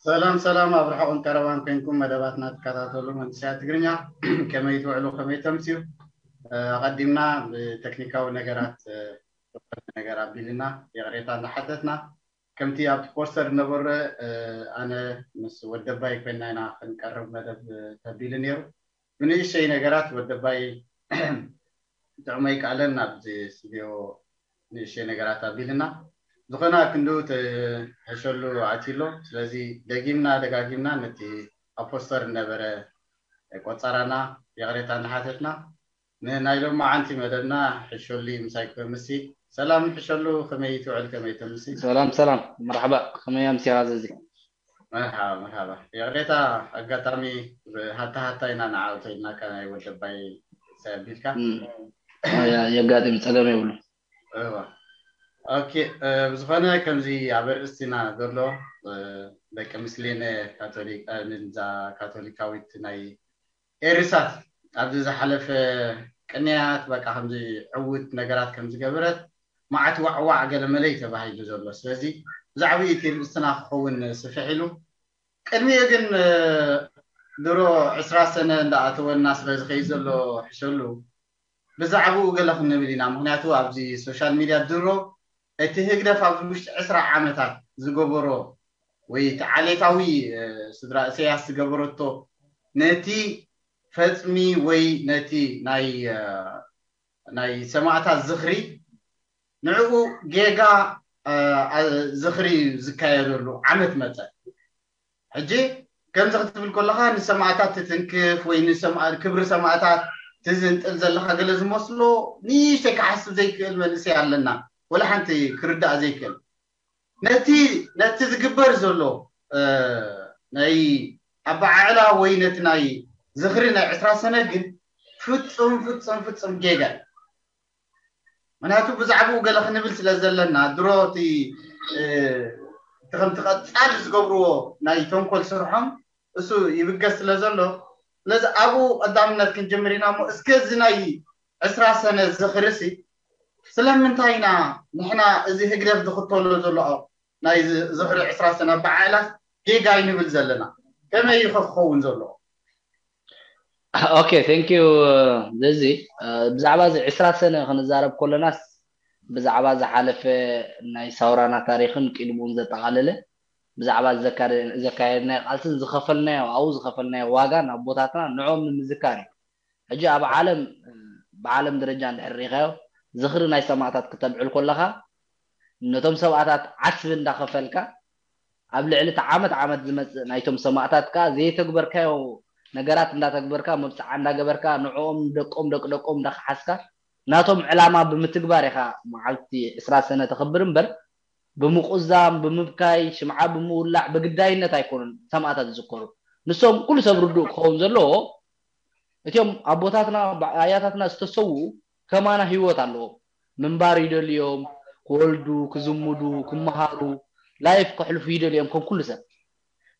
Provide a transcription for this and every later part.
ሰላም ሰላም፣ ኣብ ርሑቕን ቀረባን ኮይንኩም መደባትና ትከታተሉ መንእሰያት ትግርኛ፣ ከመይ ትውዕሉ፣ ከመይ ተምስዩ? ኣቐዲምና ብቴክኒካዊ ነገራት፣ ነገር ኣቢልና ይቕሬታ እንዳሓተትና፣ ከምቲ ኣብቲ ፖስተር ዝነበረ፣ ኣነ ምስ ወደባይ ኮይና ኢና ክንቀርብ መደብ ተቢሉ ነይሩ። ብንእሽተይ ነገራት ወደባይ ጥዕመይ ቃለን ናብዚ ስቱዲዮ ንእሽተይ ነገራት ኣቢልና፣ ዝኾነ ክንዱ ትሕሸሉ ኣትዩ ኣሎ። ስለዚ ደጊምና ደጋጊምና ነቲ ኣብ ፖስተር ዝነበረ ቆጸራና ይቕሬታ እንዳሓተትና፣ ንናይ ሎማዓንቲ መደብና ሕሸሉ ምሳይ ክምሲ። ሰላም ሕሸሉ፣ ከመይ ትውዕል፣ ከመይ ተምሲ? ሰላም ሰላም፣ መርሓባ፣ ከመይ ኣምሲኻ ዘዚ? መርሓባ መርሓባ። ይቕሬታ፣ ኣጋጣሚ ብሃታ ሃታ ኢና ንዓውቶ ኢልናካ ናይ ወደባይ ሰቢልካ። የጋጥም፣ ጸገም የብሉ። እዋ። ኦኬ። ብዝኾነ ከምዚ ኣብ ኣርእስቲና ዘሎ ደቂ ምስሌነ ካቶሊክ፣ ንዛ ካቶሊካዊት ናይ ኤሪሳት ኣብዚ ዝሓለፈ ቅንያት በቃ ከምዚ ዕውት ነገራት ከም ዝገበረት መዓት ዋዕዋዕ ገለ መለይ ተባሂሉ ዘሎ። ስለዚ ብዛዕባ እቲ ርእስትና ክኸውን ስፍሕ ኢሉ፣ ቅድሚኡ ግን ድሮ ዕስራ ሰነ እንዳኣተወና ስለ ዝኸይድ ዘሎ ሕሸሉ ብዛዕባኡ ገለ ክንብል ኢና። ምክንያቱ ኣብዚ ሶሻል ሚድያ ድሮ እቲ ህግደፍ ኣብዚ ውሽጢ ዕስራ ዓመታት ዝገበሮ ወይ እቲ ዓሌታዊ ስድራ እሰያስ ዝገበረቶ ነቲ ፈጽሚ ወይ ነቲ ናይ ናይ ሰማእታት ዝኽሪ ንዕኡ ጌጋ ዝኽሪ ዝካየደሉ ዓመት መጸ። ሕጂ ከምዚ ክትብል ከለኻ ንሰማእታት ትትንክፍ ወይ ክብሪ ሰማእታት ትዝንጥል ዘለኻ ገለ ዝመስሎ ንእሽተይ ክሓስብ ዘይክእል መንእሰይ ኣለና። ወላ ሓንቲ ክርዳእ ዘይክእል ነቲ ነቲ ዝግበር ዘሎ ናይ ኣበዓዕላ ወይ ነቲ ናይ ዝኽሪ ናይ ዕስራ ሰነ ግን ፍጹም ፍጹም ፍጹም ጌጋ እዩ። ምክንያቱ ብዛዕባኡ ገለ ክንብል ስለ ዘለና ድሮ እቲ ከምቲ ቀጻሊ ዝገብርዎ ናይ ተንኮል ስርሖም እሱ ይብገስ ስለ ዘሎ ስለዚ ኣብኡ ቀዳምነት ክንጅምር ኢና እሞ እስከ እዚ ናይ ዕስራ ሰነ ዝኽርሲ ስለምንታይ ኢና ንሕና እዚ ህግደፍ ዝኽተሎ ዘሎ ናይ ዝኽሪ ዕስራ ሰነ ኣበዓዕላስ ጌጋ ይንብል ዘለና? ከመይ እዩ ክኸውን ዘለዎ? ኦኬ፣ thank you። ዘዚ ብዛዕባ እዚ ዕስራ ሰነ ክንዛረብ ከለናስ ብዛዕባ ዝሓለፈ ናይ ሳውራና ታሪኽን ቅድሙን ዘጠቓለለ ብዛዕባ ዘካየድናዮ ቃልስን ዝኸፈልናዮ ኣብኡ ዝኸፈልናዮ ዋጋን ኣቦታትና ንዕኦም ንምዝካር እዩ። ሕጂ ኣብ ዓለም ብዓለም ደረጃ እንድሕር ሪኢኻዮ ዝኽሪ ናይ ሰማእታት ክተብዕል ከለኻ ነቶም ሰብኣታት ዓስቢ እንዳኸፈልካ ኣብ ልዕሊ እቲ ዓመት ዓመት ዝመፅእ ናይቶም ሰማእታት ከዓ ዘይተግበርካዮ ነገራት እንዳተግበርካ መብፅዓ እንዳገበርካ ንዕኦም ደቆም ደቂ ደቆም እንዳከሓስካ ናቶም ዕላማ ብምትግባር ኢኻ መዓልቲ ዕስራ ሰነ ተኽብር እምበር ብምቁዛም ብምብካይ ሽምዓ ብምውላዕ ብግዳይነት ኣይኮኑን ሰማእታት ዝዝከሩ። ንሶም ኩሉ ሰብ ርዱእ ክኸውን ዘለዎ እቲኦም ኣቦታትና ኣያታትና ዝተሰውኡ ከማና ህይወት ኣለዎም። ምንባር ይደልዮም፣ ክወልዱ፣ ክዝምዱ፣ ክመሃሩ፣ ላይፍ ከሕልፉ ይደልዮም ከም ኩሉ ሰብ።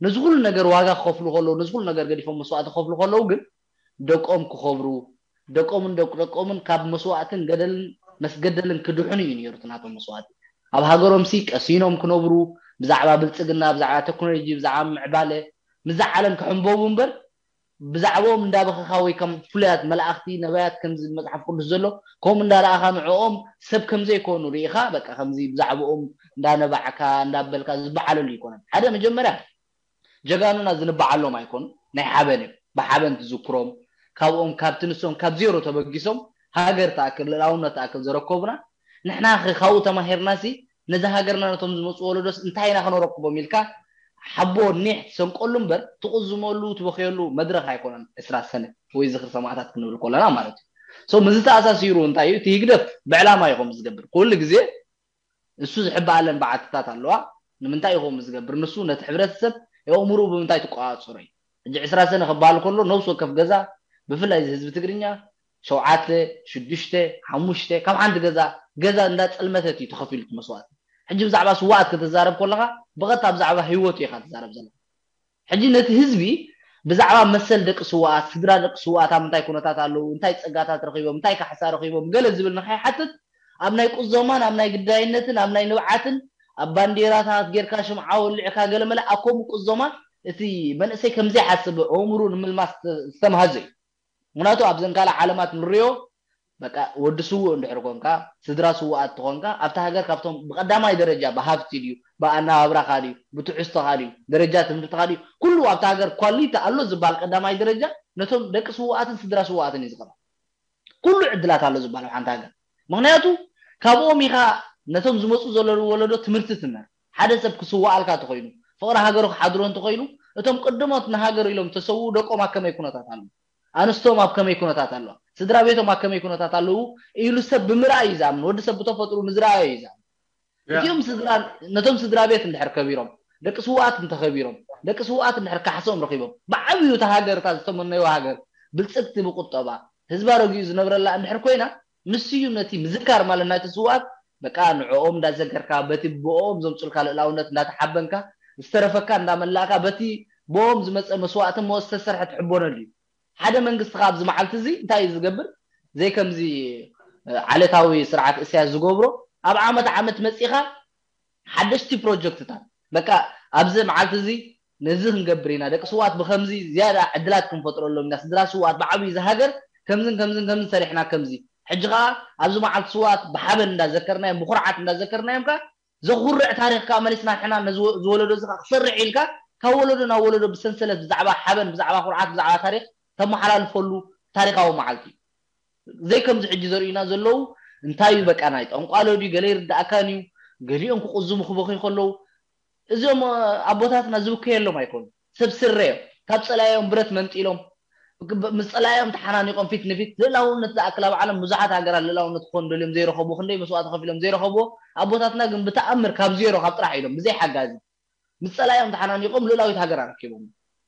ነዚ ኩሉ ነገር ዋጋ ክኸፍሉ ከለዉ፣ ነዚ ኩሉ ነገር ገዲፎም መስዋእቲ ክኸፍሉ ከለዉ ግን ደቆም ክኸብሩ፣ ደቆምን ደቂ ደቆምን ካብ መስዋእትን ገደልን መስገደልን ክድሕኑ እዩ ነይሩ እቲ ናቶም መስዋእቲ። ኣብ ሃገሮም ሲ ቀሲኖም ክነብሩ፣ ብዛዕባ ብልጽግና፣ ብዛዕባ ቴክኖሎጂ፣ ብዛዕባ ምዕባለ፣ ምስዛ ዓለም ክሕንበቡ እምበር ብዛዕባኦም እንዳበኸኻ ወይ ከም ፍሉያት መላእኽቲ ነባያት ከምዚ መጽሓፍ ቅዱስ ዘሎ ከምኡ እንዳረኣኻ ንዕኦም ሰብ ከም ዘይኮኑ ርኢኻ በቃ ከምዚ ብዛዕባኦም እንዳነባዕካ እንዳበልካ ዝበዓለሉ ኣይኮነን። ሓደ መጀመርያ ጀጋኑና ዝንበዓሎም ኣይኮኑ ናይ ሓበን እዮም። ብሓበን ትዝክሮም ካብኦም ካብቲ ንሶም ካብ ዜሮ ተበጊሶም ሃገር ትኣክል ልእላውነት ትኣክል ዘረከቡና ንሕና ካብኡ ተማሂርና ሲ ነዛ ሃገርና ነቶም ዝመፁ ወለዶስ እንታይ ኢና ክነረክቦም ኢልካ ሓቦ ኒሕ ትሰንቀሉ እምበር ትቕዝመሉ ትበኽየሉ መድረኽ ኣይኮነን። ዕስራ ሰነ ወይ ዝኽሪ ሰማእታት ክንብል ከለና ማለት እዩ። ሶ ምዚ ተኣሳሲሩ እንታይ እዩ እቲ ህግደፍ ብዕላማ እዩ ከም ዝገብር ኩሉ ግዜ እሱ ዝሕበኣለን በዓትታት ኣለዋ። ንምንታይ እዩ ከም ዝገብር ንሱ ነቲ ሕብረተሰብ የእምሩ ብምንታይ ትቆፃፀሮ እዩ። ሕጂ ዕስራ ሰነ ክበሃል ከሎ ነብሲ ወከፍ ገዛ ብፍላይ እዚ ህዝቢ ትግርኛ ሸውዓተ ሽዱሽተ ሓሙሽተ ካብ ሓንቲ ገዛ ገዛ እንዳፀልመተት እዩ ተኸፊሉ እቲ መስዋእቲ። ሕጂ ብዛዕባ ስዋኣት ከተዛረብ ከለኻ ብቐጥታ ብዛዕባ ህይወቱ ኢኻ ትዛረብ ዘለኻ። ሕጂ ነቲ ህዝቢ ብዛዕባ መሰል ደቂ ስዋኣት፣ ስድራ ደቂ ስዋኣት ኣብ ምንታይ ኩነታት ኣለዉ፣ እንታይ ፀጋታት ረኺቦም፣ እንታይ ካሕሳ ረኺቦም ገለ ዝብል ንኸይሓትት ኣብ ናይ ቁዘማን ኣብ ናይ ግዳይነትን ኣብ ናይ ንብዓትን ኣብ ባንዴራታት ጌርካ ሽምዓ ወሊዕካ ገለመለ ኣኮም ቅዞማ እቲ መንእሰይ ከምዘይሓስብ ኣእምሩ ንምልማስ ዝተምሃዘ እዩ። ምክንያቱ ኣብዘን ካልእ ዓለማት ንሪኦ በቃ ወዲ ስውእ እንድሕር ኮንካ ስድራ ስውኣት ትኾንካ ኣብቲ ሃገር ካብቶም ብቀዳማይ ደረጃ ብሃብቲ ድዩ ብኣናባብራኻ ድዩ ብትሕዝቶኻ ድዩ ደረጃ ትምህርትኻ ድዩ ኩሉ ኣብቲ ሃገር ኳሊቲ ኣሎ ዝበሃል ቀዳማይ ደረጃ ነቶም ደቂ ስውኣትን ስድራ ስውኣትን እዩ ዝቐርብ። ኩሉ ዕድላት ኣሎ ዝበሃል ኣብ ሓንቲ ሃገር ምክንያቱ ካብኦም ኢኻ ነቶም ዝመፁ ዘለዉ ወለዶ ትምህርቲ ትምህር ሓደ ሰብ ክስዋኣልካ ተኮይኑ ፍቅሪ ሃገሩ ክሓድሮ እንተኮይኑ እቶም ቅድሞት ንሃገር ኢሎም ተሰውኡ ደቆም ኣብ ከመይ ኩነታት ኣሎ ኣንስቶም ኣብ ከመይ ኩነታት ኣለዋ ስድራ ቤቶም ኣብ ከመይ ኩነታት ኣለዉ ኢሉ ሰብ ብምርኣይ እዩ ዝኣምን ወዲ ሰብ ብተፈጥሩ ምዝረኣዮ እዩ ዝኣምን እዚኦም ስድራ ነቶም ስድራ ቤት እንድሕር ከቢሮም ደቂ ስውኣት እንተኸቢሮም ደቂ ስውኣት እንድሕር ካሕሶም ረኺቦም ብዓብዩ እታ ሃገር እታ ዝተመነይዋ ሃገር ብልፅግቲ ብቁጠባ ህዝባ ረጊኡ ዝነብረላ እንድሕር ኮይና ንሱ እዩ ነቲ ምዝካር ማለት ናይቲ ስውኣት በቃ ንዕኦም እንዳዘከርካ በቲ ብኦም ዘምፁልካ ልእላውነት እንዳተሓበንካ ዝተረፈካ እንዳመላእካ በቲ ብኦም ዝመፀ መስዋእቲ ሞ ዝተሰርሐ ትሕቦነሉ እዩ ሓደ መንግስቲ ከ ኣብዚ መዓልቲ እዚ እንታይ እዩ ዝገብር ዘይ ከምዚ ዓለታዊ ስርዓት እስያስ ዝገብሮ ኣብ ዓመት ዓመት መፂኻ ሓደሽቲ ፕሮጀክትታት በቃ ኣብዚ መዓልቲ እዚ ነዚ ክንገብር ኢና ደቂ ስውኣት ብከምዚ ዝያዳ ዕድላት ክንፈጥረሎም ኢና ስድራ ስውኣት ብዓብዩ ዝሃገር ከምዝን ከምዝን ከምዝን ሰሪሕና ከምዚ ሕጂ ከዓ ኣብዚ መዓልቲ ስውኣት ብሓበን እንዳዘከርናዮም ብኩርዓት እንዳዘከርናዮም ከዓ ዘኹርዕ ታሪኽ ከዓ መሊስና ንሕና ዝወለዶ እዚ ከዓ ክሰርሕ ኢልካ ካብ ወለዶ ናብ ወለዶ ብሰንሰለት ብዛዕባ ሓበን ብዛዕባ ኩርዓት ብዛዕባ ታሪኽ ተመሓላልፈሉ ታሪካዊ መዓልቲ እዩ ዘይከምዚ ሕጂ ዘርእዩና ዘለዉ እንታይ እዩ በቃ ናይ ጠንቋሎ ድዩ ገለ ይርዳእካን እዩ ገሊኦም ክቁዝሙ ክበኽዩ ከለዉ እዚኦም ኣቦታትና ዝብከየሎም ኣይኮኑ ሰብ ስረ እዮም ካብ ፀላዮም ብረት መንጢሎም ምስ ፀላዮም ተሓናኒቆም ፊት ንፊት ልእላውነት ዝኣክል ኣብ ዓለም ብዙሓት ሃገራት ልእላውነት ክኾኑ ደልዮም ዘይረኸቡ ክንደይ መስዋእቲ ከፊሎም ዘይረኸቡ ኣቦታትና ግን ብተኣምር ካብ ዜሮ ካብ ጥራሕ ኢሎም ብዘይ ሓጋዚ ምስ ጸላኢኦም ተሓናኒቖም ልእላዊት ሃገር ኣረኪቦም።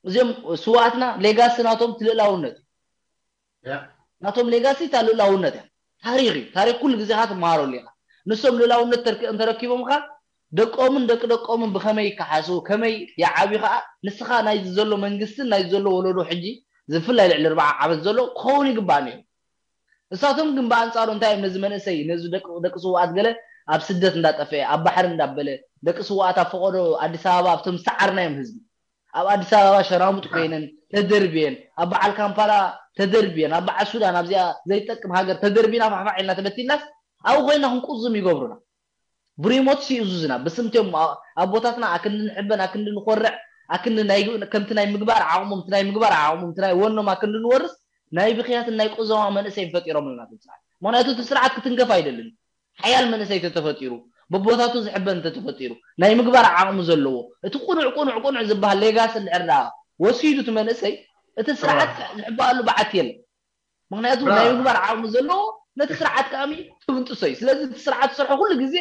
እዚኦም ስውኣትና ሌጋሲ ናቶም እቲ ልእላውነት እዩ። ናቶም ሌጋሲ እታ ልእላውነት እያ። ታሪኽ እዩ። ታሪኽ ኩሉ ግዜ ኻ ትመሃረሉ ኢኻ። ንሶም ልእላውነት ተረኪቦም ኻ ደቆምን ደቂ ደቆምን ብኸመይ ይከሓሱ፣ ከመይ ይዓብዩ ኸኣ ንስኻ ናይዚ ዘሎ መንግስትን ናይዚ ዘሎ ወለዶ ሕጂ ዝፍላይ ልዕሊ ኣርብዓ ዓመት ዘሎ ክኸውን ይግባእ ነይሩ። እሳቶም ግን ብኣንጻሩ እንታይ እዮም ነዚ መንእሰይ ነዚ ደቂ ደቂ ስውኣት ገለ ኣብ ስደት እንዳጠፍአ ኣብ ባሕሪ እንዳበለ ደቂ ስውኣት ኣብ ፈቐዶ ኣዲስ ኣበባ ኣብቶም ዝሰዓርናዮም ህዝቢ ኣብ ኣዲስ ኣበባ ሸራሙጥ ኮይነን ተደርብየን ኣብ በዓል ካምፓላ ተደርብየን ኣብ በዓል ሱዳን ኣብዚኣ ዘይጠቅም ሃገር ተደርቢና ፋሕፋሕ ኢልና ተበቲናስ ኣብኡ ኮይና ክንቁዝም ይገብሩና። ብሪሞት ሲእዙዝና ብስምትዮም ኣቦታትና ኣክንዲ ንሕበን ኣክንዲ ንኮርዕ ኣክንዲ ናይ ከምቲ ናይ ምግባር ዓቕሞም እቲ ናይ ምግባር ዓቕሞም እቲ ናይ ወኖም ኣክንዲ ንወርስ ናይ ብኽያትን ናይ ቁዘማ መንእሰይን ፈጢሮምልና እቲ ስርዓት። ምኽንያቱ እቲ ስርዓት ክትንከፍ ኣይደልን። ሓያል መንእሰይ ተተፈጢሩ፣ በቦታቱ ዝሕበን እንተተፈጢሩ፣ ናይ ምግባር ዓቕሚ ዘለዎ፣ እቲ ቁኑዕ ቁኑዕ ቁኑዕ ዝበሃል ሌጋሲ እንድሕር ደኣ ወሲዱ እቲ መንእሰይ፣ እቲ ስርዓት ዝሕበኣሉ በዓቲ የለን። ምኽንያቱ ናይ ምግባር ዓቕሚ ዘለዎ ነቲ ስርዓት ከኣሚ ትብንጥሶ እዩ። ስለዚ እቲ ስርዓት ዝሰርሖ ኩሉ ግዜ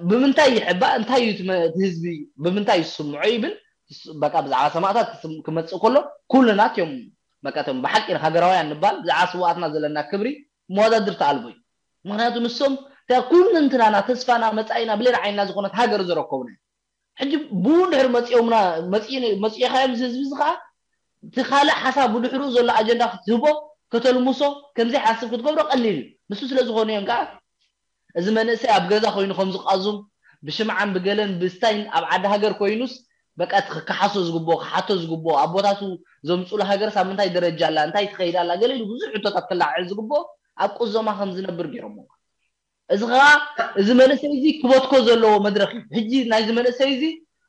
ብምንታይ ይሕባእ እንታይ እዩ እቲ ህዝቢ ብምንታይ ይስምዖ ይብል በቃ ብዛዕባ ሰማእታት ክመፅእ ከሎ ኩልና እትዮም በቃ እቶም ብሓቂ ሃገራውያን ንባል ብዛዕባ ስውኣትና ዘለና ክብሪ መወዳድርቲ ኣልቦ እዩ። ምክንያቱ ንሶም እታ ኩሉ እንትናና ተስፋና መፃኢና ብሌላ ዓይንና ዝኾነት ሃገር ዘረከቡና እዮም። ሕጂ ብኡ እንድሕር መፂኦምና መፂእኻዮም እዚ ህዝቢ እዚ ከዓ እቲ ካልእ ሓሳብ ብድሕሩ ዘሎ ኣጀንዳ ክትህቦ ከተልምሶ ከምዘይሓስብ ክትገብሮ ቀሊል እዩ። ንሱ ስለ ዝኾነ እዮም ከዓ እዚ መንእሰይ ኣብ ገዛ ኮይኑ ከም ዝቃዙም ብሽምዓን ብገለን ብስታይን ኣብ ዓዲ ሃገር ኮይኑስ በቃ እቲ ክከሓሶ ዝግብኦ ክሓቶ ዝግብኦ ኣቦታቱ ዘምፅሉ ሃገርስ ኣብ ምንታይ ደረጃ ኣላ እንታይ ትኸይድ ኣላ ገለ ኢሉ ብዙሕ ሕቶታት ክለዓዕል ዝግብኦ ኣብ ቁዘማ ከም ዝነብር ገይሮሞ እዚ ከዓ እዚ መንእሰይ እዚ ክበትኮ ዘለዎ መድረክ እዩ ሕጂ ናይዚ መንእሰይ እዚ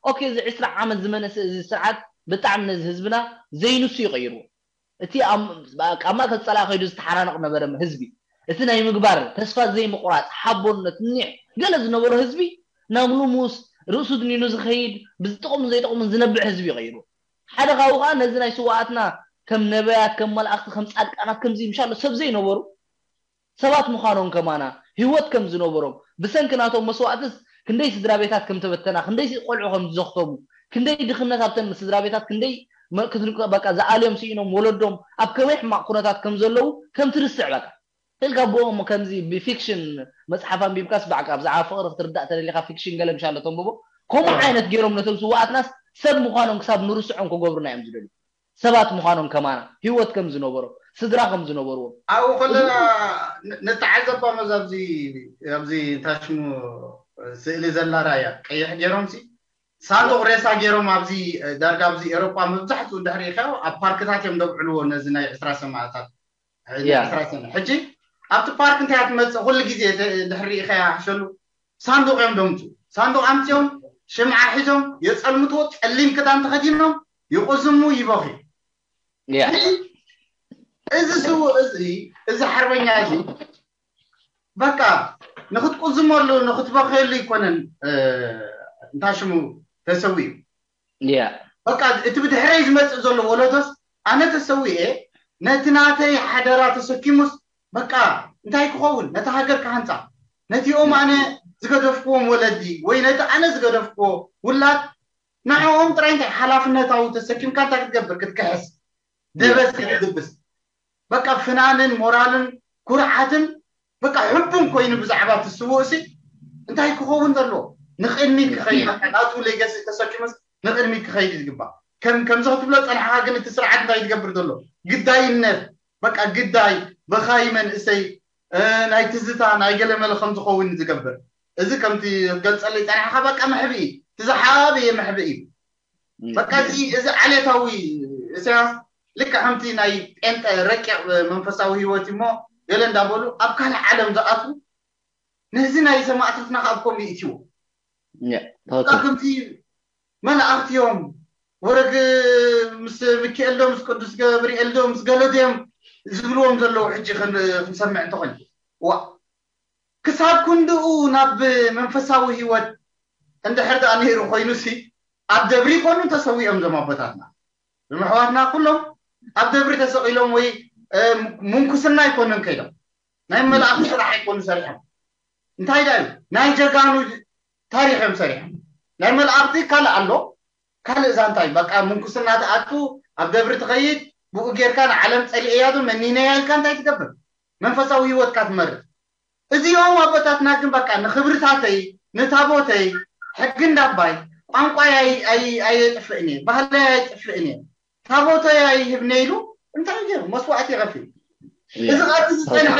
ኦኬ እዚ ዕስራ ዓመት ዝመነሰ እዚ ስርዓት ብጣዕሚ ነዚ ህዝብና ዘይንሱ ይቀይርዎ እቲ ኣብ ማእከል ጸላኢ ከይዱ ዝተሓናነቕ ነበረ ህዝቢ። እቲ ናይ ምግባር፣ ተስፋ ዘይምቑራጽ፣ ሓቦነት፣ ኒሕ ገለ ዝነበሮ ህዝቢ ናብ ልሙስ፣ ርእሱ ድኒኑ ዝኸይድ፣ ብዝጠቕሙን ዘይጠቕሙን ዝነብዕ ህዝቢ ይቐይሩ። ሓደ ካብኡ ከኣ ነዚ ናይ ስውኣትና ከም ነበያት፣ ከም መላእኽቲ፣ ከም ጻድቃናት ከምዚ ምሻሎ ሰብ ዘይነበሩ ሰባት ምዃኖም ከማና ህይወት ከም ዝነበሮም ብሰንኪ ናቶም መስዋእትስ ክንደይ ስድራ ቤታት ከም ተበተና ክንደይ ቆልዑ ከም ዝዘኽተሙ ክንደይ ድኽነት ኣብተን ስድራ ቤታት ክንደይ በቃ ዝኣልዮም ስኢኖም ወለዶም ኣብ ከመይ ሕማቕ ኩነታት ከም ዘለዉ ከም ትርስዕ በቃ ኢልካ ብኦም ከምዚ ብፊክሽን መፅሓፍ ኣንቢብካስ ብዓቃ ብዛዕባ ፍቕሪ ክትርዳእ ተደሊኻ ፊክሽን ገለ ምሻለ ተንብቦ ከምኡ ዓይነት ገይሮም ነቶም ስዋኣትናስ ሰብ ምዃኖም ክሳብ ንርስዖም ክገብሩና እዮም ዝደልዩ ሰባት ምዃኖም ከማና ህይወት ከም ዝነበሮም ስድራ ከም ዝነበርዎም ኣብኡ ከለና ንተዓዘባ መዛ ኣብዚ ታሽሙ ስእሊ ዘላ ራያ ቀይሕ ገይሮም ሲ ሳንዱቕ ሬሳ ገይሮም ኣብዚ ዳርጋ ኣብዚ ኤሮጳ መብዛሕትኡ እንድሕር ኢኻ ኣብ ፓርክታት እዮም ደብዕልዎ ነዚ ናይ ዕስራ ሰማእታት ሕጂ ኣብቲ ፓርክ እንታይ ትመፅእ ኩሉ ግዜ ድሕሪ ኢኻ ሓሸሉ ሳንዱቕ እዮም ደምፁ ሳንዱቕ ኣምፅኦም ሽምዓ ሒዞም የፀልምትዎ ፀሊም ክዳን ተኸዲኖም ይቁዝሙ ይበኺ እዚ ስውእ እዚ እዚ ሓርበኛ እዚ በቃ ንክትቁዝመሉ ንክትበኽየሉ ይኮነን እንታ ሽሙ ተሰዊኡ በቃ እቲ ብድሕረይ ዝመፅእ ዘሎ ወለዶስ ኣነ ተሰዊኤ ነቲ ናተይ ሓደራ ተሰኪሙስ በቃ እንታይ ክኸውን ነቲ ሃገር ክሃንፃ ነቲኦም ኣነ ዝገደፍክዎም ወለዲ ወይ ነቲ ኣነ ዝገደፍክዎ ውላድ ንዕኦም ጥራይ እንታይ ሓላፍነታዊ ተሰኪምካ እንታይ ክትገብር ክትክሕስ ደበስ ክትድብስ በቃ ፍናንን ሞራልን ኩርዓትን በቃ ሕቡን ኮይኑ ብዛዕባ እቲ ስውእ ሲ እንታይ ክኸውን ዘለዎ ንቅድሚት ክኸይድ ናቱ ሌገሲ ተሰኪሙስ ንቅድሚት ክኸይድ ዝግባእ ከም ከምዚ ክትብሎ ፀናሕካ ግን እቲ ስርዓት እንታይ ዝገብር ዘሎ ግዳይነት በቃ ግዳይ በኻይ መንእሰይ ናይ ትዝታ ናይ ገለመለ ከም ዝኸውን ዝገብር እዚ ከምቲ ገልፀለይ ፀናሕካ በቃ መሕብኢ እቲ ዝሓበየ መሕብኢ እዩ በቃ እዚ ዓሌታዊ ኢሳያስ ልክዕ ከምቲ ናይ ጴንጠ ረቂቕ መንፈሳዊ ህይወት እሞ ገለ እንዳበሉ ኣብ ካልእ ዓለም ዝኣትዉ ነዚ ናይ ሰማእታትና ካብ ከምኡ ይእትዎ ከምቲ መላእኽቲ እዮም ወረግ ምስ ሚካኤል ዶ ምስ ቅዱስ ገብርኤል ዶ ምስ ገለድዮም ዝብልዎም ዘለዉ ሕጂ ክንሰምዕ እንተኾይኑ ዋ ክሳብ ክንድኡ ናብ መንፈሳዊ ህይወት እንድሕር ደኣ ነይሩ ኮይኑ ሲ ኣብ ደብሪ ይኮኑ ተሰዊኦም ዞም ኣቦታትና ዞም ኣሕዋትና ኩሎም ኣብ ደብሪ ተሰቒሎም ወይ ምንኩስና ኣይኮኑን ከይዶም ናይ መላእኽቲ ስራሕ ኣይኮኑ ሰሪሖም እንታይ ዳ እዩ ናይ ጀጋኑ ታሪኽ እዮም ሰሪሖም ናይ መላእኽቲ ካልእ ኣሎ ካልእ ዛንታ እዩ በቃ ምንኩስና ትኣቱ ኣብ ደብሪ ትኸይድ ብኡ ጌርካ ንዓለም ጸሊኤያ ዶ መኒነያ ኢልካ እንታይ ትገብር መንፈሳዊ ህይወትካ ትመርጥ እዚኦም ኣቦታትና ግን በቃ ንኽብርታተይ ንታቦተይ ሕጊ እንዳባይ ቋንቋይ ኣየጥፍእን እየ ባህለይ ኣየጥፍእን እየ ታቦተይ ኣይህብነ ኢሉ እንታይ ገይሩ መስዋዕቲ ይኸፍል እዚ ቃል ዝፀንሐ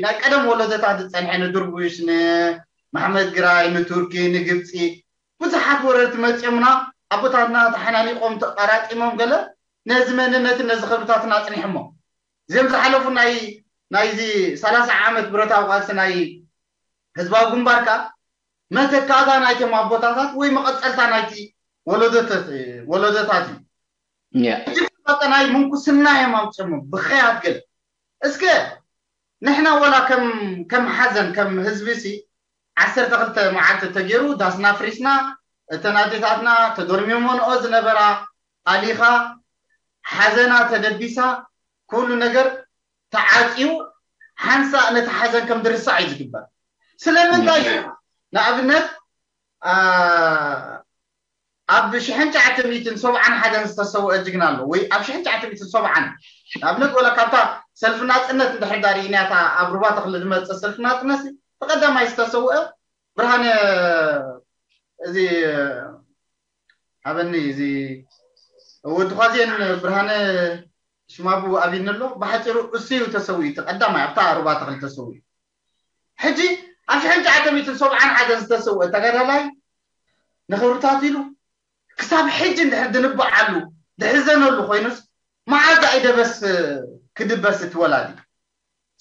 ናይ ቀደም ወለዶታት ዝፀንሐ ንድርቡሽ ንማሕመድ ግራይ ንቱርኪ ንግብፂ ብዙሓት ወረርቲ መፂኦምና ኣቦታትና ተሓናኒቆም ተቃራጢሞም ገለ ነዚ መንነትን ነዚ ክብርታትን ኣፅኒሖሞ እዚኦም ዝሓለፉ ናይ ናይዚ ሰላሳ ዓመት ብረታዊ ቃልሲ ናይ ህዝባዊ ግንባር ከዓ መተካእታ ናይቶም ኣቦታታት ወይ መቐፀልታ ናይቲ ወለዶታት እዩ ሕጂ ናይ ምንኩስና እዮም ኣምፅሞ ብኸያት ገለ እስከ ንሕና ወላ ከም ከም ሓዘን ከም ህዝቢ ሲ ዓሰርተ ክልተ መዓልቲ ተገይሩ ዳስና ፍሪስና እተን ኣዴታትና ተዶርሚሞንኦ ዝነበራ ኣሊኻ ሓዘና ተደቢሳ ኩሉ ነገር ተዓፅዩ ሓንሳእ ነቲ ሓዘን ከም ዝርሳዕ እዩ ዝግበር ስለምንታይ እዩ ንኣብነት ኣብ ሽሕን ትሽዓተ ሚእትን ሰብዓን ሓደን ዝተሰውአ ጅግና ኣሎ ወይ ኣብ ሽሕን ትሽዓተ ሚእትን ሰብዓን ንኣብነት ወላ ካብታ ሰልፊ ናፅነት እንድሕር ዳርኢናታ ኣብ ሩባ ተኽሊ ዝመፀ ሰልፊ ናፅነት ተቐዳማይ ዝተሰውአ ብርሃነ እዚ ሓበኒ እዚ ወዲ ኳዜን ብርሃነ ሽማቡ ኣብኒ ኣሎ ብሓፂሩ እሱ እዩ ተሰዊኡ እቲ ቀዳማይ ኣብታ ሩባ ተኽሊ ተሰዊኡ ሕጂ ኣብ ሽሕን ትሽዓተ ሚእትን ሰብዓን ሓደን ዝተሰውአ ተጋዳላይ ንኽብርታት ኢሉ ክሳብ ሕጂ እንድሕር ድንበዓሉ ድሕዘነሉ ኮይኑስ መዓዝ ኣይደበስ ክድበስ እቲ ወላዲ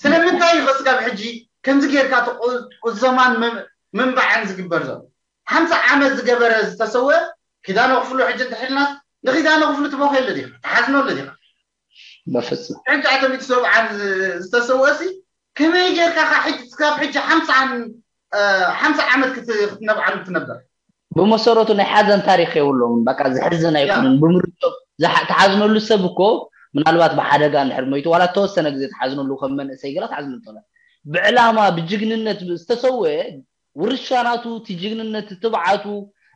ስለምንታይ እዩ ክስጋብ ሕጂ ከምዚ ጌርካ እቲ ቁዘማን ምንባዕን ዝግበር ዘሎ ሓምሳ ዓመት ዝገበረ ዝተሰወ ኪዳነ ክፍሉ ሕጂ እንተሒልናስ ንኪዳነ ክፍሉ ትበኸየሉ ዲኻ ትሓዝነሉ ዲኻ በፍጹም ሕጂ ኣቶም እቲ ሰብዓን ዝተሰወ ሲ ከመይ ጌርካ ካብ ሕጂ ክሳብ ሕጂ ሓምሳን ሓምሳ ዓመት ክትነብዓሉ ትነበር ብመሰረቱ ናይ ሓዘን ታሪክ የብሎም በቃ ዝሕዝን ኣይኮኑን ብምርቶ ተሓዝነሉ ሰብ እኮ ምናልባት ብሓደጋ እንድሕር ሞይቱ ዋላ ተወሰነ ግዜ ተሓዝነሉ ከም መንእሰይ ገላ ተሓዝነሉ ተላ ብዕላማ ብጅግንነት ዝተሰወ ውርሻ ናቱ እቲ ጅግንነት ትብዓቱ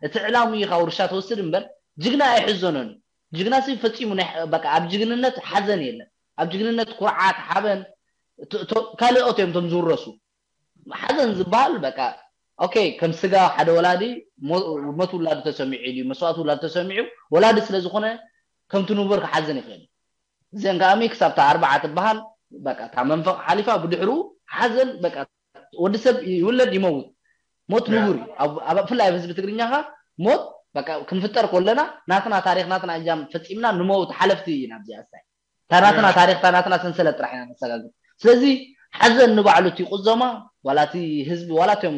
እቲ ዕላሙ ኢኻ ውርሻ ተወስድ እምበር ጅግና ኣይሕዘኖን ጅግና ሲ ፈጺሙ በቃ ኣብ ጅግንነት ሓዘን የለን ኣብ ጅግንነት ኩርዓት ሓበን ካልኦት እዮም ቶም ዝውረሱ ሓዘን ዝበሃል በቃ ኦኬ ከም ስጋ ሓደ ወላዲ ሞት ውላዱ ተሰሚዑ እዩ መስዋእቲ ውላዱ ተሰሚዑ ወላዲ ስለ ዝኾነ ከምቲ ንቡር ክሓዝን ይኽእል እዚአን ከኣሚ ክሳብ እታ ኣርባዓ ትበሃል በቃ እታ መንፈቕ ሓሊፋ ብድሕሩ ሓዘን በቃ ወዲ ሰብ ይውለድ ይመውት ሞት ንቡር እዩ። ኣብ ኣብ- ብፍላይ ኣብ ህዝቢ ትግርኛ ኸ ሞት በቃ ክንፍጠር ከለና ናትና ታሪኽ ናትና እጃም ፈጺምና ንመውት ሓለፍቲ ኢና። ኣብዚኣ እስታይ እታ ናትና ታሪኽ እታ ናትና ሰንሰለት ጥራሕ ኢና ነሰጋግር። ስለዚ ሓዘን ንባዕሉ እቲ ቁዘማ ዋላ እቲ ህዝቢ ዋላ እቶም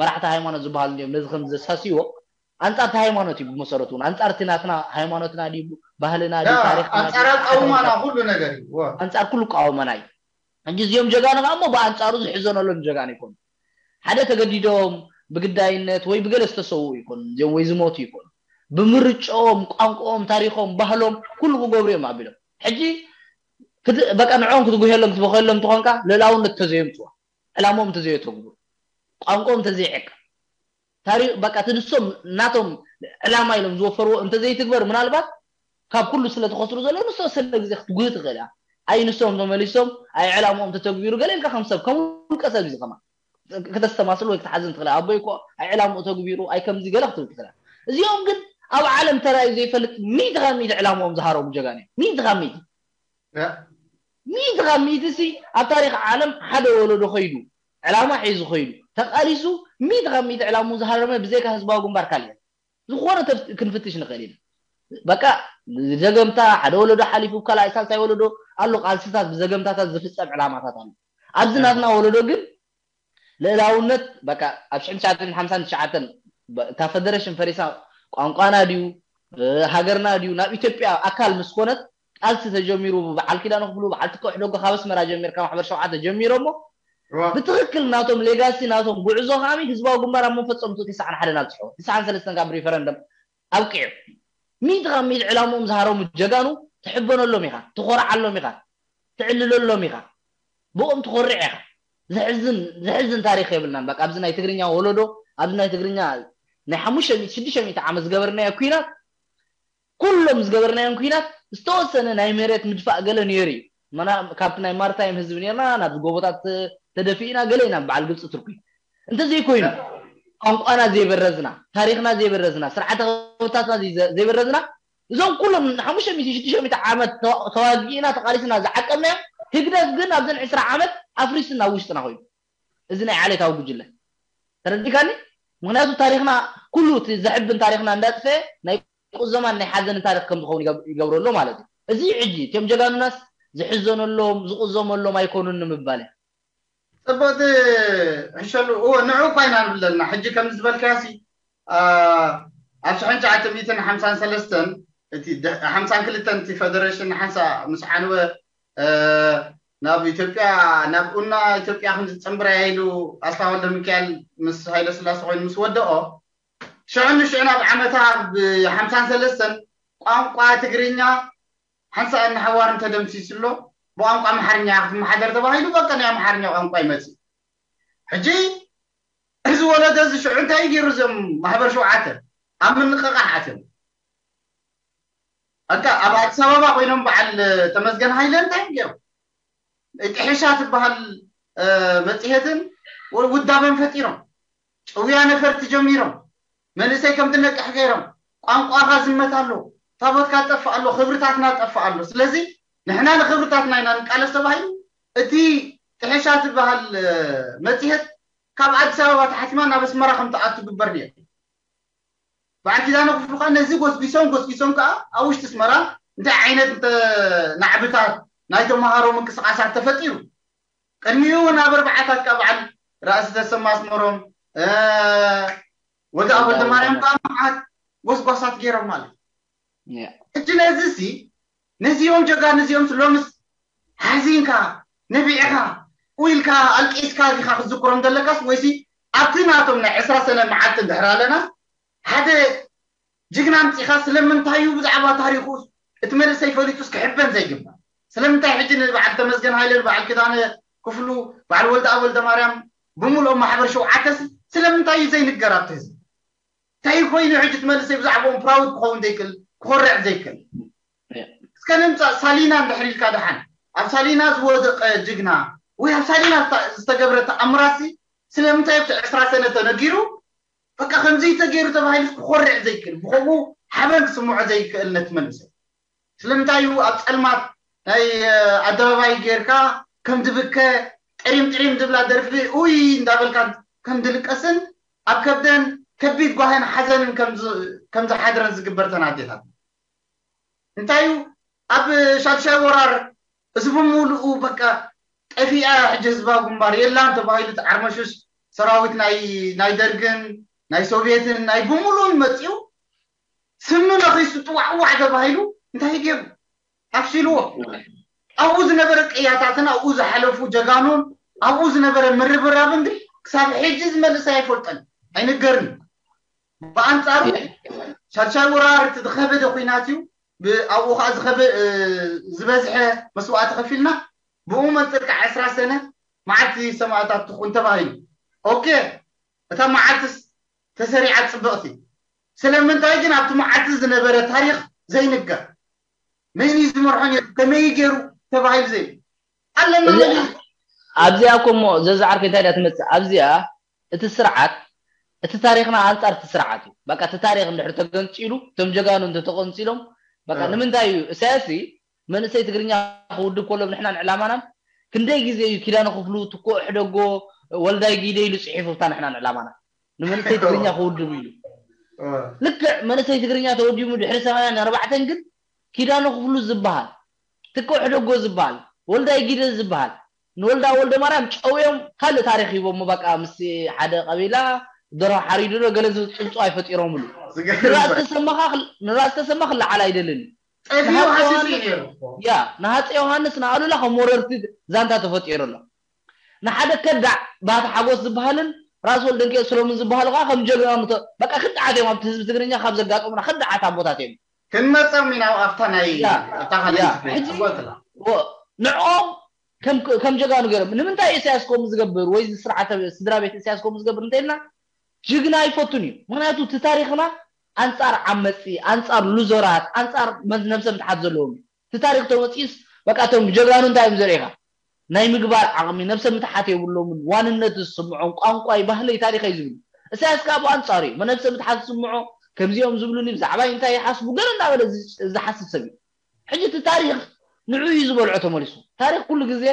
መራሕቲ ሃይማኖት ዝበሃሉ እንዲኦም ነዚ ከም ዘሳስይዎ ኣንጻር እቲ ሃይማኖት እዩ ብመሰረቱ እውን ኣንጻር እቲ ናትና ሃይማኖትና ድዩ ባህልና ድዩ ታሪኽና ድዩ ኣንጻር ኣቃውማና ኩሉ ነገር እዩ። ኣንጻር ኩሉ ቃወመና እዩ። ሕጂ እዚኦም ጀጋኑ ከዓ እሞ ብኣንጻሩ ዝሕዘነሎም ጀጋኑ ይኮኑ። ሓደ ተገዲዶም ብግዳይነት ወይ ብገለ ዝተሰውኡ ይኮኑ እዚኦም ወይ ዝሞቱ ይኮኑ። ብምርጫኦም፣ ቋንቋኦም፣ ታሪኾም፣ ባህሎም ኩሉ ክገብሩ እዮም ኣቢሎም። ሕጂ በቃ ንዕኦም ክትጉሄሎም ክትበኸሎም ትኾንካ ልእላውነት ተዘየምፅዋ ዕላሞም ተዘየተግብሩ ቋንቋኦም ተዘይዕቅ ታሪኽ በቃ እቲ ንሶም ናቶም ዕላማ ኢሎም ዝወፈርዎ እንተዘይትግበር ምናልባት ካብ ኩሉ ስለ ትኸስሩ ዘሎ ንሶ ሰለ ግዜ ክትጉህ ትኽእል እያ። ኣይ ንሶም ተመሊሶም ኣይ ዕላምኦም ተተግቢሩ ገለ ኢልካ ከም ሰብ ከም ውልቀ ሰብ እዩ ዝኸማ ከተስተማስል ወይ ክትሓዝን ትኽእል ኣቦይ እኮ ኣይ ዕላምኡ ተግቢሩ ኣይ ከምዚ ገለ ክትብል ትኽእል እዚኦም ግን ኣብ ዓለም ተራዩ ዘይፈልጥ ሚእቲ ካብ ሚእቲ ዕላምኦም ዝሃረሙ ጀጋን እዮም ሚእቲ ካብ ሚእቲ ሚእቲ ካብ ሚእቲ ሲ ኣብ ታሪክ ዓለም ሓደ ወለዶ ከይዱ ዕላማ ሒዙ ከይዱ ተቃሊሱ ሚእቲ ካብ ሚእቲ ዕላምኡ ዝሃረመ ብዘይካ ህዝባዊ ግንባር ካልእ ዝኾነ ክንፍትሽ ንኽእል ኢና በቃ ዘገምታ ሓደ ወለዶ ሓሊፉ ካልኣይ ሳልሳይ ወለዶ ኣሎ ቃልስታት ብዘገምታታት ዝፍፀም ዕላማታት ኣሎ ኣብዚ ናትና ወለዶ ግን ልእላውነት በቃ ኣብ ሽሕን ትሽዓተን ሓምሳን ትሽዓተን እታ ፈደረሽን ፈሪሳ ቋንቋና ድዩ ሃገርና ድዩ ናብ ኢትዮጵያ ኣካል ምስ ኮነት ቃልሲ ተጀሚሩ ብዓል ኪዳነ ክፍሉ በዓል ትከ ሕደጎ ካብ ኣስመራ ጀሚርካ ማሕበር ሸውዓተ ጀሚሮሞ ብትኽክል ናቶም ሌጋሲ ናቶም ጉዕዞ ከዓሚ ህዝባዊ ግንባር ኣብ መፈፀምቱ ትስዓን ሓደን ኣብፅሕዎ ትስዓን ሰለስተን ካብ ሪፈረንደም ኣብቂዑ ሚእቲ ካብ ሚእቲ ዕላምኦም ዝሃረሙ ጀጋኑ ትሕበነሎም ኢኻ ትኾርዓሎም ኢኻ ትዕልለሎም ኢኻ ብኦም ትኾርዕ ኢኻ ዘሕዝን ዘሕዝን ታሪክ የብልናን በቃ ኣብዚ ናይ ትግርኛ ወለዶ ኣብዚ ናይ ትግርኛ ናይ ሓሙሽተ ሚእቲ ሽዱሽተ ሚእቲ ዓመት ዝገበርናዮ ኩናት ኩሎም ዝገበርናዮም ኩናት ዝተወሰነ ናይ መሬት ምድፋእ ገለ ነይሩ እዩ መና ካብቲ ናይ ማርታይም ህዝቢ ነርና ናብዚ ጎቦታት ተደፊእና ገለ ኢና በዓል ግብፂ ትርኩ እንተዘይኮይኑ ቋንቋና ዘይበረዝና ታሪክና ዘይበረዝና ስርዓተ ክብርታትና ዘይበረዝና እዞም ኩሎም ሓሙሽተ ሚእቲ ሽዱሽተ ሚእቲ ዓመት ተዋጊእና ተቃሊስና ዝዓቀብናዮም ህግደፍ ግን ኣብዘን ዕስራ ዓመት ኣፍሪስና ውሽጥና ኮይኑ እዚ ናይ ዓሌታዊ ጉጅለ ተረዲካኒ ምክንያቱ ታሪክና ኩሉ እቲ ዘሕብን ታሪክና እንዳጥፈ ናይ ቁዘማን ናይ ሓዘንን ታሪክ ከም ዝኸውን ይገብረሎ ማለት እዩ እዚ ሕጂ እቲኦም ጀጋኑናስ ዝሕዘነሎም ዝቁዘመሎም ኣይኮኑን ንምባል ፅቡቅቲ ሕሸሉ እወ ንዑ እኳ ኢና ንብል ዘለና ሕጂ ከም ዝበልካያሲ ኣብ ሽሕን ትሽዓተ ሚእትን ሓምሳን ሰለስተን እቲ ሓምሳን ክልተን እቲ ፈደሬሽን ሓንሳ ምስ ዓንወ ናብ ኢትዮጵያ ናብ ኡና ኢትዮጵያ ከም ዝፀንብረያ ኢሉ ኣስፋ ወልደ ሚካኤል ምስ ሃይለ ስላሴ ኮይኑ ምስ ወደኦ ሽዑ ንሽዑ ናብ ዓመታ ብ ሓምሳን ሰለስተን ቋንቋ ትግርኛ ሓንሳእን ንሓዋርን ተደምሲሱ ኣሎ። ብቋንቋ ኣምሓርኛ ክትመሓደር ተባሂሉ በቃ ናይ ኣምሓርኛ ቋንቋ ይመፅእ። ሕጂ እዚ ወለዶ እዚ ሽዑ እንታይ ገይሩ እዞም ማሕበር ሸውዓተ ኣብ ምንቕቓሕ ኣትዮም ኣካ ኣብ ኣዲስ ኣበባ ኮይኖም በዓል ተመስገን ሃይለ እንታይ እዮም ገይሮም? ጥሒሻ ትበሃል መፅሄትን ውዳበን ፈጢሮም ጭውያ ነፈርቲ ጀሚሮም መንእሰይ ከም ትነቅሕ ገይሮም ቋንቋኻ ዝመት ኣሎ ታቦትካ ጠፍእ ኣሎ ክብርታትና ጠፍእ ኣሎ ስለዚ ንሕና ንክብርታትና ኢና ንቃለስ ተባሂሉ እቲ ጥሒሻ ትበሃል መፅሄት ካብ ኣዲስ ኣበባ ተሓቲማ ናብ ኣስመራ ከም ትኣቱ ግበር ነይሩ በዓል ኪዳነ ክፍሉ ከዓ ነዚ ጎስጒሶም ጎስጒሶም ከዓ ኣብ ውሽጢ ኣስመራ እንታይ ዓይነት ናዕብታት ናይ ተምሃሮ ምንቅስቃሳት ተፈጢሩ ቅድሚኡ እውን ኣብ ኣርባዓታት ካብ በዓል ራእሲ ተሰማ ኣስመሮም ወዲ ኣወልደ ማርያም ከዓ መዓት ጎስጓሳት ገይሮም ማለት ሕጂ ነዚ ሲ ነዚኦም ጀጋን እዚኦም ሎምስ ሓዚንካ ነቢዕኻ ቁኢልካ ኣልቂስካ ዲኻ ክትዝክሮም ዘለካስ ወይሲ ኣብቲ ናቶም ናይ ዕስራ ሰነ መዓልቲ እንድሕር ኣለና ሓደ ጅግና ኣምፂኻ ስለምንታይ እዩ ብዛዕባ ታሪኹ እቲ መንእሰይ ፈሊጡስ ክሕበን ዘይግባእ ስለምንታይ ሕጂ ንበዓል ተመስገን ሃይለ በዓል ክዳነ ክፍሉ በዓል ወልደ ኣብ ወልደ ማርያም ብምልኦም ማሕበር ሸውዓተስ ስለምንታይ እዩ ዘይንገር ኣብቲ ህዝቢ እንታይ ኮይኑ ሕጂ እቲ መንእሰይ ብዛዕባኦም ፕራውድ ክኸውን ዘይክእል ክኾርዕ ዘይክእል እስከ ንምፃእ ሳሊና እንድሕር ኢልካ ደሓን ኣብ ሳሊና ዝወደቀ ጅግና ወይ ኣብ ሳሊና ዝተገብረ ተኣምራሲ ስለምንታይ ኣብቲ ዕስራ ሰነ ተነጊሩ በቃ ከምዚ ተገይሩ ተባሂሉ ክኾርዕ ዘይክእል ብከምኡ ሓበን ክስምዖ ዘይክእል ነቲ መንእሰይ ስለምንታይ እዩ ኣብ ፀልማት ናይ ኣደባባይ ጌርካ ከም ድብከ ጥሪም ጥሪም ድብላ ደርፊ ኡይ እንዳበልካ ከም ድልቀስን ኣብ ከብደን ከቢድ ጓህን ሓዘንን ከም ዝ- ከም ዝሓድረን ዝግበር ተን ኣዴታት። እንታይ እዩ ኣብ ሻድሻይ ወራር እዚ ብምሉኡ በቃ ጠፊኣ ሕጂ ህዝባዊ ግንባር የላን ተባሂሉ እቲ ዓርመሹሽ ሰራዊት ናይ ናይ ደርግን ናይ ሶቪየትን ናይ ብምሉኡን መፂኡ ስሚ ነኺሱ ጥዋዕዋዕ ተባሂሉ እንታይ ገይሩ ኣፍሽልዎ። ኣብኡ ዝነበረ ቅያታትን ኣብኡ ዝሓለፉ ጀጋኑን ኣብኡ ዝነበረ ምርብራብን ግን ክሳብ ሕጂ ዝመልስ ኣይፈልጠን ኣይንገርን። ብኣንጻሩ ሻድሻይ ወራር እቲ ዝኸበደ ኩናት እዩ። ብኣብኡ ከዓ ዝኸበ ዝበዝሐ መስዋእቲ ከፊልና ብኡ መንፅር ከዓ ዕስራ ሰነ መዓልቲ ሰማእታት ትኹን ተባሂሉ። ኦኬ፣ እታ መዓልትስ ተሰሪዓ ፅብቕቲ። ስለምንታይ ግን ኣብቲ መዓልቲ ዝነበረ ታሪክ ዘይንገር? መን እዩ ዝመርሖ ነይሩ? ከመይ ገይሩ ተባሂሉ ዘይ ኣለና መን እዩ? ኣብዚኣ እኮ እሞ ዘዛዓርኩ እንታይ ድያ ትመፅእ ኣብዚኣ? እቲ ስርዓት እቲ ታሪክና ኣንፃር እቲ ስርዓት እዩ። በቃ እቲ ታሪክ እንድሕር ተገንፂሉ እቶም ጀጋኑ እንተተቆንፂሎም በቃ ንምንታይ እዩ እሳያስ መንእሰይ ትግርኛ ክውድብ ከሎ ንሕናን ዕላማናን ክንደይ ግዜ እዩ ኪዳነ ክፍሉ ትኮ ሕደጎ ወልዳይ ጊደ ኢሉ ፅሒፉ ብታ ንሕናን ዕላማና ንመንእሰይ ትግርኛ ክውድብ ኢሉ ልክዕ መንእሰይ ትግርኛ ተወዲሙ ድሕሪ ሰማንያን ኣርባዕተን ግን ኪዳነ ክፍሉ ዝበሃል ትኮ ሕደጎ ዝበሃል ወልዳይ ጊደ ዝበሃል ንወልዳ ወልደ ማርያም ጨውዮም ካልእ ታሪክ ሂቦሞ በቃ ምስ ሓደ ቀቢላ ደርሆ ሓሪዱ ዶ ገለ ዝብል ፅንፅዋይ ፈጢሮምሉ ንራእሲ ተሰማ ክለዓል ኣይደልን እዩ ጠፊኡ ሓሲሱ እዩ ነይሩ እኮ። ያ ንሃፀ ዮሃንስ ንኣሉላ ከም ወረርቲ ዛንታ ተፈጢሩ ኣሎ ንሓደ ከዳዕ ባህቲ ሓጎስ ዝበሃልን ራስ ወልደንኪኤል ሰሎሙን ዝበሃሉ ከዓ ከም ጀግና ምተ በቃ ክዳዓት እዮም ኣብቲ ህዝቢ ትግርኛ ካብ ዘጋጠሙና ክዳዓት ኣቦታት እዮም ክንመፀም ኢና ኣብታ ናይ ያ፣ ኣብታ ካልኣይቲ ያ፣ ክፍሊ ሕጂ- ጽቡቕ ትላ። ወ- ንዕኦም ከም ከም ጀጋኑ ገይሮም ንምንታይ ኢሳያስ ከምኡ ዝገብር ወይ እዚ ስርዓተ ስድራ ቤት ኢሳያስ ከምኡ ዝገብር እንተኢልና ጅግና ኣይፈቱን እዩ ምክንያቱ እቲ ታሪክና ኣንፃር ዓመፂ ኣንፃር ሉዞራት ኣንፃር መ- ነብሰ ምትሓት ዘለዎም እዩ እቲ ታሪክ ተመፂኡስ በቃ እቶም ጀጋኑ እንታይ እዮም ዘርእኻ ናይ ምግባር ዓቕሚ ነብሰ ምትሓት የብሎምን ዋንነት ዝስምዖም ቋንቋይ ባህለይ ታሪኸይ ዝብሉ እሳያስ ከዓ ብኣንፃሩ እዩ ነብሰ ምትሓት ዝስምዖ ከምዚኦም ዝብሉኒ ብዛዕባይ እንታይ ይሓስቡ ገለ እናበለ ዝ- ዝሓስብ ሰብ እዩ ሕጂ እቲ ታሪክ ንዑ እዩ ዝበልዖ ተመሊሱ ታሪክ ኩሉ ግዜ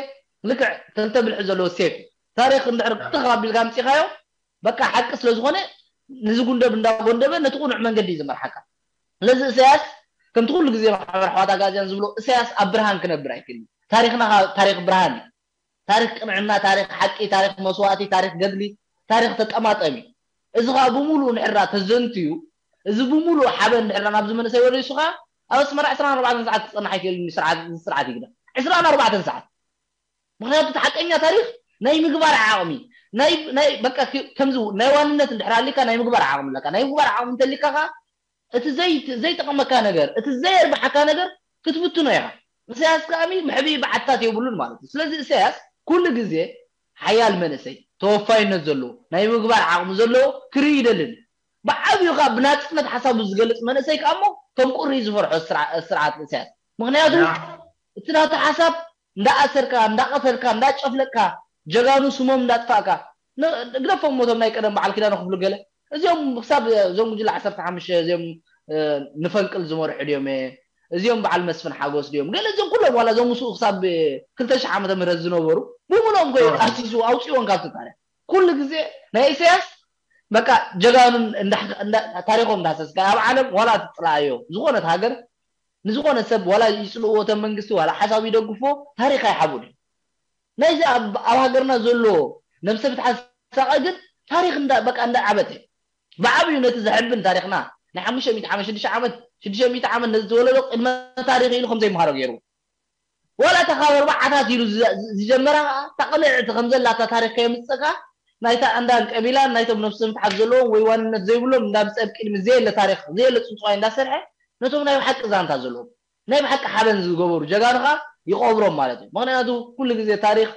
ልክዕ ተልተብልሒ ዘለዎ ሴፍ እዩ ታሪክ እንድሕር ትኽ ኣቢልካ ኣምፂኻዮ በቃ ሓቂ ስለዝኾነ ንዝጉንደብ እንዳጎንደበ ነቲ ቁኑዕ መንገዲ እዩ ዝመርሓካ ስለዚ እሳያስ ከምቲ ኩሉ ግዜ ማሕበር ኣሕዋት ኣጋዝያን ዝብሎ እሳያስ ኣብ ብርሃን ክነብር ኣይክእልን ታሪክና ታሪክ ብርሃን እዩ ታሪክ ቅንዕና ታሪክ ሓቂ ታሪክ መስዋእቲ ታሪክ ገድሊ ታሪክ ተጠማጠሚ እዚ ከዓ ብምሉእ ንሕራ ተዘንትዩ እዚ ብምሉእ ሓበን ንሕራ ናብዚ መንእሰይ ወሪሱ ከዓ ኣብ ኣስመራ ዕስራን ኣርባዕተን ሰዓት ክፀንሕ ኣይክእልን ስርዓት ይግዳ ዕስራን ኣርባዕተን ሰዓት ምክንያቱ እቲ ሓቀኛ ታሪክ ናይ ምግባር ዓቕሚ ናይ ናይ በቃ ከምዚ ናይ ዋንነት እንድሕር ኣሊካ ናይ ምግባር ዓቕሚ ኣለካ ናይ ምግባር ዓቕሚ እንተሊካ ከዓ እቲ ዘይ ዘይጠቕመካ ነገር እቲ ዘየርብሓካ ነገር ክትብትኖ ኢኻ ኢሳያስ ከኣሚ መሕብኢ በዓትታት የብሉን ማለት እዩ ስለዚ ኢሳያስ ኩሉ ግዜ ሓያል መንእሰይ ተወፋይነት ዘለዎ ናይ ምግባር ዓቕሚ ዘለዎ ክርኢ ይደልን ብዓብዩ ከዓ ብናፅነት ሓሳቡ ዝገልፅ መንእሰይ ከዓ እሞ ከም ቁሪ ዝፈርሖ ስርዓት ኢሳያስ ምክንያቱ እቲ ናቱ ሓሳብ እንዳኣሰርካ እንዳቀተልካ እንዳጨፍለቅካ ጀጋኑ ስሞም እንዳጥፋእካ ግደፎም ሞቶም ናይ ቀደም በዓል ኪዳነ ክፍሉ ገለ እዚኦም ክሳብ እዞም ጉጅለ ዓሰርተ ሓሙሽተ እዚኦም ንፈንቅል ዝመርሑ ድዮም እዚኦም በዓል መስፍን ሓጎስ ድዮም ገለ እዚኦም ኩሎም ዋላ እዞም ምስኡ ክሳብ ክልተ ሽሕ ዓመተ ምህረት ዝነበሩ ብምሎም ኮ ኣሲሱ ኣውፅዎን ካብቲ ታሪክ ኩሉ ግዜ ናይ ኢሳያስ በቃ ጀጋኑን ታሪኮም እንዳሰስካ ኣብ ዓለም ዋላ ትፅላኣዮ ዝኾነት ሃገር ንዝኾነ ሰብ ዋላ ይፅልእዎ እቶም መንግስቲ ዋላ ሓሳቡ ይደግፎ ታሪክ ኣይሓቡን እዩ ናይዚ ኣብ ኣብ ሃገርና ዘሎ ነብሰ ምትሓት ሳቐ ግን ታሪክ እንዳ በቃ እንዳ ዓበተ ብዓብዩ ነቲ ዘሕብን ታሪክና ናይ ሓሙሽተ ሚእቲ ዓመት ሽዱሽተ ዓመት ሽዱሽተ ሚእቲ ዓመት ነዚ ተወለዶ ቅድመ ታሪክ ኢሉ ከም ዘይምሃሮ ገይሩ ዋላ እታ ካብ ኣርባዓታት ኢሉ ዝጀመራ ከዓ እታ ቅንዕቲ ከም ዘላታ ታሪክ ከየምፀካ ናይታ ኣንዳን ቀቢላን ናይቶም ነብሰ ምትሓት ዘለዎም ወይ ዋንነት ዘይብሎም እንዳምፀ ኣብ ቅድሚ ዘየለ ታሪክ ዘየለ ፅንፅዋይ እንዳሰርሐ ነቶም ናይ ብሓቂ ዛንታ ዘለዎም ናይ ብሓቂ ሓበን ዝገበሩ ጀጋኑ ከዓ ይቐብሮም ማለት እዩ ምክንያቱ ኩሉ ግዜ ታሪክ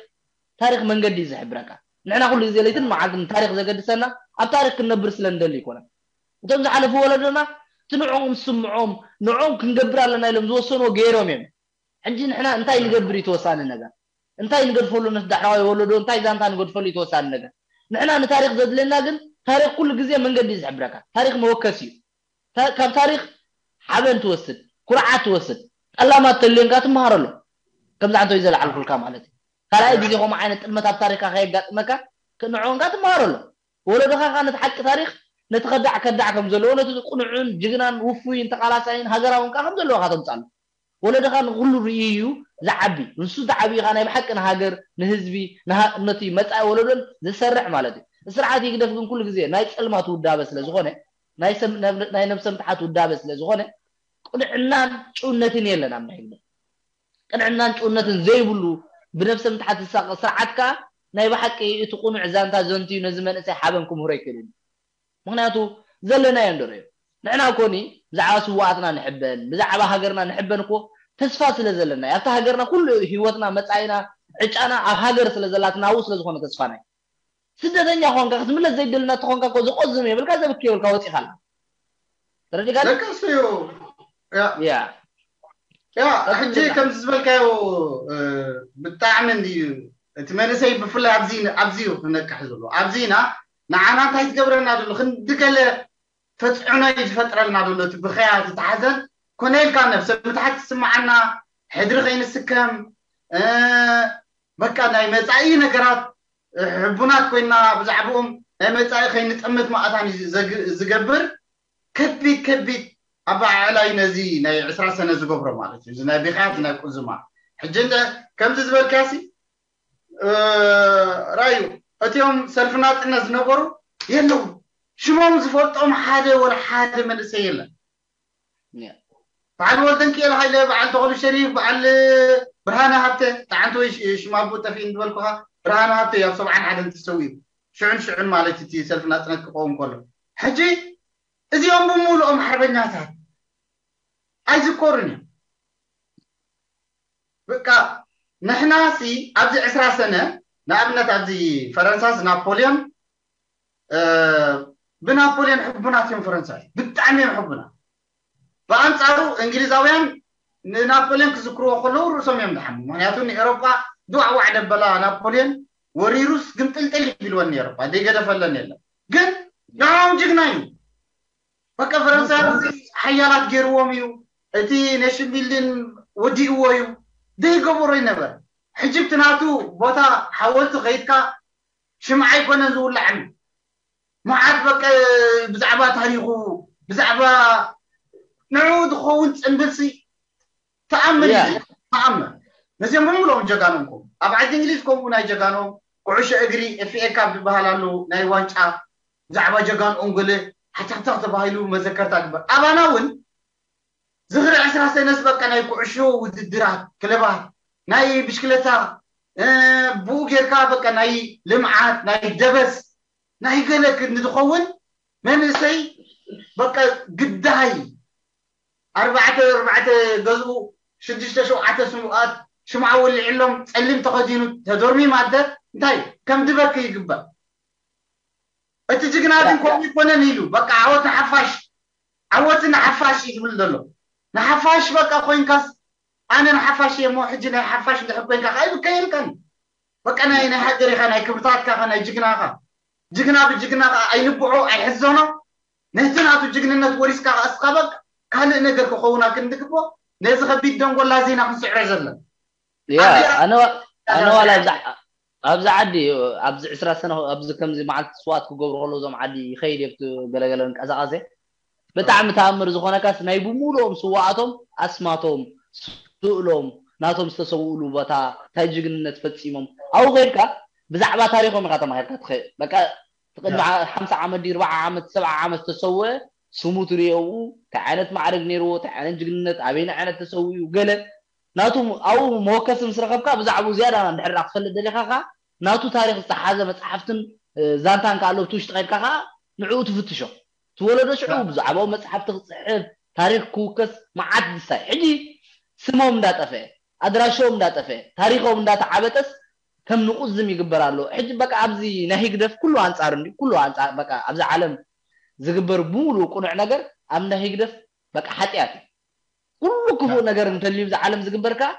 ታሪክ መንገዲ እዩ ዝሕብረካ ንሕና ኩሉ ግዜ ለይትን መዓልትን ታሪክ ዘገድሰና ኣብ ታሪክ ክንነብር ስለ ንደሊ ይኮነ እቶም ዝሓለፉ ወለዶና እቲ ንዕኦም ዝስምዖም ንዕኦም ክንገብር ኣለና ኢሎም ዝወሰንዎ ገይሮም እዮም ሕጂ ንሕና እንታይ ንገብር እዩ ተወሳኒ ነገር እንታይ ንገድፈሉ ነቲ ዳሕራዋይ ወለዶ እንታይ ዛንታ ንገድፈሉ እዩ ተወሳኒ ነገር ንሕና ንታሪክ ዘድልየና ግን ታሪክ ኩሉ ግዜ መንገዲ እዩ ዝሕብረካ ታሪክ መወከሲ እዩ ካብ ታሪክ ሓበን ትወስድ ኩርዓት ትወስድ ጠላማት ተልዮንካ ትመሃረሎም ከምዚ ዓንተይ ዘለዓልኩልካ ማለት እዩ ካልኣይ ግዜ ከምኡ ዓይነት ጥልመት ኣብ ታሪክካ ከየጋጥመካ ንዕኦንካ ትመሃረሎም ወለዶኻ ከኣ ነቲ ሓቂ ታሪኽ፣ ነቲ ከዳዕ ከዳዕ ከም ዘለዎ፣ ነቲ ቅኑዕን ጅግናን ውፉይን ተቓላሳይን ሃገራውን ከኣ ከም ዘለዎ ኢኻ ተምጽኣሉ። ወለዶኻ ንኹሉ ርእዩ እዩ ዝዓቢ። ንሱ ተዓብዩ ኸኣ ናይ ብሓቂ ንሃገር፣ ንህዝቢ፣ ንሃ-፣ ነቲ መጻኢ ወለዶን ዝሰርዕ ማለት እዩ። ስርዓት ህግደፍ ግን ኩሉ ግዜ ናይ ጸልማት ውዳበ ስለ ዝኾነ፣ ናይ ሰብ-፣ ናይ ነብሰ ምትሓት ውዳበ ስለ ዝኾነ፣ ቅንዕናን ጭውነትን የለን ኣብ ናይ ህግደፍ። ቅንዕናን ጭውነትን ዘይብሉ ብነብሰ ምትሓት ዝሳቐ ስርዓት ከኣ ናይ ብሓቂ እቲ ቅኑዕ ዛንታ ዘንትዩ ነዚ መንእሰይ ሓበን ክምህሮ ኣይክእልን እዩ። ምኽንያቱ ዘለናዮ እንዶ ርእዮ። ንሕና ኮኒ ብዛዕባ ስውኣትና ንሕበን፣ ብዛዕባ ሃገርና ንሕበን እኮ ተስፋ ስለ ዘለና እዩ። ኣብታ ሃገርና ኩሉ ህይወትና፣ መጻኢና፣ ዕጫና ኣብ ሃገር ስለ ዘላትና ኣብኡ ስለ ዝኾነ ተስፋና እዩ። ስደተኛ ኾንካ ክትምለስ ዘይደልና ተኾንካ እኮ ዝቆዝም የብልካ፣ ዘብኪ የብልካ፣ ወጺኻ ኣላ። ተረዲእካ? ደቀሱ እዩ። ያ። ያ። ያ፣ ቀጥል ሕጂ ብላ። ከምዚ ዝበልካዮ፣ እ፣ ብጣዕሚ እንድዩ እቲ መንእሰይ ብፍላይ ኣብዚ፣ ኣብዚ እዩ ክነቅሕ ዘሎ። ኣብዚና ንዓና እንታይ ትገብረና ዘሎ? ክንዲ ገለ ተጽዕኖ እዩ ዝፈጥረልና ዘሎ። እቲ ብኸያ፣ እቲ ተሓዘን ኮነ ኢልካ ነብሰ ምትሓት ትስምዓና፣ ሕድሪ ከይንስከም፣ እ፣ በቃ ናይ መጻኢ ነገራት፣ እ፣ ሕቡናት ኮይና ብዛዕባኦም ናይ መጻኢ ከይንጠምት ማእታን እዩ ዘግ-፣ ዝገብር። ከቢድ፣ ከቢድ ኣበዓዕላይ ነዚ ናይ ዕስራ ሰነ ዝገብሮ ማለት እዩ። እዚ ናይ ብኽያት፣ ናይ ቁዝማ። ሕጂ እንደ-፣ ከምዚ ዝበልካሲ፣ እ፣ ራዩ፣ እቲኦም ሰልፊ ናጽነት ዝነበሩ የለዉ። ሽሞም ዝፈልጦም ሓደ ወላ ሓደ መንእሰይ የለን። ያ። በዓል ወልደንኪኤል ሃይለ፣ በዓል ተኽሉ ሸሪፍ፣ በዓል ብርሃነ ሃብተ፣ ጠዓንተ ወይ ሽ-፣ ሽም ኣቦ ጠፊእኒ ዝበልኩኻ፣ ብርሃነ ሃብተ እዩ ኣብ ሰብዓን ሓደን ተሰዊኡ። ሽዑን ሽዑን ማለት እቲ ሰልፊ ናጽነት ክኸውን ከሎ። ሕጂ እዚኦም ብምሉኦም ሓርበኛታት ኣይዝከሩን እዮም። በቃ ንሕና ሲ ኣብዚ ዕስራ ሰነ፣ ንኣብነት ኣብዚ ፈረንሳስ ናፖልዮን፣ እ፣ ብናፖልዮን ሕቡናት እዮም ፈረንሳይ፣ ብጣዕሚ እዮም ሕቡናት። ብኣንጻሩ እንግሊዛውያን ንናፖልዮን ክዝክርዎ ከለዉ ርእሶም እዮም ዝሓሙ። ምኽንያቱ ንኤሮጳ ድዋዕዋዕ ደበላ ናፖልዮን ወሪሩስ ግምጥልጥል ይብልወን ንኤሮጳ፣ ዘይገደፈለን የለን። ግን ንዕኦም ጅግና እዩ። በቃ ፈረንሳውያን እዚ ሓያላት ገይርዎም እዩ። እቲ ኔሽን ቢልዲን ወዲእዎ እዩ። ዘይገበሮ ይነበር። ሕጂ እቲ ናቱ ቦታ ሓወልቲ ከይድካ ሽምዓ ኣይኮነን ዝውላዕን። መዓት በቃ ብዛዕባ ታሪኹ፣ ብዛዕባ ንዕኡ ዝኸውን ጽንብልሲ ተኣምር ያ። እዩ። ተኣምር። ነዚኦም ብምሉኦም ጀጋኖም ኮም። ኣብ ዓዲ እንግሊዝ ከምኡ ናይ ጀጋኖም ኩዕሾ እግሪ ኤፍ ኤ ካፕ ዝበሃል ኣሎ፣ ናይ ዋንጫ ብዛዕባ ጀጋንኦም ገለ ሓተኽተኽ ተባሂሉ መዘከርታ ግበር። ኣባና እውን ዝኽሪ ዕስራ ሰነስ በቃ ናይ ኩዕሾ ውድድራት፣ ክለባት፣ ናይ ብሽክለታ፣ እ፣ ብኡ ጌርካ በቃ ናይ ልምዓት፣ ናይ ደበስ፣ ናይ ገለ ክንዲ ዝኸውን መንእሰይ በቃ ግዳይ ኣርባዕተ፣ ኣርባዕተ ገዝኡ ሽዱሽተ ሸውዓተ ስሙኣት ሽምዓ ወሊዕሎም ጸሊም ተኸዲኑ ተዶርሚም ኣደ እንታይ ከም ድበክ ይግበር። እቲ ጅግና ግን ከምኡ ይኮነን ኢሉ በቃ ዓወት ንሓፋሽ፣ ዓወት ንሓፋሽ እዩ ዝብል ዘሎ። ንሓፋሽ በቃ ኮይንካስ ኣነ ንሓፋሽ እየ እሞ ሕጂ ናይ ሓፋሽ እንድሕር ኮይንካ ከዓ ይብከየልካን በቃ ናይ፣ ናይ ሃገር ኢኻ፣ ናይ ክብርታትካ ኢኻ፣ ናይ ጅግና ኢኻ። ጅግና ብጅግና ከዓ ኣይንብዖ ኣይሕዘኖ። ነቲ ናቱ ጅግንነት ወሪስካ ከዓ እስኻ በቃ ካልእ ነገር ክኸውን ኣክንድግቦ ነዚ ከቢድ ደንጎላ ዜና ክንስዕሮ ዘለን። ያ፣ ኣብዚኣ ኣነ ዋ-፣ ኣነ ዋላ ኣብዛ፣ ኣብዚ ዓዲ ኣብዚ ዕስራ ሰነ ኣብዚ ከምዚ መዓልቲ ስዋት ክገብሩ ከለዉ እዞም ዓዲ ይኸይድ እየ ብቲ ገለገለ እንቀሳቐሰ ብጣዕሚ ተኣምር ዝኾነካስ ናይ ብምሉኦም ስዋኣቶም ኣስማቶም ስእሎም ናቶም ዝተሰውእሉ ቦታ እንታይ ጅግንነት ፈጺሞም ኣብኡ ከይድካ ብዛዕባ ታሪኾም ኢኻ ተማሂርካ ትኸ-፣ በቃ እቲ ቅድሚ ያ። ሓምሳ ዓመት ድዩ ኣርባዓ ዓመት ሰብዓ ዓመት ዝተሰወ ስሙ ትርእዮ ኣብኡ እንታይ ዓይነት ማዕረግ ነይርዎ እንታይ ዓይነት ጅግንነት ኣበይና ዓይነት ተሰዊኡ ገለ ናቱ ኣብኡ መወከሲ ምስ ረኸብካ ብዛዕባኡ ዝያዳ እንድሕር ዳ ክትፈልጥ ደሊኻ ኸዓ ናቱ ታሪኽ ዝሓዘ መፅሓፍትን እ፣ ዛንታን ከዓ ኣሎ ብቲ ውሽጢ ከድካ ከዓ ንዕኡ ትፍትሾ እቲ ወለዶ ሽዑ ብዛዕባኡ መፅሓፍቲ ክፅሕፍ ታሪኽ ክውከስ መዓት ድሳይ ሕጂ ስሞም እንዳጠፈአ ኣድራሾም እንዳጠፈአ ታሪኾም እንዳተዓበጠስ ከም ንቁዝም ይግበር ኣሎ ሕጂ በቃ ኣብዚ ናይ ህግደፍ ኩሉ ኣንፃር እንዲ ኩሉ ኣንፃር በቃ ኣብዚ ዓለም ዝግበር ብምሉእ ቅኑዕ ነገር ኣብ ናይ ህግደፍ በቃ ሓጢኣት እዩ ኩሉ ክፉእ ነገር እንተልዩ ኣብዚ ዓለም ዝግበር ከዓ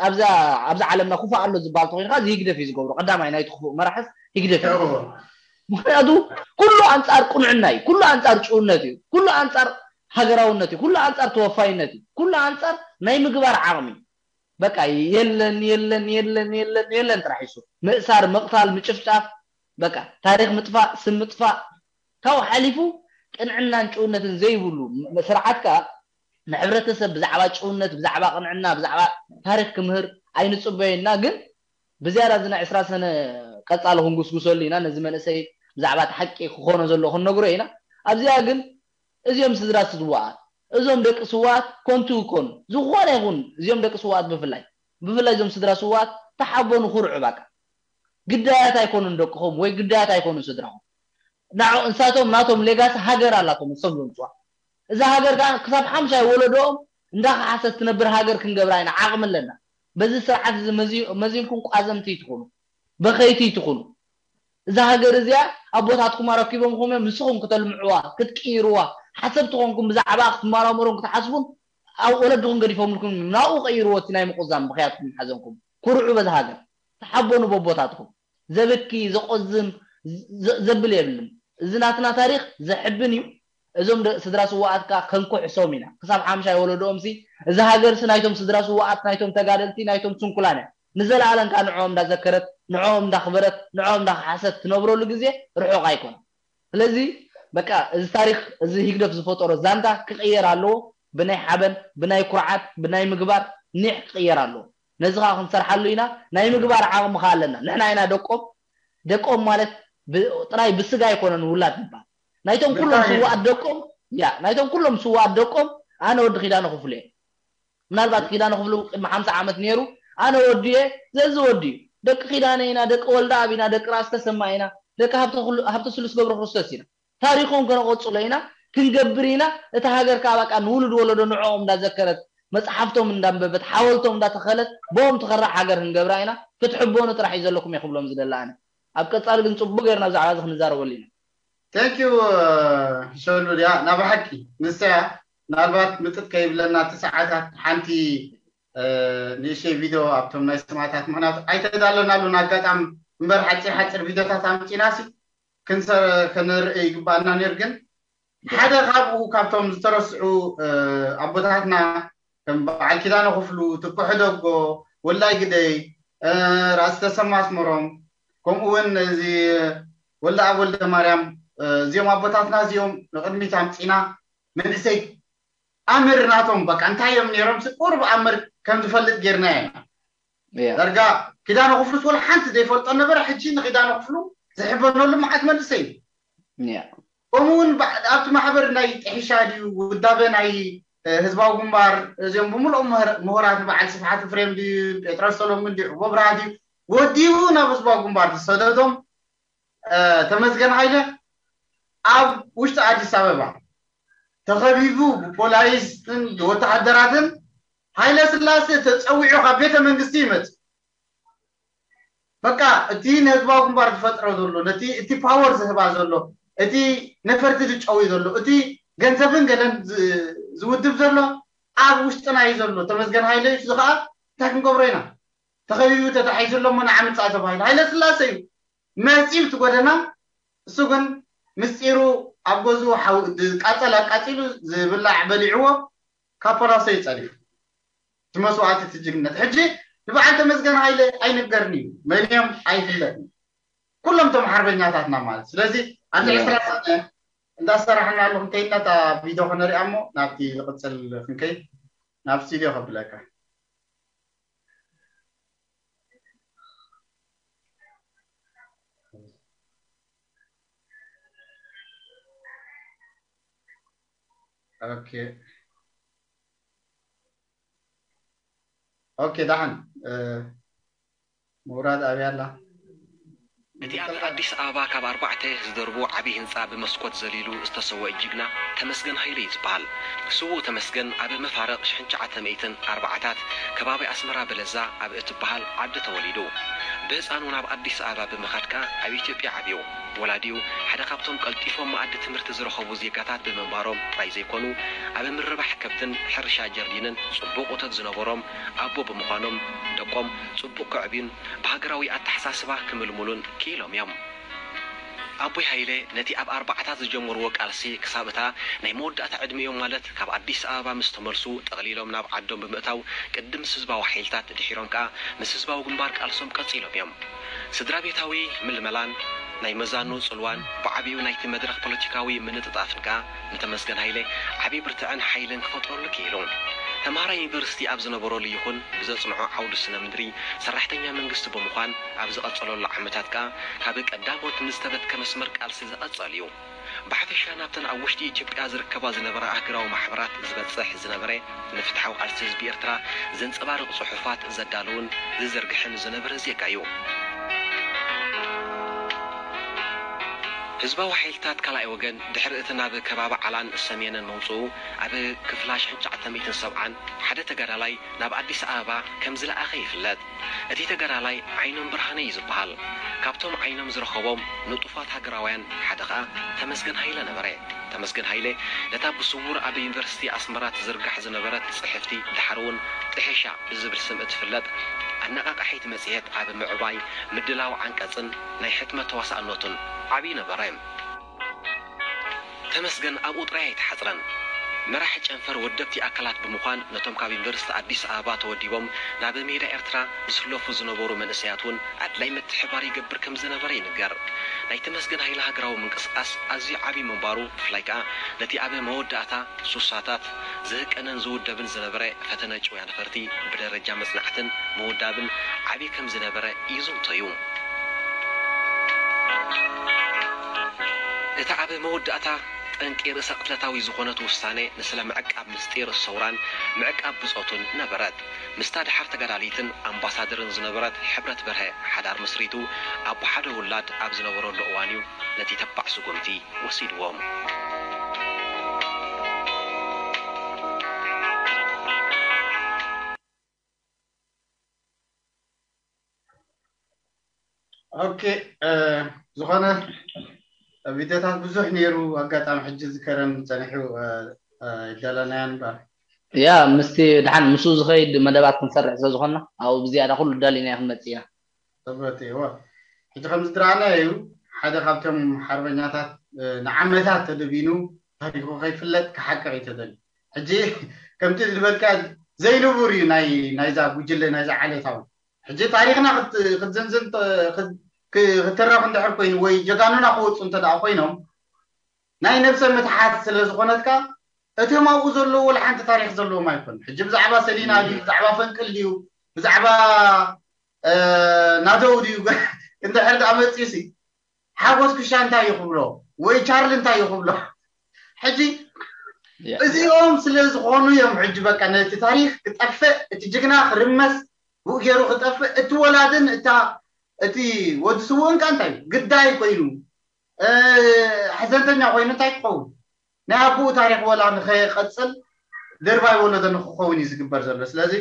ኣብዛ ኣብዛ ዓለምና ክፉእ ኣሎ ዝበሃል ተኮይኑ ከዓ እዚ ህግደፍ እዩ ዝገብሮ ቀዳማይ ናይቲ ክፉእ መራሕስ ህግደፍ እዩ ምክንያቱ ኩሉ ኣንፃር ቅኑዕና እዩ ኩሉ ኣንፃር ጭውነት እዩ ኩሉ ኣንፃር ሃገራውነት እዩ ኩሉ ኣንፃር ተወፋይነት እዩ ኩሉ ኣንፃር ናይ ምግባር ዓቕሚ በቃ የለን የለን የለን የለን የለን ጥራሕ ይሱ ምእሳር ምቕታል ምጭፍጫፍ በቃ ታሪኽ ምጥፋእ፣ ስም ምጥፋእ፣ ካብኡ ሓሊፉ ቅንዕናን ጭውነትን ዘይብሉ ስርዓት ከኣ ንሕብረተሰብ ብዛዕባ ጭውነት፣ ብዛዕባ ቅንዕና፣ ብዛዕባ ታሪኽ ክምህር ኣይንጽበዮ ኢና። ግን ብዝያዳ እዚ ናይ ዕስራ ሰነ ቀጻሊ ክንጉስጉሰሉ ኢና። ነዚ መንእሰይ ብዛዕባ እቲ ሓቂ ክኾኖ ዘሎ ክንነግሮ ኢና። ኣብዚኣ ግን እዚኦም ስድራ ስውኣት፣ እዞም ደቂ ስውኣት ኮንቱ ይኮኑ። ዝኾነ ይኹን እዚኦም ደቂ ስውኣት ብፍላይ፣ ብፍላይ እዞም ስድራ ስውኣት ተሓበኑ፣ ኩርዑ። በቃ ግዳያት ኣይኮኑን ደቅኹም ወይ ግዳያት ኣይኮኑን ስድራኹም። ንዕኡ፣ እንሳቶም ናቶም ሌጋሲ ሃገር ኣላቶም ንሶም ዘምጽዋ። እዛ ሃገር ከኣ ክሳብ ሓምሻይ ወለዶኦም እንዳኸሓሰት ትነብር ሃገር ክንገብራ ኢና፣ ዓቕሚ ኣለና። በዚ ስርዓት እዚ መዚ-፣ መዚንኩም ቋዘምቲ ይትኹኑ፣ በኸይቲ ይትኹኑ። እዛ ሃገር እዚኣ ኣቦታትኩም ኣረኪቦምኹም እዮም፣ ንስኹም ክተልምዕዋ፣ ክትቅይርዋ፣ ሓሰብቲ ኮንኩም ብዛዕባ ክትመራመሩን ክትሓስቡን ኣብ ወለድኹም ገዲፎምልኩም እዮም። ናብኡ ቀይርዎ እቲ ናይ ምቁዛም ብኽያትኩም ሓዘንኩም። ኩርዑ በዛ ሃገር፣ ተሓበኑ በቦታትኩም። ዘብኪ፣ ዘቆዝም፣ ዘ-፣ ዘብል የብልን። እዚ ናትና ታሪኽ ዘሕብን እዩ። እዞም ደ-፣ ስድራ ስውኣት ከኣ ከንኩሕሶም ኢና። ክሳብ ሓምሻይ ወለዶኦም ሲ፣ እዚ ሃገር ሲ ናይቶም ስድራ ስውኣት፣ ናይቶም ተጋደልቲ፣ ናይቶም ስንኩላን እያ። ንዘለኣለም ከኣ ንዕኦም እንዳዘከረት፣ ንዕኦም እንዳኽበረት፣ ንዕኦም እንዳኸሓሰት ትነብረሉ ግዜ ርሑቕ ኣይኮነን። ስለዚ በቃ እዚ ታሪኽ፣ እዚ ህግደፍ ዝፈጠሮ ዛንታ ክቕየር ኣለዎ። ብናይ ሓበን፣ ብናይ ኩርዓት፣ ብናይ ምግባር ኒሕ ክቕየር ኣለዎ። ነዚ ከኣ ክንሰርሓሉ ኢና። ናይ ምግባር ዓቕሚ ከኣ ኣለና። ንሕና ኢና ደቆም። ደቆም ማለት ብ-፣ ጥራይ ብስጋ ኣይኮነን ውላድ ዝበሃል። ናይቶም ኩሎም ብጣዕሚ ስውኣት ደቆም፣ ያ፣ ናይቶም ኩሎም ስውኣት ደቆም ኣነ ወዲ ኪዳነ ክፍሉ እየ። ምናልባት ኪዳነ ክፍሉ ቅድሚ ሓምሳ ዓመት ነይሩ፣ ኣነ ወዲ እየ፣ ዘዚ ወዲ እዩ። ደቂ ኪዳነ ኢና፣ ደቂ ወልደኣብ ኢና፣ ደቂ ራእሲ ተሰማ ኢና፣ ደቂ ሃብተ ኩሉ-፣ ሃብተ ስሉስ ገብረ ክርስቶስ ኢና። ታሪኾም ከነቐጽሎ ኢና፣ ክንገብር ኢና። እታ ሃገር ከኣ በቃ ንውሉድ ወለዶ ንዕኦም እንዳዘከረት፣ መጽሓፍቶም እንዳንበበት፣ ሓወልቶም እንዳተኸለት፣ ብኦም ትኸርዕ ሃገር ክንገብራ ኢና። ክትሕበኑ ጥራሕ እዩ ዘለኩም እየ ክብሎም ዝደሊ ኣነ። ኣብ ቀጻሊ ግን ጽቡቕ ጌርና ብዛዕባ እዚ ክንዛረበሉ ኢና። Thank you፣ ሸሉ ድያ ናብ ሓቂ ንሰያ ምናልባት ምጥጥ ከይብለና እቲ ሰዓታት ሓንቲ፣ እ፣ ንእሽተይ ቪድዮ ኣብቶም ናይ ሰማዕታት፣ ምኽንያቱ ኣይተዳለናሉን ኣጋጣሚ እምበር ሓፂር ሓፂር ቪድዮታት ኣምፂና ሲ ክንሰ-፣ ከነርኢ ይግባኣና ነይሩ። ግን ሓደ ካብኡ ካብቶም ዝተረስዑ፣ እ፣ ኣቦታትና ከም በዓል ኪዳነ ክፍሉ፣ ትኩ ሕደጎ፣ ወላይ ግደይ፣ እ፣ ራእሲ ተሰማ ኣስመሮም፣ ከምኡ እውን እዚ ወልደኣብ ወልደማርያም፣ እ፣ እዚኦም ኣቦታትና እዚኦም ንቕድሚት ኣምፂና መንእሰይ ኣምር ናቶም በቃ እንታይ እዮም ነይሮም ሲ ቁሩብ ኣምር ከም ዝፈልጥ ጌርና ኢና። ያ ዳርጋ ኪዳነ ክፍሉስ ወላ ሓንቲ ዘይፈልጦ ነበረ። ሕጂ ንኪዳነ ክፍሉ ዝሕበነሉ መዓት መንእሰይ እዩ። ያ ከምኡ እውን በ-፣ ኣብቲ ማሕበር ናይ ጥሒሻ ድዩ ውዳበ ናይ፣ እ፣ ህዝባዊ ግንባር እዚኦም ብምልኦም ምህር-፣ ምሁራት በዓል ስብሓት ፍሬም ድዩ ጴጥሮስ ሰሎሙን ድዩ ዕቦ ብርሃ ድዩ ወዲኡ ናብ ህዝባዊ ግንባር ዝሰደዶም፣ እ፣ ተመስገን ሃይለ ኣብ ውሽጢ ኣዲስ ኣበባ ተኸቢቡ ብፖላይስን ብወተሃደራትን ሃይለ ስላሴ ተፀዊዑ ካብ ቤተ መንግስቲ ይመፅእ። በቃ እቲ ንህዝባዊ ግንባር ዝፈጥሮ ዘሎ፣ ነቲ፣ እቲ ፓወር ዝህባ ዘሎ፣ እቲ ነፈርቲ ዝጨዊ ዘሎ፣ እቲ ገንዘብን ገለን ዝ-፣ ዝውድብ ዘሎ ኣብ ውሽጥና እዩ ዘሎ። ተመስገን ሃይለ እዩ። እዚ ከዓ እንታይ ክንገብሮ ኢና? ተኸቢቡ ተታሒዙ ኣሎ እሞ ንዓ ምፃእ ተባሂሉ። ሃይለ ስላሴ እዩ መፂኡ እቲ ጎደና። እሱ ግን ምስጢሩ ኣብ ገዝኡ ሓው-፣ ዝቃፀል ኣቃፂሉ፣ ዝብላዕ በሊዕዎ፣ ካብ ፓላሶ እዩ ፀዲፉ። እቲ መስዋእቲ፣ እቲ ጅግነት። ሕጂ ንበዓል ተመስገን ሃይለ ኣይንገርን እዩ። መን እዮም? ኣይፍለጥን። ኩሎም እቶም ሓርበኛታትና ማለት። ስለዚ ኣብዚ ያ ዕስራ ሰነ እንዳሰራሕናሉ ክንከይድና እታ ቪድዮ ከነሪኣ እሞ ናብቲ ዝቕፅል ክንከይድ ናብ ስቱድዮ ከብለካ። ኦኬ። ኦኬ፣ ደሓን። እ፣ ምውራድ ኣብያ ኣላ። እቲ ኣብ ኣዲስ ኣበባ ካብ ኣርባዕተ ዝደርቡ ዓብዪ ህንፃ ብመስኮት ዘሊሉ ዝተሰወአ ጅግና ተመስገን ሃይለ እዩ ዝበሃል። ስዉእ ተመስገን ኣብ መፋርቕ ሽሕን ትሽዓተ ሚእትን ኣርባዓታት ከባቢ ኣስመራ በለዛ ኣብ እትበሃል ዓዲ ተወሊዱ። ብህፃኑ ናብ ኣዲስ ኣበባ ብምኻድ ከኣ ኣብ ኢትዮጵያ ዓብዩ። ወላዲኡ ሓደ ካብቶም ቀልጢፎም መኣዲ ትምህርቲ ዝረኸቡ ዜጋታት ብምንባሮም ጥራይ ዘይኮኑ፣ ኣብ ምርባሕ ከብትን ሕርሻ ጀርዲንን ጽቡቕ እቶት ዝነበሮም ኣቦ ብምዃኖም፣ ደቆም ጽቡቕ ከዕብዩን ብሃገራዊ ኣተሓሳስባ ክምልምሉን ክኢሎም እዮም። ኣቦይ ሃይለ ነቲ ኣብ ኣርባዓታት ዝጀመርዎ ቃልሲ ክሳብ እታ ናይ መወዳእታ ዕድሚኦም ማለት ካብ ኣዲስ ኣበባ ምስ ተመልሱ ጠቕሊሎም ናብ ዓዶም ብምእታው ቅድም ምስ ህዝባዊ ሓይልታት ድሒሮም ከኣ ምስ ህዝባዊ ግንባር ቃልሶም ቀጺሎም እዮም። ስድራ ቤታዊ ምልመላን ናይ መዛኑ ጽልዋን ብዓቢኡ ናይቲ መድረኽ ፖለቲካዊ ምንጥጣፍን ከኣ ንተመስገን ሃይለ ዓቢ ብርትዐን ሓይልን ክፈጥረሉ ክኢሉ። ተምሃራይ ዩኒቨርሲቲ ኣብ ዝነበረሉ ይኹን ብዘጽንዖ ዓውዲ ስነ ምድሪ ሰራሕተኛ መንግስቲ ብምዃን ኣብ ዝቐጸለሉ ዓመታት ከኣ ካብ ቀዳሞት ንዝተበትከ መስመር ቃልሲ ዝቐጸል እዩ። ብሓፈሻ ናብተን ኣብ ውሽጢ ኢትዮጵያ ዝርከባ ዝነበራ ኣህግራዊ ማሕበራት ዝበጽሕ ዝነበረ ንፍትሓዊ ቃልሲ ህዝቢ ኤርትራ ዘንጸባርቕ ጽሑፋት ዘዳልውን ዝዝርግሕን ዝነበረ ዜጋ እዩ። ህዝባዊ ሓይልታት ካልኣይ ወገን ድሕሪ እቲ ናብ ከባቢ ዓላን ሰሜንን መውጽኡ ኣብ ክፍላ ሽሕን ትሽዓተ ሚእትን ሰብዓን ሓደ ተጋዳላይ ናብ ኣዲስ ኣበባ ከም ዝለኣኸ ይፍለጥ። እቲ ተጋዳላይ ዓይኖም ብርሃነ እዩ ዝበሃል። ካብቶም ዓይኖም ዝረኸቦም ንጡፋት ሃገራውያን ሓደ ኸኣ ተመስገን ሃይለ ነበረ። ተመስገን ሃይለ ነታ ብስውር ኣብ ዩኒቨርሲቲ ኣስመራ ትዝርጋሕ ዝነበረት ጽሕፍቲ ድሓር እውን ጥሒሻ ብዝብል ስም እትፍለጥ ኣነቓቓሒት መጽሔት ኣብ ምዕባይ ምድላው ዓንቀጽን ናይ ሕትመት ተዋሳእነቱን ዓብዪ ነበረ። ተመስገን ኣብኡ ጥራይ ኣይተሓጽረን። መራሒ ጨንፈር ወደብቲ ኣካላት ብምዃን ነቶም ካብ ዩኒቨርሲቲ ኣዲስ ኣበባ ተወዲቦም ናብ ሜዳ ኤርትራ ዝስለፉ ዝነበሩ መንእሰያት እውን ኣድላይ ምትሕባር ይገብር ከም ዝነበረ ይንገር። ናይ ተመስገን ሃይለ ሃገራዊ ምንቅስቓስ ኣዝዩ ዓብዪ ምንባሩ ብፍላይ ከኣ ነቲ ኣብ መወዳእታ ሱሳታት ዝህቀንን ዝውደብን ዝነበረ ፈተነ ጭውያ ነፈርቲ ብደረጃ መጽናዕትን ምውዳብን ዓብዪ ከም ዝነበረ ይዝንቶ እዩ። እታ ኣብ መወዳእታ ጠንቂ ርእሰ ቅትለታዊ ዝኾነት ውሳኔ ንስለ ምዕቃብ ምስጢር ሰውራን ምዕቃብ ብጾቱን ነበረት። ምስታ ደሓር ተጋዳሊትን ኣምባሳደርን ዝነበረት ሕብረት በርሀ ሓዳር መስሪቱ ኣቦ ሓደ ውላድ ኣብ ዝነበረሉ እዋን እዩ ነቲ ተባዕ ስጉምቲ ወሲድዎም። ኦኬ፣ ዝኾነ ቪድዮታት ብዙሕ ነይሩ። ኣጋጣሚ ሕጂ ዝከረን ጸኒሑ ኣይዳለናያን እምበር። ያ ምስቲ ድሓን ምስኡ ዝኸይድ መደባት ክንሰርሕ ስለ ዝኾንና ኣብኡ ብዝያዳ ኩሉ ዳሊና ክንመጽእ ኢና። ሰበት እዎ። ሕጂ ከም ዝድረኣና እዩ ሓደ ካብቶም ሓርበኛታት ንዓመታት ተደቢኑ ታሪኹ ከይፍለጥ ክሓቅቕ እዩ ተደልዩ። ሕጂ ከምቲ ዝበልካ ዘይንቡር እዩ ናይ ናይዛ ጉጅለ ናይዛ ዓሌታዊ ሕጂ ታሪኽና ክትዝንዝን ክትረኽ እንድሕር ኮይኑ ወይ ጀጋኑና ክወፁ እንተ ደኣ ኮይኖም ናይ ነብሰ ምትሓት ስለ ዝኾነትካ እቶም ኣብኡ ዘለዉ ወላ ሓንቲ ታሪኽ ዘለዎም ኣይኮን። ሕጂ ብዛዕባ ሰሊና ድዩ ብዛዕባ ፈንቅል ድዩ ብዛዕባ ናደው ድዩ እንድሕር ደኣ መፅዩ ሲ ሓጎስ ክሻ እንታይ እዩ ክብሎ ወይ ቻርል እንታይ እዩ ክብሎ? ሕጂ እዚኦም ስለ ዝኾኑ እዮም ሕጂ በቃ ነቲ ታሪኽ ክጠፍእ እቲ ጅግና ክርመስ ብኡ ገይሩ ክጠፍእ እቲ ወላድን እታ እቲ ወዲ ስውእን ከ እንታይ ግዳይ ኮይኑ ሕዘንተኛ ኮይኑ እንታይ ክኸውን ናይ ኣቦኡ ታሪኽ ወላ ንኸይቐፅል ድርባይ ወለዶ ንክኸውን እዩ ዝግበር ዘሎ። ስለዚ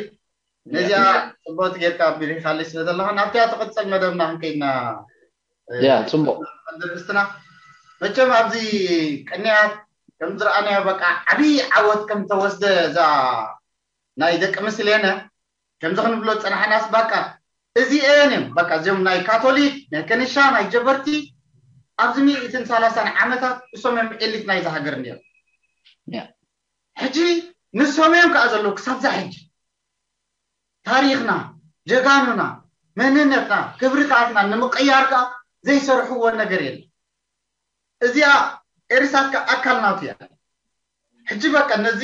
ነዚኣ ፅቡቅ ጌርካ ኣቢሪኻለይ ስለ ዘለኻ ናብቲኣ ትቕፅል መደብና ክንከይድና ያ ፅቡቅ ርእስትና መቸም ኣብዚ ቅንያት ከም ዝረኣናዮ በቃ ዓብዪ ዓወት ከም ተወስደ እዛ ናይ ደቂ ምስሌነ ከምዚ ክንብሎ ዝፀናሕናስ በቃ እዚኤን እዮም በቃ እዚኦም ናይ ካቶሊክ ናይ ከኒሻ ናይ ጀበርቲ ኣብዚ ሚእትን ሰላሳን ዓመታት እሶም እዮም ኤሊት ናይዚ ሃገር ነይሩ ሕጂ ንሶም እዮም ከዓ ዘለዉ ክሳብዛ ሕጂ ታሪኽና ጀጋኑና መንነትና ክብርታትና ንምቅያር ከዓ ዘይሰርሕዎ ነገር የለን እዚኣ ኤሪሳት ከዓ ኣካል ናቱ እያ ሕጂ በቃ ነዚ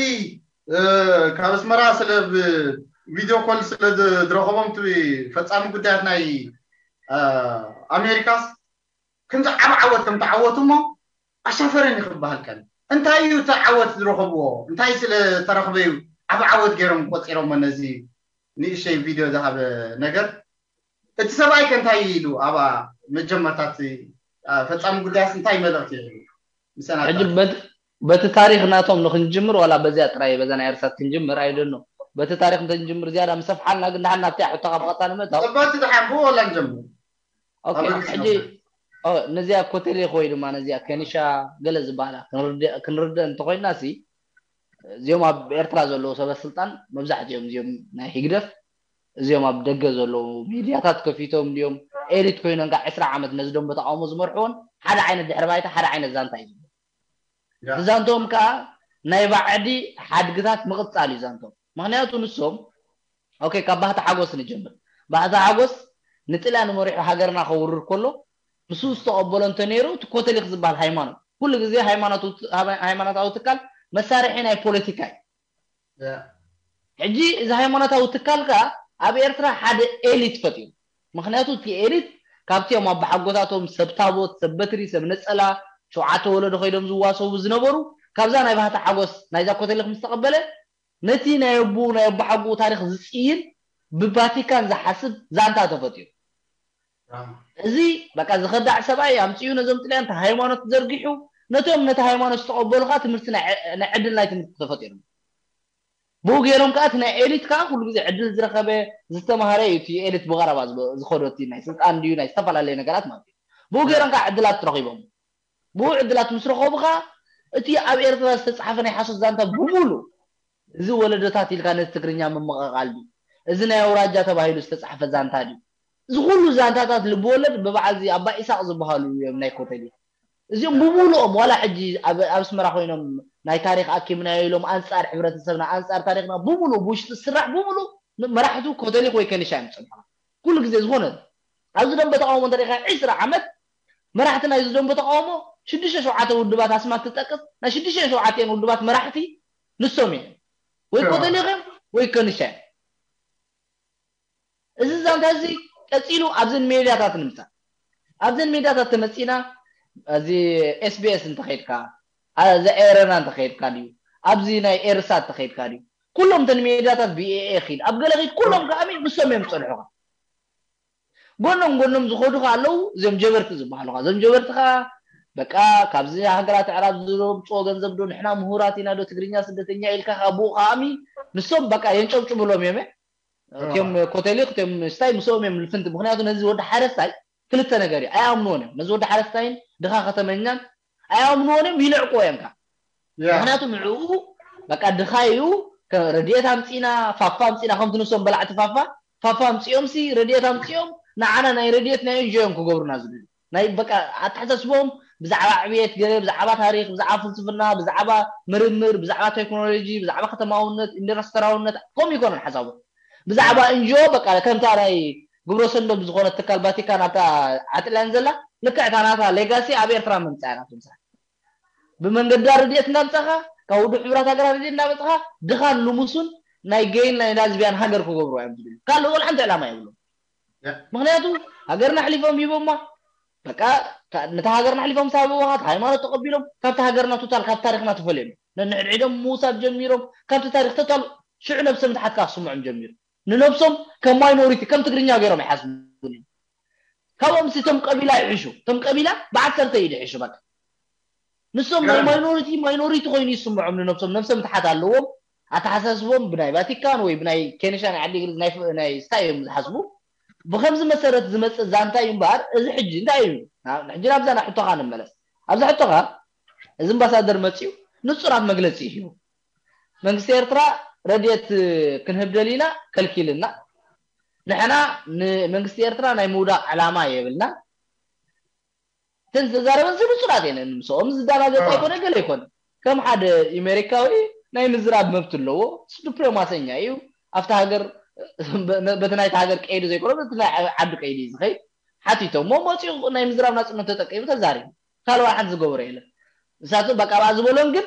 ካብ ኣስመራ ስለ ቪድዮ ኮል ስለ ዝረኸቦም እቲ ፈፃሚ ጉዳያት ናይ ኣሜሪካስ ከምዚ ዓብ ዓወት ከም ተዓወቱ እሞ ኣሻፈረኒ ክበሃል ቀን እንታይ እዩ እቲ ዓወት ዝረኸብዎ እንታይ ስለ ተረኽበ እዩ ዓብ ዓወት ገይሮም ቆፂሮሞ ነዚ ንእሸይ ቪድዮ ዝሃበ ነገር እቲ ሰብኣይ ከ እንታይ ኢሉ ኣብ መጀመርታ እቲ ፈፃሚ ጉዳያስ እንታይ መልእኽቲ ይህብ ምሰና ሕጂ በቲ ታሪኽ ናቶም ንክንጅምር ዋላ በዚኣ ጥራይ በዛ ናይ ኤርሳት ክንጅምር ኣይደኖ በቲ ታሪኽ እንተንጅምር ዝያዳ ምሰፍሓልና ግን ድሓን ናብቲኣ ሕቶኻ ብቐጥታ ንምእታው በቲ ድሓን ብኡ ወላ ንጀምር ኦኬ ሕጂ ነዚኣ ኮተሌ ወይ ድማ ነዚኣ ከኒሻ ገለ ዝበሃላ ክንርድእ እንተኮይና ሲ እዚኦም ኣብ ኤርትራ ዘለዉ ሰበ ስልጣን መብዛሕትኦም እዚኦም ናይ ህግደፍ እዚኦም ኣብ ደገ ዘለዉ ሚድያታት ከፊቶም ድዮም ኤሊት ኮይኖም ከዓ ዕስራ ዓመት ነዚ ደንበ ተቃውሞ ዝመርሕዎን ሓደ ዓይነት ድሕሪ ባይታ ሓደ ዓይነት ዛንታ እዩ ዝብሉ እቲ ዛንትኦም ከዓ ናይ ባዕዲ ሓድግታት ምቕፃል እዩ ዛንትኦም ምክንያቱ ንሶም ኦኬ ካብ ባህታ ሓጎስ ንጀምር ባህታ ሓጎስ ንጥልያን መሪሑ ሃገርና ከውርር ከሎ ምስኡ ዝተቐበሎ እንተነይሩ፣ እቲ ኮተሊክ ዝበሃል ሃይማኖት፣ ኩሉ ግዜ ሃይማኖት-፣ ሃይማኖታዊ ትካል መሳርሒ ናይ ፖለቲካ እዩ። ሕጂ እዚ ሃይማኖታዊ ትካል ከኣ ኣብ ኤርትራ ሓደ ኤሊት ፈጢሩ። ምኽንያቱ እቲ ኤሊት ካብቲኦም ኣባሓጎታቶም ሰብ ታቦት፣ ሰብ በትሪ፣ ሰብ ነጸላ፣ ሸውዓተ ወለዶ ከይዶም ዝዋሰቡ ዝነበሩ፣ ካብዛ ናይ ባህታ ሓጎስ ናይዛ ኮተሊክ ምስ ተቐበለ፣ ነቲ ናይ ኣቦኡ ናይ ኣባሓጎኡ ታሪኽ ዝጽይን፣ ብቫቲካን ዝሓስብ ዛንታ ተፈጢሩ። እዚ በቃ ዝኸዳዕ ሰብኣይ ኣምጺኡ ነዞም ጥልያን እቲ ሃይማኖት ዘርጊሑ፣ ነቶም ነቲ ሃይማኖት ዝተቐበሉ ከኣ ትምህርቲ ናይ ዕድል ናይ ትምህርቲ ተፈጢሩ። ብኡ ገይሮም ከኣ እቲ ናይ ኤሊት ከኣ ኩሉ ግዜ ዕድል ዝረኸበ ዝተማሃረ እዩ። እቲ ኤሊት ብቐረባ ዝኸዶ እቲ ናይ ስልጣን ድዩ ናይ ዝተፈላለየ ነገራት ማለት እዩ። ብኡ ገይሮም ከኣ ዕድላት ረኺቦም። ብኡ ዕድላት ምስ ረኸቡ ከኣ እቲ ኣብ ኤርትራ ዝተጻሓፈ ናይ ሓሶት ዛንታ ብምሉ፣ እዚ ወለዶታት ኢልካ ነቲ ትግርኛ ምምቕቓል ድዩ? እዚ ናይ ኣውራጃ ተባሂሉ ዝተጻሕፈ ዛንታ ድዩ? እዚ ኩሉ ዛንታታት ልብወለድ ብበዓል እዚ ኣባ ኢሳቕ ዝበሃሉ እዮም ናይ ኮተሊ። እዚኦም ብምሉኦም ዋላ ሕጂ ኣብ ኣስመራ ኮይኖም ናይ ታሪኽ ኣኪብናዮ ኢሎም ኣንጻር ሕብረተሰብና ኣንጻር ታሪኽና ብምሉ ብውሽጢ ዝስራሕ ብምሉ መራሕቱ ኮተሊክ ወይ ከኒሻ እዮም ዝጸንሑ። ኩሉ ግዜ ዝኾነ ኣብዚ ደንበ ተቃውሞ እንተሪኻ ዒስራ ዓመት መራሕቲ ናይዚ ደንበ ተቃውሞ ሽዱሽተ ሸውዓተ ውድባት ኣስማት ትጠቅስ ናይ ሽዱሽተ ሸውዓተን ውድባት መራሕቲ ንሶም እዮም ወይ ኮተሊክ እዮም ወይ ከኒሻ እዮም። እዚ ዛንታ እዚ ቀጺሉ ኣብዘን ሜድያታት ንምጻእ ኣብዘን ሜድያታት ተመጺና እዚ ኤስቢኤስ እንተኸይድካ እዚ ኤረና እንተኸይድካ ድዩ ኣብዚ ናይ ኤርሳ እንተኸይድካ ድዩ ኩሎም ተን ሜድያታት ቢኤኤ ኺድ ኣብ ገለ ኺድ ኩሎም ከኣሚ ንሶም እዮም ዝጸንሑኻ ጎኖም ጎኖም ዝኸዱ ኣለዉ እዚኦም ጀበርቲ ዝበሃሉ እዞም ጀበርቲ ከዓ በቃ ካብዚ ሃገራት ኣዕራብ ዝምፅኦ ገንዘብ ዶ ንሕና ምሁራት ኢና ዶ ትግርኛ ስደተኛ ኢልካ ካብ ብኡ ከኣሚ ንሶም በቃ የንጨብጭብሎም እዮም እቲኦም ኮተሊክ እቲኦም ስታይ ምስኦም እዮም ልፍንቲ ምክንያቱ ነዚ ወዲ ሓረስታይ ክልተ ነገር እዩ ኣይኣምንዎን እዮም ነዚ ወዲ ሓረስታይን ድኻ ከተመኛን ኣይኣምንዎን እዮም ይልዕቅዎ እዮም ከዓ ምክንያቱ ንዕኡ በቃ ድኻ እዩ ረድኤት ኣምፂና ፋፋ ኣምፂና ከምቲ ንሶም በላዕቲ ፋፋ ፋፋ ኣምፂኦም ሲ ረድኤት ኣምፂኦም ንዓና ናይ ረድኤት ናይ እንጆ እዮም ክገብሩና ዝብሉ ናይ በቃ ኣተሓሳስቦም ብዛዕባ ዕብየት ገለ ብዛዕባ ታሪክ ብዛዕባ ፍልስፍና ብዛዕባ ምርምር ብዛዕባ ቴክኖሎጂ ብዛዕባ ከተማውነት ኢንዱስትራውነት ከምኡ ይኮነን ሓሳቦም ብዛዕባ እንጆ በቃ ከምታ ናይ ግብረ ሰንዶ ብዝኮነ ትካል ቫቲካን ኣብታ ዓጥላን ዘላ ልክዕ እታ ናታ ሌጋሲ ኣብ ኤርትራ ምምፃእ ናቶም ስራሕ ብመንገዲ ርድኤት እንዳምፃኻ ካብ ውድብ ሕቡራት ሃገራት ርድኤት እንዳመፅኻ ድኻን ልሙሱን ናይ ገይን ናይ ላዝቢያን ሃገር ክገብሩ እዮም ዝብሉ ካልእ ወላ ሓንቲ ዕላማ የብሎም ምክንያቱ ሃገርና ኣሕሊፎም ሂቦማ በቃ ነታ ሃገርና ኣሕሊፎም ሳበዋኻ ሃይማኖት ተቀቢሎም ካብቲ ሃገርና ቶታል ካብ ታሪክና ተፈልዮም ነንሕድሕዶም ምውሳድ ጀሚሮም ካብቲ ታሪክ ቶታል ሽዑ ነብሰ ምትሓት ከዓ ክስምዖም ጀሚሩ ንነብሶም ከም ማይኖሪቲ ከም ትግርኛ ገይሮም ይሓስቡ ካብኦም ሲ እቶም ቀቢላ ይሕሹ እቶም ቀቢላ ብዓሰርተ ኢድ ይሕሹ በቃ ንሶም ናይ ማይኖሪቲ ማይኖሪቲ ኮይኑ ይስምዖም ንነብሶም ነብሰ ምትሓት ኣለዎም ኣተሓሳስቦም ብናይ ቫቲካን ወይ ብናይ ኬንሻ ናይ ዓዲ እንግሊዝ ናይ ስታይ እዮም ዝሓስቡ ብከምዚ መሰረት ዝመፅእ ዛንታ እዩ እምበኣር እዚ ሕጂ እንታይ እዩ ሕጂ ናብዛ ናይ ሕቶኻ ንመለስ ኣብዛ ሕቶኻ እዚ ኣምባሳደር መፅዩ ንፁራት መግለፂ እዩ መንግስቲ ኤርትራ ረድኤት ክንህብ ደሊና ከልኪልና ንሕና ንመንግስቲ ኤርትራ ናይ ምውዳቕ ዕላማ የብልና እተን ዝተዛረበን ዝብፁላት እየን ምስኦም ዝዳናገፅ ኣይኮነ ገለ ኣይኮነ ከም ሓደ ኢሜሪካዊ ናይ ምዝራብ መብት ኣለዎ ዲፕሎማሰኛ እዩ ኣብቲ ሃገር በቲ ናይቲ ሃገር ቀይዲ ዘይኮነ በቲ ናይ ዓዲ ቀይዲ እዩ ዝኸይድ ሓቲቶሞ መፂኡ ናይ ምዝራብ ናፅነት ተጠቂሙ ተዛሪቡ ካልዋ ሓንቲ ዝገበሮ የለን ንሳቶም በቃ ብኣ ዝበሎም ግን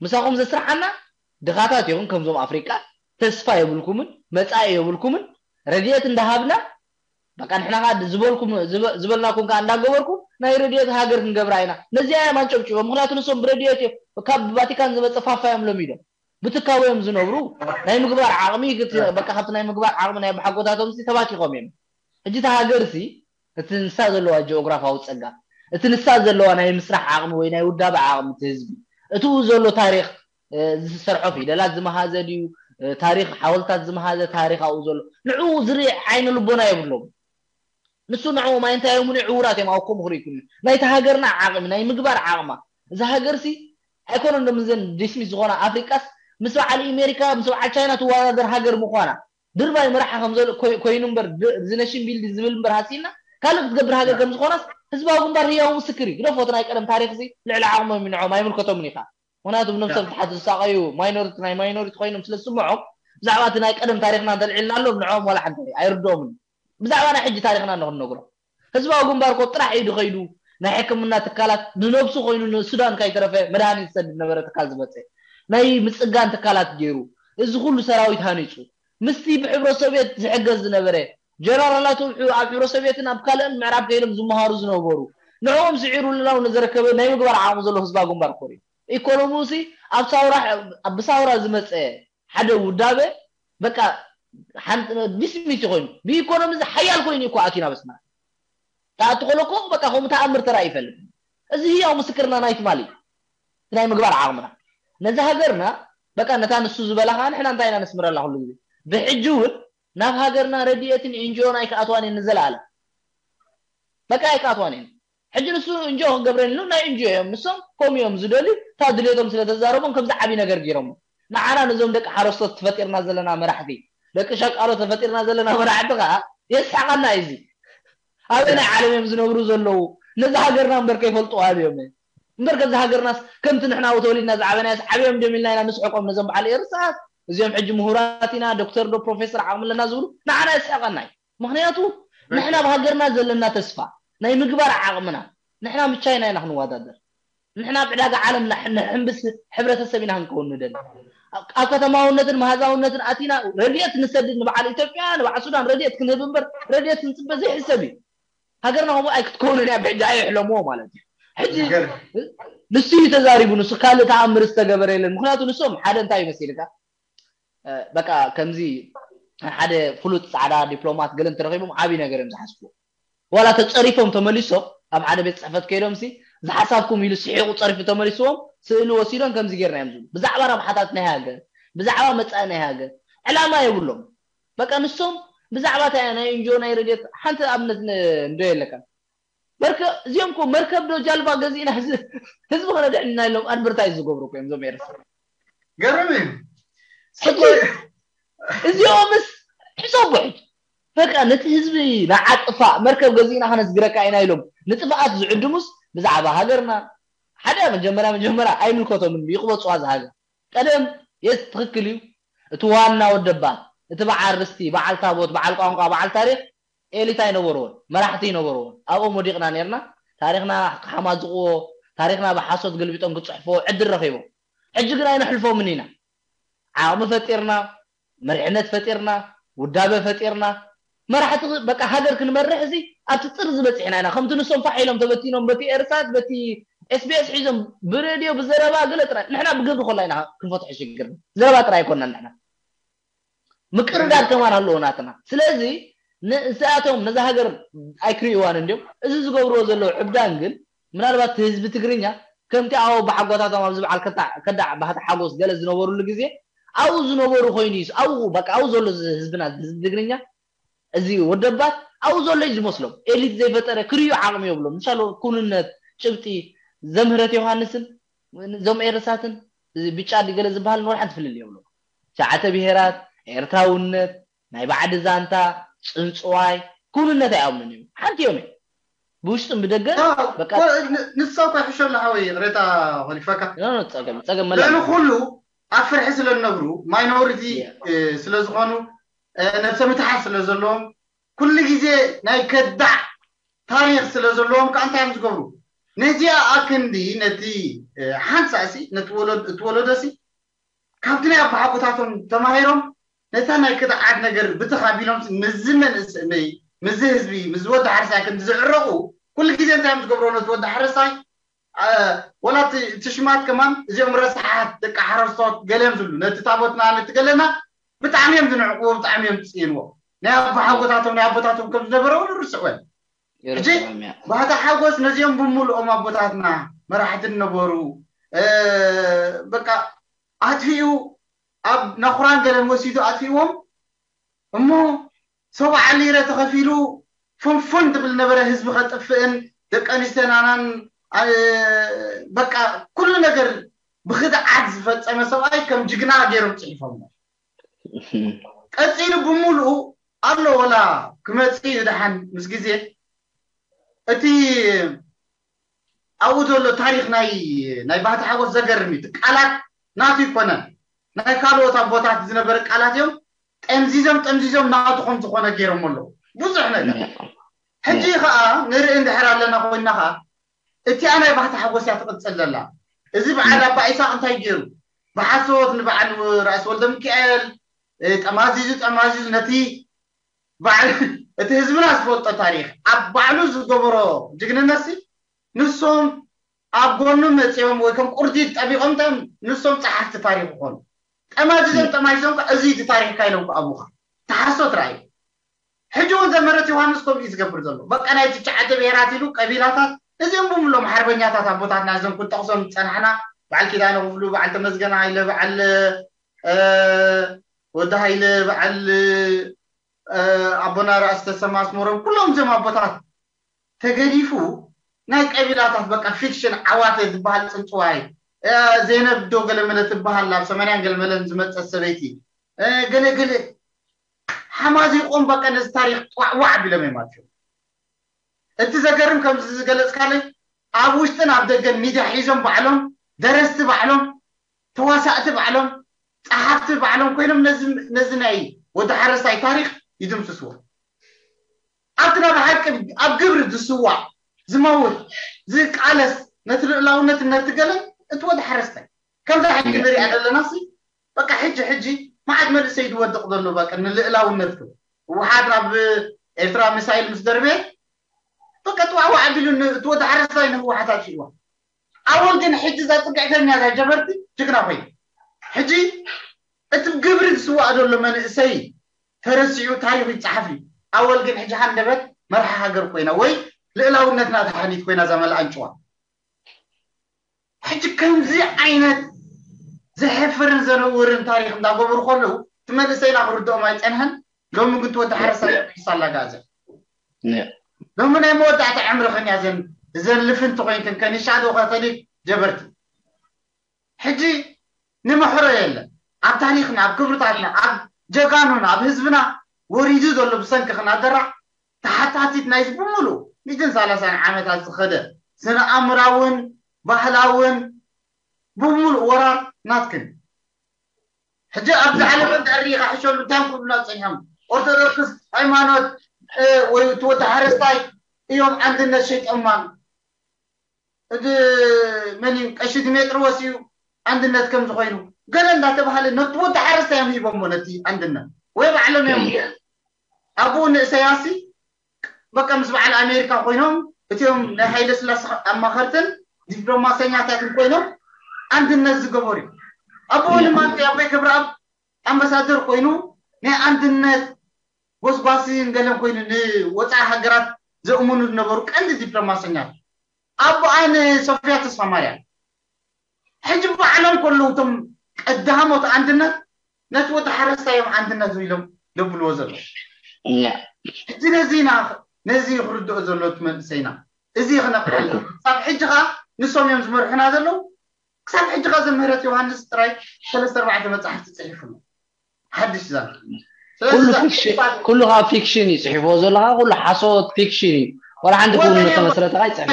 ምሳኹም ዘስርሓና ድኻታት ኢኹም ከምዞም ኣፍሪቃ ተስፋ የብልኩምን መጻኢ የብልኩምን ረድኤት እንዳሃብና በቃ ንሕና ከዓ ዝበልኩም ዝበልናኩም ከዓ እንዳገበርኩም ናይ ረድኤት ሃገር ክንገብራ ኢና ነዚኣ እዮም ኣንጨብጭቦም ምክንያቱ ንሶም ብረድኤት እዮም ካብ ቫቲካን ዝመፀ ፋፋ እዮም ለሚዶም ብትካቦ እዮም ዝነብሩ ናይ ምግባር ዓቕሚ በቃ ካብቲ ናይ ምግባር ዓቕሚ ናይ ብሓጎታቶም ተባቲኾም እዮም ሕጂ እቲ ሃገር ሲ እቲ ንሳ ዘለዋ ጂኦግራፋዊ ጸጋ፣ እቲ ንሳ ዘለዋ ናይ ምስራሕ ዓቕሚ ወይ ናይ ውዳበ ዓቕሚ እቲ ህዝቢ፣ እቲኡ ዘሎ ታሪኽ ዝሰርሖ ፊደላት ዝመሃዘ ድዩ፣ ታሪኽ ሓወልታት ዝመሃዘ ታሪኽ ኣብኡ ዘሎ ንዕኡ ዝርኢ ዓይነ ልቦና የብሎም። ንሱ ንዕኦም ኣይ እንታይ እዮም ንዑ ዕውራት እዮም ኣብኮም ክርኢ ኩሉ ናይቲ ሃገርና ዓቕሚ ናይ ምግባር ዓቕማ እዛ ሃገርሲ ኣይኮነን ዶ ምዘን ዲስሚስ ዝኾና ኣፍሪቃስ ምስ በዓል ኢሜሪካ ምስ በዓል ቻይና ትወዳደር ሃገር ምዃና ድርባይ መራሒ ከም ዘሎ ኮይኑ እምበር ዝነሽን ቢልድ ዝብል እምበር ሃሲና ካልእ ክትገብር ሃገር ከም ዝኾናስ ህዝባዊ ግንባር ህያው ምስክር እዩ። ግደፎ እቲ ናይ ቀደም ታሪኽ እዚ ልዕሊ ዓቕሞም እዩ ንዖም ኣይምልከቶምን እዩ ከዓ። ምኽንያቱ ብነብሶም ትሓት ዝሳቐዩ ማይኖሪቲ ናይ ማይኖሪቲ ኮይኖም ስለ ዝስምዖም ብዛዕባ እቲ ናይ ቀደም ታሪኽና እንተልዒልናሎም ንዖም ዋላ ሓንቲ ኣይርድኦምን። ብዛዕባ ናይ ሕጂ ታሪኽና ንኽንነግሮም ህዝባዊ ግንባር ኮ ጥራሕ ኢዱ ከይዱ ናይ ሕክምና ትካላት ንነብሱ ኮይኑ ንሱዳን ካይተረፈ መድሃኒት ዝሰድድ ነበረ ትካል ዝመፀ ናይ ምፅጋን ትካላት ገይሩ እዚ ኩሉ ሰራዊት ሃኒፁ ምስቲ ብሕብረ ሶቪየት ዝሕገዝ ዝነበረ ጀነራላቱ ኣብ ሕብረ ሶቪየትን ኣብ ካልእን ምዕራብ ከይዶም ዝመሃሩ ዝነበሩ ንዕኦም ስዒሩ ልላው ንዘረከበ ናይ ምግባር ዓቕሚ ዘሎ ህዝባዊ ግንባር ኮር እዩ ኢኮኖሚሲ ኣብ ሳውራ ብሳውራ ዝመፀ ሓደ ውዳበ በቃ ሓንቲ ዲስሚስ ኮይኑ ብኢኮኖሚ እዚ ሓያል ኮይኑ እኮ ኣቲና በስና ተኣቲ ከሎ እኮ በቃ ከምኡ ተኣምር ተራእዩ ይፈልጥ እዚ ህያው ምስክርና ናይ ትማሊ ናይ ምግባር ዓቕምና ነዚ ሃገርና በቃ ነታ ንሱ ዝበላ ከዓ ንሕና እንታይ ኢና ነስምረላ ኩሉ ግዜ ብሕጂ እውን ናብ ሃገርና ረድኤትን ኤንጂኦን ኣይክኣትዋን እየን ንዘለኣለም በቃ ኣይክኣትዋን እየን ሕጂ ንሱ እንጆ ክገብረን ኢሉ ናይ እንጆ እዮም ንሶም ከም እዮም ዝደልዩ እታ ድሌቶም ስለተዛረቦም ከምዚ ዓብዪ ነገር ገይሮም ንዓና ነዞም ደቂ ሓረስቶት ተፈጢርና ዘለና መራሕቲ ደቂ ሸቃሎ ተፈጢርና ዘለና መራሕቲ ከዓ የስሓቀና እዩ እዚ ኣበይ ናይ ዓለም እዮም ዝነብሩ ዘለዉ ነዚ ሃገርና እምበር ከይፈልጡ ኣበዮም እምበር ከዚ ሃገርናስ ከምቲ ንሕና ተወሊድና ዝዓበናዮስ ዓብዮም ድዮም ኢልና ኢና ንስሕቆም ነዞም በዓል ኤርሳስ እዚኦም ሕጂ ምሁራት ኢና ዶክተር ዶ ፕሮፌሰር ዓቕሚ ኣለና ዝብሉ ንዓና የስሕቀና እዩ ምኽንያቱ ንሕና ብሃገርና ዘለና ተስፋ ናይ ምግባር ዓቕምና ንሕና ምቻይና ኢና ክንወዳደር ንሕና ኣብ ዕዳጋ ዓለም ንሕምብስ ሕብረተሰብ ኢና ክንከውን ንደሊ ኣብ ከተማውነትን መሃዛውነትን ኣቲና ረድኤት ንሰድድ ንበዓል ኢትዮጵያ ንበዓል ሱዳን ረድኤት ክንህብ እምበር ረድኤት ክንፅበ ዘይሕሰብ እዩ ሃገርና ከምኡ ኣይክትከውንን እያ ብሕጂ ኣየሕለምዎ ማለት እዩ ሕጂ ንሱ እዩ ተዛሪቡ ንሱ ካልእ ተኣምር ዝተገበረ የለን ምክንያቱ ንሶም ሓደ እንታይ ይመስልካ በቃ ከምዚ ሓደ ፍሉጥ ፃዕዳ ዲፕሎማት ገለ እንተረኺቦም ዓብዪ ነገር እዮም ዝሓስብዎ ዋላ ተፀሪፎም ተመሊሶም ኣብ ሓደ ቤት ፅሕፈት ከይዶም ሲ ዝሓሳብኩም ኢሉ ስሒቑ ፀሪፉ ተመሊስዎም ስእሊ ወሲዶም ከምዚ ጌርና እዮም ዝብሉ ብዛዕባ ረብሓታት ናይ ሃገር ብዛዕባ መፃኢ ናይ ሃገር ዕላማ የብሎም በቃ ንሶም ብዛዕባ እንታይ ናይ እንጆ ናይ ረድኤት ሓንቲ ኣብነት እንዶ የለካ በርከ እዚኦም ኮ መርከብ ዶ ጃልባ ገዚእና ህዝቢ ከነድሕን ኢና ኢሎም ኣድቨርታይዝ ዝገብሩ እኮ እዮም እዞም ኤርትራ ገርም እዩ ሕጂ እዚኦምስ ሕሰቡ ሕጂ በቃ ነቲ ህዝቢ ንዓጥፋእ መርከብ ገዚእና ከነስግረካ ኢና ኢሎም ንጥፍኣት ዝዕድሙስ ብዛዕባ ሃገርና ሓደ መጀመርያ መጀመርያ ኣይምልከቶምን ይቅበፅዋ ዝሃገር ቀደም የስ ትክክል እዩ እቲ ዋና ወደባት እቲ በዓል ርስቲ በዓል ታቦት በዓል ቋንቋ በዓል ታሪክ ኤሊት ኣይነበርዎን መራሕቲ ይነበርዎን ኣብኦም ወዲቕና ነርና ታሪክና ክሓማዝቕዎ ታሪክና ብሓሶት ገልቢጦም ክፅሕፍዎ ዕድል ረኺቦም ሕጂ ግን ኣይነሕልፎምን ኢና ዓቕሚ ፈጢርና መሪሕነት ፈጢርና ውዳበ ፈጢርና መራሕቲ በቃ ሃገር ክንመርሕ እዚ ኣብቲ ጥርዚ በፂሕና ኢና ከምቲ ንሶም ፋሕ ኢሎም ተበቲኖም በቲ ኤርሳት በቲ ኤስቢኤስ ሒዞም ብሬድዮ ብዘረባ ገለ ጥራይ ንሕና ብግብሪ ኮላ ኢና ክንፈትሖ ሽግርና ዘረባ ጥራይ ኣይኮና ንሕና ምቅርዳድ ከማን ኣለዎ ናትና ስለዚ ንእስኣቶም ነዛ ሃገር ኣይክርእዋን እንዲዮም እዚ ዝገብርዎ ዘለዉ ዕብዳን ግን ምናልባት ህዝቢ ትግርኛ ከምቲ ኣብ ኣቦሓጎታቶም ኣብዚ በዓል ከዳዕ ባህቲ ሓጎስ ገለ ዝነበሩሉ ግዜ ኣብኡ ዝነበሩ ኮይኑ እዩ ኣብኡ በቃ ኣብኡ ዘሎ ህዝብና ህዝቢ ትግርኛ እዚ ወደባት ኣብኡ ዘሎ እዩ ዝመስሎም ኤሊት ዘይፈጠረ ክርእዩ ዓቕሚ የብሎም ምሻሎ ኩንነት ጭብጢ ዘምህረት ዮሃንስን እዞም ኤርሳትን እዚ ብጫ ድገለ ዝበሃል ንወላ ሓንቲ ፍልል የብሎም ሸዓተ ብሄራት ኤርትራውነት ናይ ባዕዲ ዛንታ ፅንፅዋይ ኩንነት ኣይኣምኑን እዮም ሓንቲ እዮም ብውሽጥን ብደገን በቃ ንሳ እኮ ይሕሸ ኣሎ ሓወይ ይቕሬታ ኾሊፈካ ኖ ኖ፣ ጸገም ጸገም መላ ልዕሊ ኩሉ ኣብ ፍርሒ ስለ ዝነብሩ ማይኖሪቲ ስለ ዝኾኑ ነብሰ ምትሓት ስለ ዘለዎም ኩሉ ግዜ ናይ ከዳዕ ታሪኽ ስለ ዘለዎም ከዓ እንታይ እዮም ዝገብሩ ነዚኣ ኣክንዲ ነቲ ሓንሳእሲ ነቲ ወለዶ- እቲ ወለዶሲ ካብቲ ናይ ኣባሓጎታቶም ተማሂሮም ነታ ናይ ክድዓት ነገር ብትኽ ኣቢሎም ምዚ መንእሰይ ምዚ ህዝቢ ምዚ ወዲ ሓረስታይ ክንዲ ዝዕረቑ ኩሉ ግዜ እንታይ እዮም ዝገብሮ ነቲ ወዲ ሓረስታይ ወላ እቲ ሽማት ከማን እዚኦም ረሳሓት ደቂ ሓረስቶት ገለ እዮም ዝብሉ ነቲ ታቦትና ነቲ ገለና ብጣዕሚ እዮም ዝንዕቅዎ ብጣዕሚ እዮም ዝፅይንዎ ናይ ኣባሓጎታቶም ናይ ኣቦታቶም ከም ዝነበረ እውን ርስዕወን ሕጂ ባህታ ሓጎስ ነዚኦም ብምሉኦም ኣቦታትና መራሕቲ ነበሩ በቃ ኣጥፊኡ ኣብ ናኹራን ገለን ወሲዱ ኣጥፊዎም እሞ ሰብዓ ሊረ ተኸፊሉ ፍንፉን ትብል ነበረ ህዝቢ ከጥፍእን ደቂ ኣንስትዮናናን በቃ ኩሉ ነገር ብክድዓት ዝፈፀመ ሰብኣይ ከም ጅግና ገይሮም ፅሒፎሞ ቀፂሉ ብምሉኡ ኣሎ ወላ ክመፅእ እዩ ደሓን ምስ ግዜ እቲ ኣብኡ ዘሎ ታሪክ ናይ ናይ ባህቲ ሓጎስ ዘገርም እዩ ቃላት ናቱ ይኮነን ናይ ካልኦት ኣቦታት ዝነበረ ቃላት እዮም ጠምዚዞም ጠምዚዞም ናቱ ከም ዝኮነ ገይሮም ኣለዉ ብዙሕ ነገር ሕጂ ከዓ ንርኢ እንድሕር ኣለና ኮይና ከዓ እቲኣ ናይ ባህታ ሓጎስ እያ ትቕፅል ዘላ። እዚ በዓል ኣባ ኢሳቅ እንታይ ገይሩ? ብሓሶት ንበዓል ራእሲ ወልደ ሚካኤል ጠማዚዙ ጠማዚዙ ነቲ በዓል እቲ ህዝብና ዝፈልጦ ታሪክ ኣብ ባዕሉ ዝገበሮ ጅግንነት ንሶም ኣብ ጎኑ መፂኦም ወይ ከም ቁርዲድ ጠቢቆም ንሶም ፀሓፍቲ ታሪክ ይኾኑ። ጠማዚዞም ጠማዚዞም እዚ ታሪክካ ኢሎም ኣቡካ ተሓሶት ራእዩ። ሕጂ እውን ዘመረት ዮሃንስ ከምኡ እዩ ዝገብር ዘሎ። በቃ ናይ ትሽዓተ ብሄራት ኢሉ ቀቢላታት እዚኦም ብምሎም ሓርበኛታት ኣቦታትና እዞም ክንጠቕሶም ዝፀናሕና በዓል ኪዳነ ክፍሉ፣ በዓል ተመስገን ሃይለ፣ በዓል ወዲ ሃይለ፣ በዓል ኣቦና ራእሲ ተሰማ ኣስመሮም፣ ኩሎም እዚኦም ኣቦታት ተገዲፉ ናይ ቀቢላታት በቃ ፊክሽን ዓዋተ ዝበሃል ፅንፅዋይ፣ ዘይነብ ዶ ገለመለ ትበሃል ኣብ ሰማንያን ገለመለን ዝመፀት ሰበይቲ፣ ገለገለ ሓማዚቆም በቃ ነዚ ታሪክ ዋዕዋዕ ቢሎም እዮም ኣትዮም። እቲ ዘገርም ከምዚ ዝገለፅካለይ ኣብ ውሽጥን ኣብ ደገን ሚድያ ሒዞም ባዕሎም ደረስቲ ባዕሎም ተዋሳእቲ ባዕሎም ፀሓፍቲ ባዕሎም ኮይኖም ነዚ ናይ ወዲ ሓረስታይ ታሪክ ይድምስስዎ። ኣብቲ ናብ ሓቂ ኣብ ግብሪ ዝስዋዕ ዝመውት ዝቃለስ ነቲ ልእላውነት ነቲ ገለን እቲ ወዲ ሓረስታይ ከምዛ ሕጂ ንሪኣ ዘለና ሲ በቃ ሕጂ ሕጂ መዓት መንእሰይ ዝወድቕ ዘሎ በቃ ንልእላውነት ክብል ህወሓት ናብ ኤርትራ ሚሳይል ምስ ደርበየ በቃ ጥዋዕዋዕ ኣቢሉ እቲ ወዲ ሓረስታይ ንህወሓት ኣጥፊእዋ። ኣወል ግን ሕጂ እዛ ፅግዕተኛ እዛ ጀበርቲ ጅግና ኮይኑ ሕጂ እቲ ግብሪ ዝስዋእ ዘሎ መንእሰይ ተረሲዑ ታሪኹ ይፀሓፍ እዩ። ኣወል ግን ሕጂ ሃንደበት መርሓ ሃገር ኮይና ወይ ልእላውነትና ተሓኒት ኮይና እዛ መልኣንጭዋ ሕጂ ከምዚ ዓይነት ዘሕፍርን ዘነውርን ታሪክ እንዳገበሩ ከለዉ እቲ መንእሰይና ክርድኦም ኣይፀንሐን። ሎሚ ግን ትወዲ ሓረስታይ ሒሳ ኣላጋዘ ሎሚ ናይ መወዳእታ ዕምርኽን እያ ዘን እዘን ልፍንቲ ኮይንክን ከኒሻ ዶ ካቶሊክ ጀበርቲ ሕጂ ንምሕሮ የለን ኣብ ታሪክና ኣብ ክብርታትና ኣብ ጀጋኑና ኣብ ህዝብና ወሪዱ ዘሎ ብሰንኪ ክናደራ ተሓታቲት ናይዚ ብምሉ ሚእትን ሰላሳን ዓመታት ዝኸደ ስነ ኣእምራውን ባህላውን ብምሉእ ወራር ናትክን ሕጂ ኣብዚ ዓለም እንድሕር ሪኢኻ ሕሸሉ እንታይ ክብሉና ፀኒሖም ኦርቶዶክስ ሃይማኖት ወይ እቲ ወዲ ሓረስታይ እዮም ኣንድነት ሸይጠማን እቲ መን እዩ ቀሺ ድሜጥርዎስ እዩ ኣንድነት ከም ዝኾይኑ ገለ እንዳተባሃለ ነቲ ወዲ ሓረስታይ እዮም ሂቦሞ ነቲ ኣንድነት ወይ ባዕሎም እዮም ኣብኡ ንእሰያሲ በቃ ምስ በዓል ኣሜሪካ ኮይኖም እቲኦም ናይ ሃይለ ስላሴ ኣማኸርትን ዲፕሎማሰኛታትን ኮይኖም ኣንድነት ዝገበሩ እዩ። ኣብኡ ንማንተ ኣቦይ ክብረኣብ ኣምባሳደር ኮይኑ ናይ ኣንድነት ጎስጓሲ ገለን ኮይኑ ንወፃኢ ሃገራት ዘእምኑ ዝነበሩ ቀንዲ ዲፕሎማሰኛታት ኣቦኣ ንሶፍያ ተስፋ ማርያም ሕጂ ባዕሎም ከለዉ እቶም ቀዳሞት ኣንድነት ነቲ ወዲ ሓረስታይ እዮም ኣንድነት ኢሎም ዘብልዎ ዘለዉ ሕጂ ነዚ ኢና ነዚ ክርድኦ ዘሎ እቲ መንእሰይና እዚ ክነቕሓሉ ክሳብ ሕጂ ከዓ ንሶም እዮም ዝመርሑና ዘለዉ ክሳብ ሕጂ ከዓ ዘምህረት ዮሃንስ ጥራይ ሰለስተ ኣርባዕተ መፅሓፍቲ ፅሒፉ ኣሎ ሓድሽ ዛንታ ኩሉ ከዓ ፊክሽን እዩ ፅሒፍዎ ዘለካ ኩሉ ሓሶት ፊክሽን እዩ ዋላ ሓንቲ ክውን ዝተመስረተ ከዓ ይፅሕፍ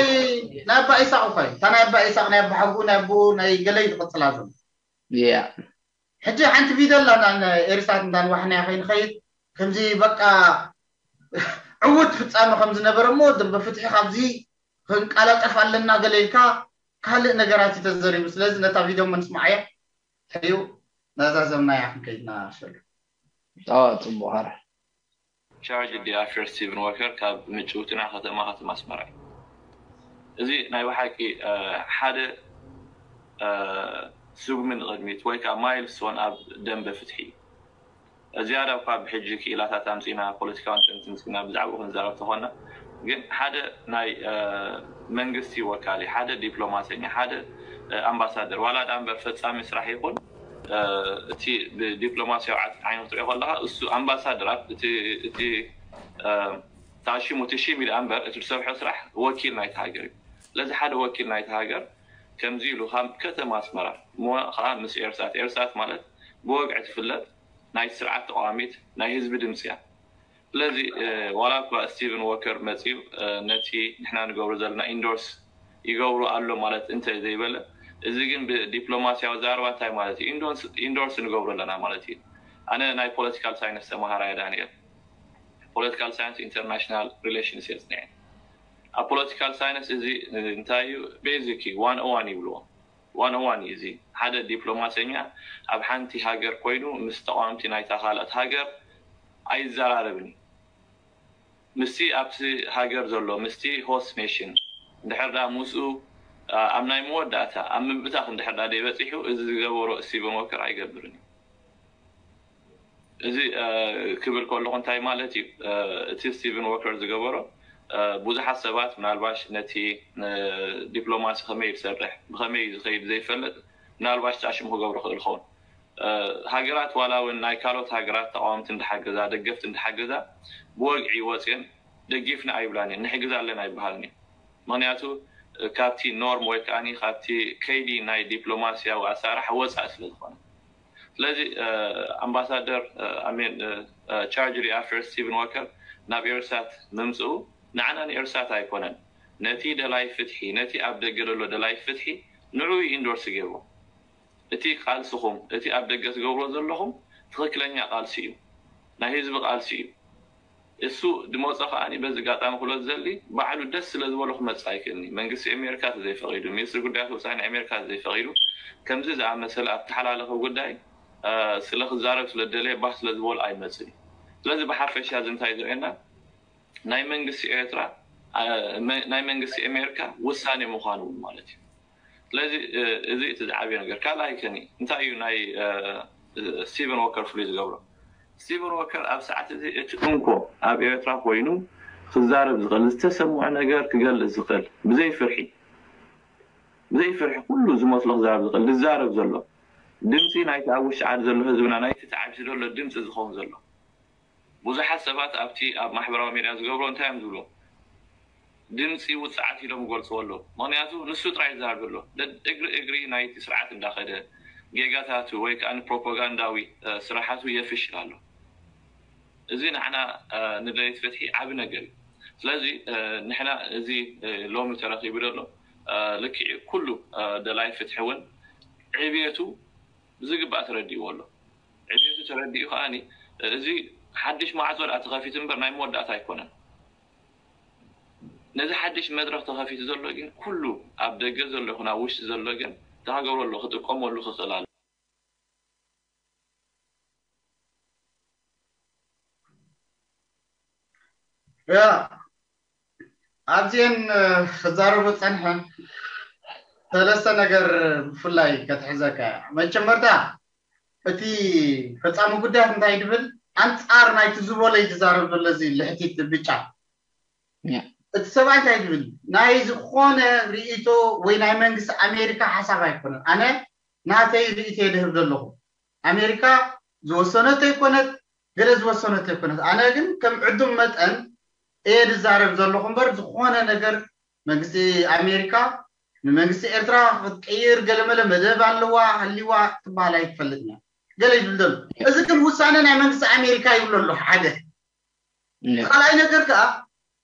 ናይ ኣባ ኢሳቅ እኳ እዩ እታ ናይ ኣባ ኢሳቅ ናይ ኣባ ሓጉ ናይ ኣቦ ናይ ገለይ ዝቅፅላ ዘሎ ያ ሕጂ ሓንቲ ቪድዮ ኣላ ኤሪሳት እንዳንዋሕናያ ከይንኸይድ ከምዚ በቃ ዕውት ፍፃመ ከም ዝነበረ እሞ ደንበ ፍትሒ ካብዚ ክንቃላጠፍ ኣለና ገለ ኢልካ ካልእ ነገራት እዩ ተዘሪቡ ስለዚ ነታ ቪድዮ መንስማዓያ ሕዩ ናዛዘምናያ ክንከይድና ሸሉ ፅቡቅ ኸረ ቻርጅ ዲ ኣፌር ስቲቨን ወከር ካብ ምጭውቲ ናብ ከተማ ከተማ ኣስመራ እዩ። እዚ ናይ ብሓቂ ሓደ ስጉሚ ንቕድሚት ወይ ከዓ ማይልስቶን ኣብ ደንበ ፍትሒ እዩ። ዝያዳ እኳ ብሕጂ ክኢላታት ኣምፂና ፖለቲካዊ ንትንትን ፂና ብዛዕባኡ ክንዛረብ ተኾና ግን ሓደ ናይ መንግስቲ ወካሊ ሓደ ዲፕሎማሰኛ ሓደ ኣምባሳደር ዋላ ዳ እምበር ፈፃሚ ስራሕ ይኹን እቲ ብዲፕሎማሲያዊ ዓይኒ ክትሪኦ ከለካ እሱ ኣምባሳደር እቲ ተኣሽሙ እቲ ሺም ኢሉ እምበር እቲ ዝሰርሖ ስራሕ ወኪል ናይቲ ሃገር እዩ ስለዚ ሓደ ወኪል ናይቲ ሃገር ከምዚ ኢሉ ካብ ከተማ ኣስመራ እሞ ከዓ ምስ ኤርሳት ኤርሳት ማለት ብወግዒ ትፍለጥ ናይ ስርዓት ተቃዋሚት ናይ ህዝቢ ድምፂ እያ ስለዚ ዋላ እኳ ስቲቨን ዎከር መፂኡ ነቲ ንሕና ንገብሮ ዘለና ኢንዶርስ ይገብሩ ኣሎ ማለት እንተ ዘይበለ እዚ ግን ብዲፕሎማሲያዊ ዛረባ እንታይ ማለት እዩ ኢንዶርስ ንገብሮ ኣለና ማለት እዩ ኣነ ናይ ፖለቲካል ሳይንስ ተምሃራይ ዳንኤል ፖለቲካል ሳይንስ ኢንተርናሽናል ሪሌሽንስ እየ ፅንዐ። ኣብ ፖለቲካል ሳይንስ እዚ እንታይ እዩ? ቤዚክ እዩ፣ ዋን ኦ ዋን ይብልዎ። ዋን ኦ ዋን እዩ። እዚ ሓደ ዲፕሎማሰኛ ኣብ ሓንቲ ሃገር ኮይኑ ምስ ተቃወምቲ ናይታ ካልኣት ሃገር ኣይዘራረብን እዩ። ምስቲ ኣብቲ ሃገር ዘሎ፣ ምስቲ ሆስት ኔሽን፣ እንድሕር ዳ ምስኡ ኣብ ናይ መወዳእታ ኣብ ምብታኽ እንድሕር ዳ ደይበፂሑ፣ እዚ ዝገበሮ ስቲቨን ወከር ኣይገብርን እዩ። እዚ ክብል ከለኹ እንታይ ማለት እዩ? እቲ ስቲቨን ወከር ዝገበሮ፣ ብዙሓት ሰባት ምናልባሽ ነቲ ዲፕሎማሲ ከመይ ዝሰርሕ፣ ብኸመይ ዝኸይድ ዘይፈልጥ፣ ምናልባሽ ጫሽሙ ክገብሮ ክእል ኸውን። ሃገራት ዋላ እውን ናይ ካልኦት ሃገራት ተቃወምቲ እንዳሓገዛ፣ ደገፍቲ እንዳሓገዛ፣ ብወግዒ ወፅየን ደጊፍና ኣይብላን እየን፣ ንሕግዝ ኣለና ኣይበሃልን እዩ። ምክንያቱ ካብቲ ኖርም ወይ ከዓ ካብቲ ከይዲ ናይ ዲፕሎማሲያዊ ኣሰራርሓ ወፃኢ ስለ ዝኾነ። ስለዚ ኣምባሳደር ኣሜን ቻርጅ ሪኣፈር ስቲቨን ወከር ናብ ኤርሳት ምምፅኡ ንዓና ንኤርሳት ኣይኮነን፣ ነቲ ደላይ ፍትሒ፣ ነቲ ኣብ ደገ ዘሎ ደላይ ፍትሒ ንዑ ኢንዶርስ ገይርዎ። እቲ ቃልስኹም፣ እቲ ኣብ ደገ ትገብሮ ዘለኹም ትኽክለኛ ቃልሲ እዩ፣ ናይ ህዝቢ ቃልሲ እዩ። እሱ ድመፆ ከዓኒ በዚ ኣጋጣሚ ክብሎ ዝደሊ፣ ባዕሉ ደስ ስለ ዝበሎ ክመፅእ ኣይክእልኒ። መንግስቲ ኣሜሪካ ተዘይፈቒዱ፣ ሚኒስትሪ ጉዳያት ወፃኢ ናይ ኣሜሪካ ተዘይፈቒዱ፣ ከምዚ ዝኣመሰለ ኣተሓላለኸ ጉዳይ ስለ ክዛረብ ስለ ደለየ ባህ ስለ ዝበሎ ኣይመፅን እዩ። ስለዚ ብሓፈሻ እዚ እንታይ ዘርእየና? ናይ መንግስቲ ኤርትራ ናይ መንግስቲ ኣሜሪካ ውሳኔ ምዃኑ እውን ማለት እዩ። ስለዚ እዚ እቲ ዝዓብየ ነገር። ካልኣይ ከኒ እንታይ እዩ ናይ ስቲቨን ወከር ፍሉይ ዝገብሮ? ስቲቨን ወከር ኣብ ሰዓት እዚ እቲ እንኮ ኣብ ኤርትራ ኮይኑ ክዛረብ ዝኽእል፣ ዝተሰምዖ ነገር ክገልጽ ዝኽእል፣ ብዘይ ፍርሒ፣ ብዘይ ፍርሒ ኩሉ ዝመስሎ ክዛረብ ዝኽእል፣ ዝዛረብ ዘሎ፣ ድምጺ ናይቲ ኣብ ውሽጢ ዓዲ ዘሎ ህዝብና፣ ናይቲ ተዓቢሱ ዘሎ ድምጺ ዝኸውን ዘሎ። ብዙሓት ሰባት ኣብቲ ኣብ ማሕበራዊ ሚድያ ዝገብሮ እንታይ እዮም ዝብሉ? ድምፂ ውፅዓት ኢሎም ይገልፅዎ ኣለዉ። ምክንያቱ ንሱ ጥራይ ይዛረብ ዘሎ። እግሪ እግሪ ናይቲ ስርዓት እንዳኸደ፣ ጌጋታቱ ወይ ከዓ ፕሮፓጋንዳዊ ስራሓቱ የፍሽል ኣሎ። እዚ ንዓና ንደለይቲ ፍትሒ ዓቢ ነገር እዩ። ስለዚ ንሕና እዚ ሎሚ ተረኺቡ ዘሎ ልክዕ ኩሉ ደላይ ፍትሒ እውን ዕብየቱ ብዝግባእ ተረዲእዎ ኣሎ። ዕብየቱ ተረዲኡ ከዓኒ እዚ ሓድሽ ማዕጾ ደኣ ተኸፊቱ እምበር ናይ መወዳእታ ኣይኮነን። ነዚ ሓድሽ መድረኽ ተኸፊቱ ዘሎ ግን ኩሉ ኣብ ደገ ዘሎ ይኹን ኣብ ውሽጢ ዘሎ ግን ተሃገሩ ኣሎ ክጥቀመሉ ክኽእል ኣሎ። ያ ኣብዚኤን ክዛረቡ ጸንሐ ሰለስተ ነገር ብፍላይ ከትሕዘካ እያ። መጀመርታ እቲ ፈጻሚ ጉዳያት እንታይ ድብል ኣንጻር ናይቲ ዝበሎ እዩ ዝዛረብ ዘሎ እዚ ልሕቲት ብጫ እቲ ሰብኣይ እንታይ ድብል ናይ ዝኾነ ርእይቶ ወይ ናይ መንግስቲ ኣሜሪካ ሓሳብ ኣይኮነን። ኣነ ናተይ ርእይቶ የድህብ ዘለኹ። ኣሜሪካ ዝወሰነቶ ይኮነት ገለ ዝወሰነቶ ይኮነት። ኣነ ግን ከም ዕዱም መጠን እየ ዝዛረብ ዘለኹ እምበር ዝኾነ ነገር መንግስቲ ኣሜሪካ ንመንግስቲ ኤርትራ ክትቀይር ገለመለ መደብ ኣለዋ ሃሊዋ ትበሃል ኣይትፈልጥን እያ። ገለ ይብል ዘሎ። እዚ ግን ውሳነ ናይ መንግስቲ ኣሜሪካ ይብሎ ኣሎ ሓደ። ካልኣይ ነገር ከዓ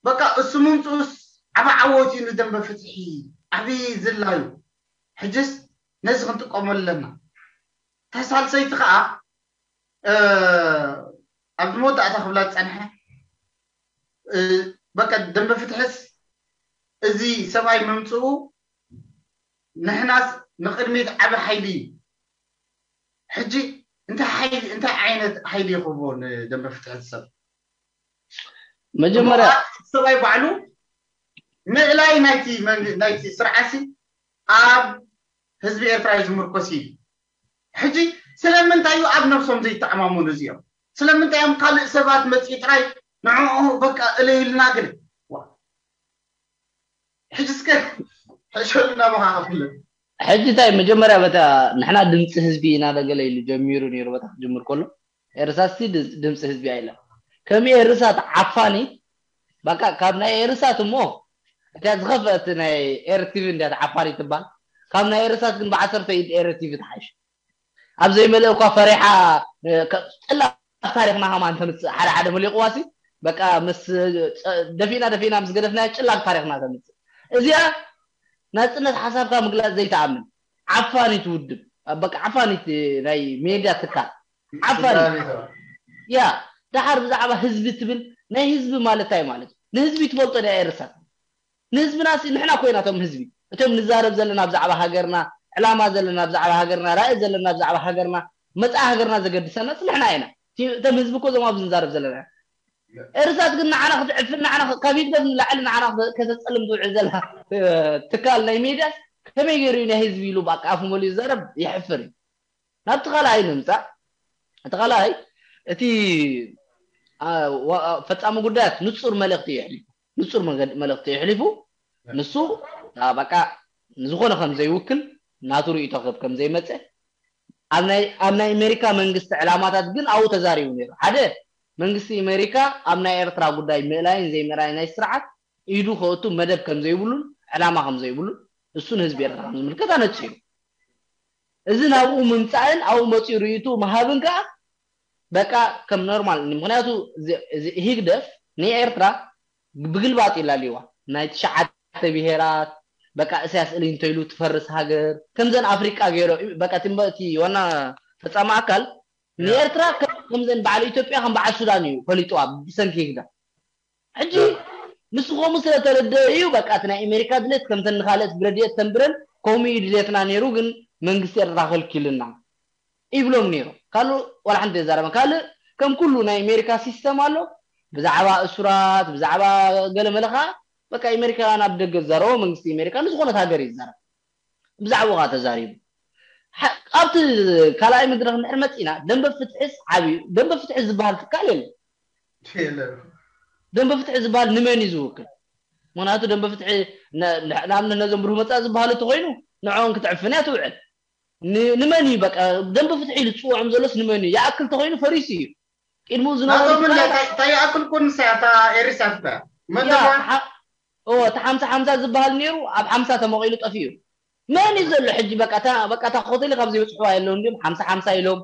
በቃ እሱ ምምፅኡስ ዓቢ ዓወት እዩ ንደንበ ፍትሒ ዓቢ ዝላ እዩ። ሕጅስ ነዚ ክንጥቀመሉ ኣለና። ተሳልሰይቲ ከዓ ኣብዚ መወዳእታ ክብላ ዝፀንሐ በቃ ደንበ ፍትሕስ እዚ ሰብኣይ ምምፅኡ ንሕናስ ንቅድሚት ዓቢ ሓይሊ እዩ። ሕጂ እንታይ ሓይሊ እንታይ ዓይነት ሓይሊ ይኽቦ ንደንበ ፍትሒ ሰብ መጀመርያ ሰብኣይ ባዕሉ ምእላይ ናይቲ ናይቲ ስርዓሲ ኣብ ህዝቢ ኤርትራ እዩ ዝምርኮስ እዩ። ሕጂ ስለምንታይ እዩ ኣብ ነብሶም ዘይተኣማመኑ እዚኦም? ስለምንታይ እዮም ካልእ ሰባት መፅኢ ጥራይ ንዕኡ በቃ እለዩልና ግን ሕጂ እስከ ሕሸሉ ናባኻ ክፍለ ሕጂ እንታይ መጀመርያ በታ ንሕና ድምፂ ህዝቢ ኢና ለገለ ኢሉ ጀሚሩ ነይሩ በታ ክጅምር ከሎ ኤርሳስቲ ድምፂ ህዝቢ ኣይለ ከም ኤርሳት ዓፋኒ በቃ ካብ ናይ ኤርሳት እሞ እታ ዝኸፍአት ናይ ኤርቲቪ እንዲያ ዓፋኒ ትባል ካብ ናይ ኤርሳት ግን ብዓሰርተ ኢድ ኤርቲቪ ትሓሽ ኣብ ዘይመልእ እኳ ፈሪሓ ጭላ ታሪኽና ከማን ተምፅእ ሓደ ሓደ መሊቑዋሲ በቃ ምስ ደፊና ደፊና ምስ ገደፍና ጭላግ ታሪኽና ተምፅእ እዚኣ ናፅነት ሓሳብካ ምግላፅ ዘይተኣምን ዓፋኒት ውድብ በቃ ዓፋኒት ናይ ሜድያ ትካል ዓፋኒት ያ ደሓር ብዛዕባ ህዝቢ ትብል ናይ ህዝቢ ማለት እንታይ ማለት እዩ? ንህዝቢ ትፈልጦ ዲያ ኤርሳት? ንህዝብና ሲ ንሕና ኮይና እቶም ህዝቢ፣ እቶም ንዛረብ ዘለና ብዛዕባ ሃገርና፣ ዕላማ ዘለና ብዛዕባ ሃገርና፣ ራእይ ዘለና ብዛዕባ ሃገርና፣ መጻኢ ሃገርና ዘገድሰና ሲ ንሕና ኢና። እቲ- እቶም ህዝቢ እኮ እዞም ኣብዚ ንዛረብ ዘለና። ኤርሳት ግን ንዓና ክትዕፍን፣ ንዓና ከ- ካብ ህግደፍ ንላዕሊ ንዓና ከ- ከተጸልም ትውዕል ዘላ እ፣ ትካል ናይ ሜድያ ከመይ ገይሩ እዩ ናይ ህዝቢ ኢሉ በቃ ኣፉ መሊኡ ዝዛረብ? የሕፍር እዩ። ናብቲ ካልኣይ ንምጻእ። እቲ ካልኣይ እቲ ኣ፣ ዋ- ፈጻሚ ጉዳያት ንጹር መልእኽቲ የሕሊፉ፣ ንጹር መገድ- መልእኽቲ የሕሊፉ። ንሱ ኣ፣ በቃ ንዝኾነ ከም ዘይውክል፣ ናቱ ርእይቶ ክህብ ከም ዘይመጸ፣ ኣብ ናይ ኣብ ናይ ኣሜሪካ መንግስቲ ዕላማታት ግን ኣብኡ ተዛሪቡ ነይሩ። ሓደ፣ መንግስቲ ኣሜሪካ ኣብ ናይ ኤርትራ ጉዳይ ምእላይን ዘይምእላይን ናይ ስርዓት ኢዱ ከእቱ መደብ ከም ዘይብሉን ዕላማ ከም ዘይብሉን፣ እሱ ንህዝቢ ኤርትራ ከም ዝምልከት ኣነጺሩ። እዚ ናብኡ ምምጻእን ኣብኡ መጺኡ ርእይቱ ምሃብን ከኣ በቃ ከም ኖርማል፣ ምክንያቱ እዚ- እዚ ህግደፍ ንኤርትራ ብግልባጥ ይላልይዋ። ናይ ትሽዓተ ብሄራት በቃ እሳያስ እሊ እንተኢሉ ትፈርስ ሃገር፣ ከምዘን ኣፍሪቃ ገይሮ፣ በቃ እቲ እምበ- እቲ ዋና ፈጻሚ ኣካል ንኤርትራ ከም- ከምዘን በዓል ኢትዮጵያ ከም በዓል ሱዳን እዩ ፈሊጥዋ ብሰንኪ ህግደፍ። ሕጂ ንሱ ከምኡ ስለተረደአ እዩ በቃ እቲ ናይ ኣሜሪካ ድሌት ከምተን ንኻልኦት ብረድኤት ተንብረን ከምኡ እዩ ድሌትና ነይሩ፣ ግን መንግስቲ ኤርትራ ከልኪልና ይብሎም ነይሩ። ካልእ ዋላ ሓንቲ የዛረበን። ካልእ ከም ኩሉ ናይ ኣሜሪካ ሲስተም ኣሎ፣ ብዛዕባ እሱራት ብዛዕባ ገለ መለ ከዓ በቃ ኣሜሪካ ናብ ደገ ዝዛረቦ መንግስቲ ኣሜሪካ ንዝኾነት ሃገር እዩ ዝዛረብ። ብዛዕባኡ ከዓ ተዛሪቡ። ሓ- ኣብቲ ካልኣይ መድረክ እንድሕር መፂና ደንበ ፍትሕስ ዓብዩ ደንበ ፍትሒ ዝበሃል ትካል የለን። የለን። ደንበ ፍትሒ ዝበሃል ንመን እዩ ዝውክል? ምክንያቱ ደንበ ፍትሒ ነ- ነ- ንኣብነት ነዞም ብሩህ መፃኢ ዝበሃሉ እንተኮይኑ ንዕኦም ክትዕፍን እያ ትውዕል። ን- ንመን እዩ በቃ ደንበ ፍትሒ ኢሉ ዝፅውዖም ዘሎስ ንመን እዩ? ይኣክል ተኮይኑ ፈሪሱ እዩ። ቅድሚኡ ዝነበሩ ናቶም እንዳ ትካላት ታይ- ታይ ይኣክል ኩን ንሳ እታ ኤሪሳት እታ መን ያ ደማ ተሓ- ኦ፣ እቲ ሓምሳ ሓምሳ ዝበሃል ነይሩ ኣብ ሓምሳ ተመቂሉ ጠፊኡ። መን እዩ ዘሎ ሕጂ? በቃ እታ በቃ እታ ሆቴል ካብ ዘይበፅሕዋ የለውን ድዮም ሓምሳ ሓምሳ ኢሎም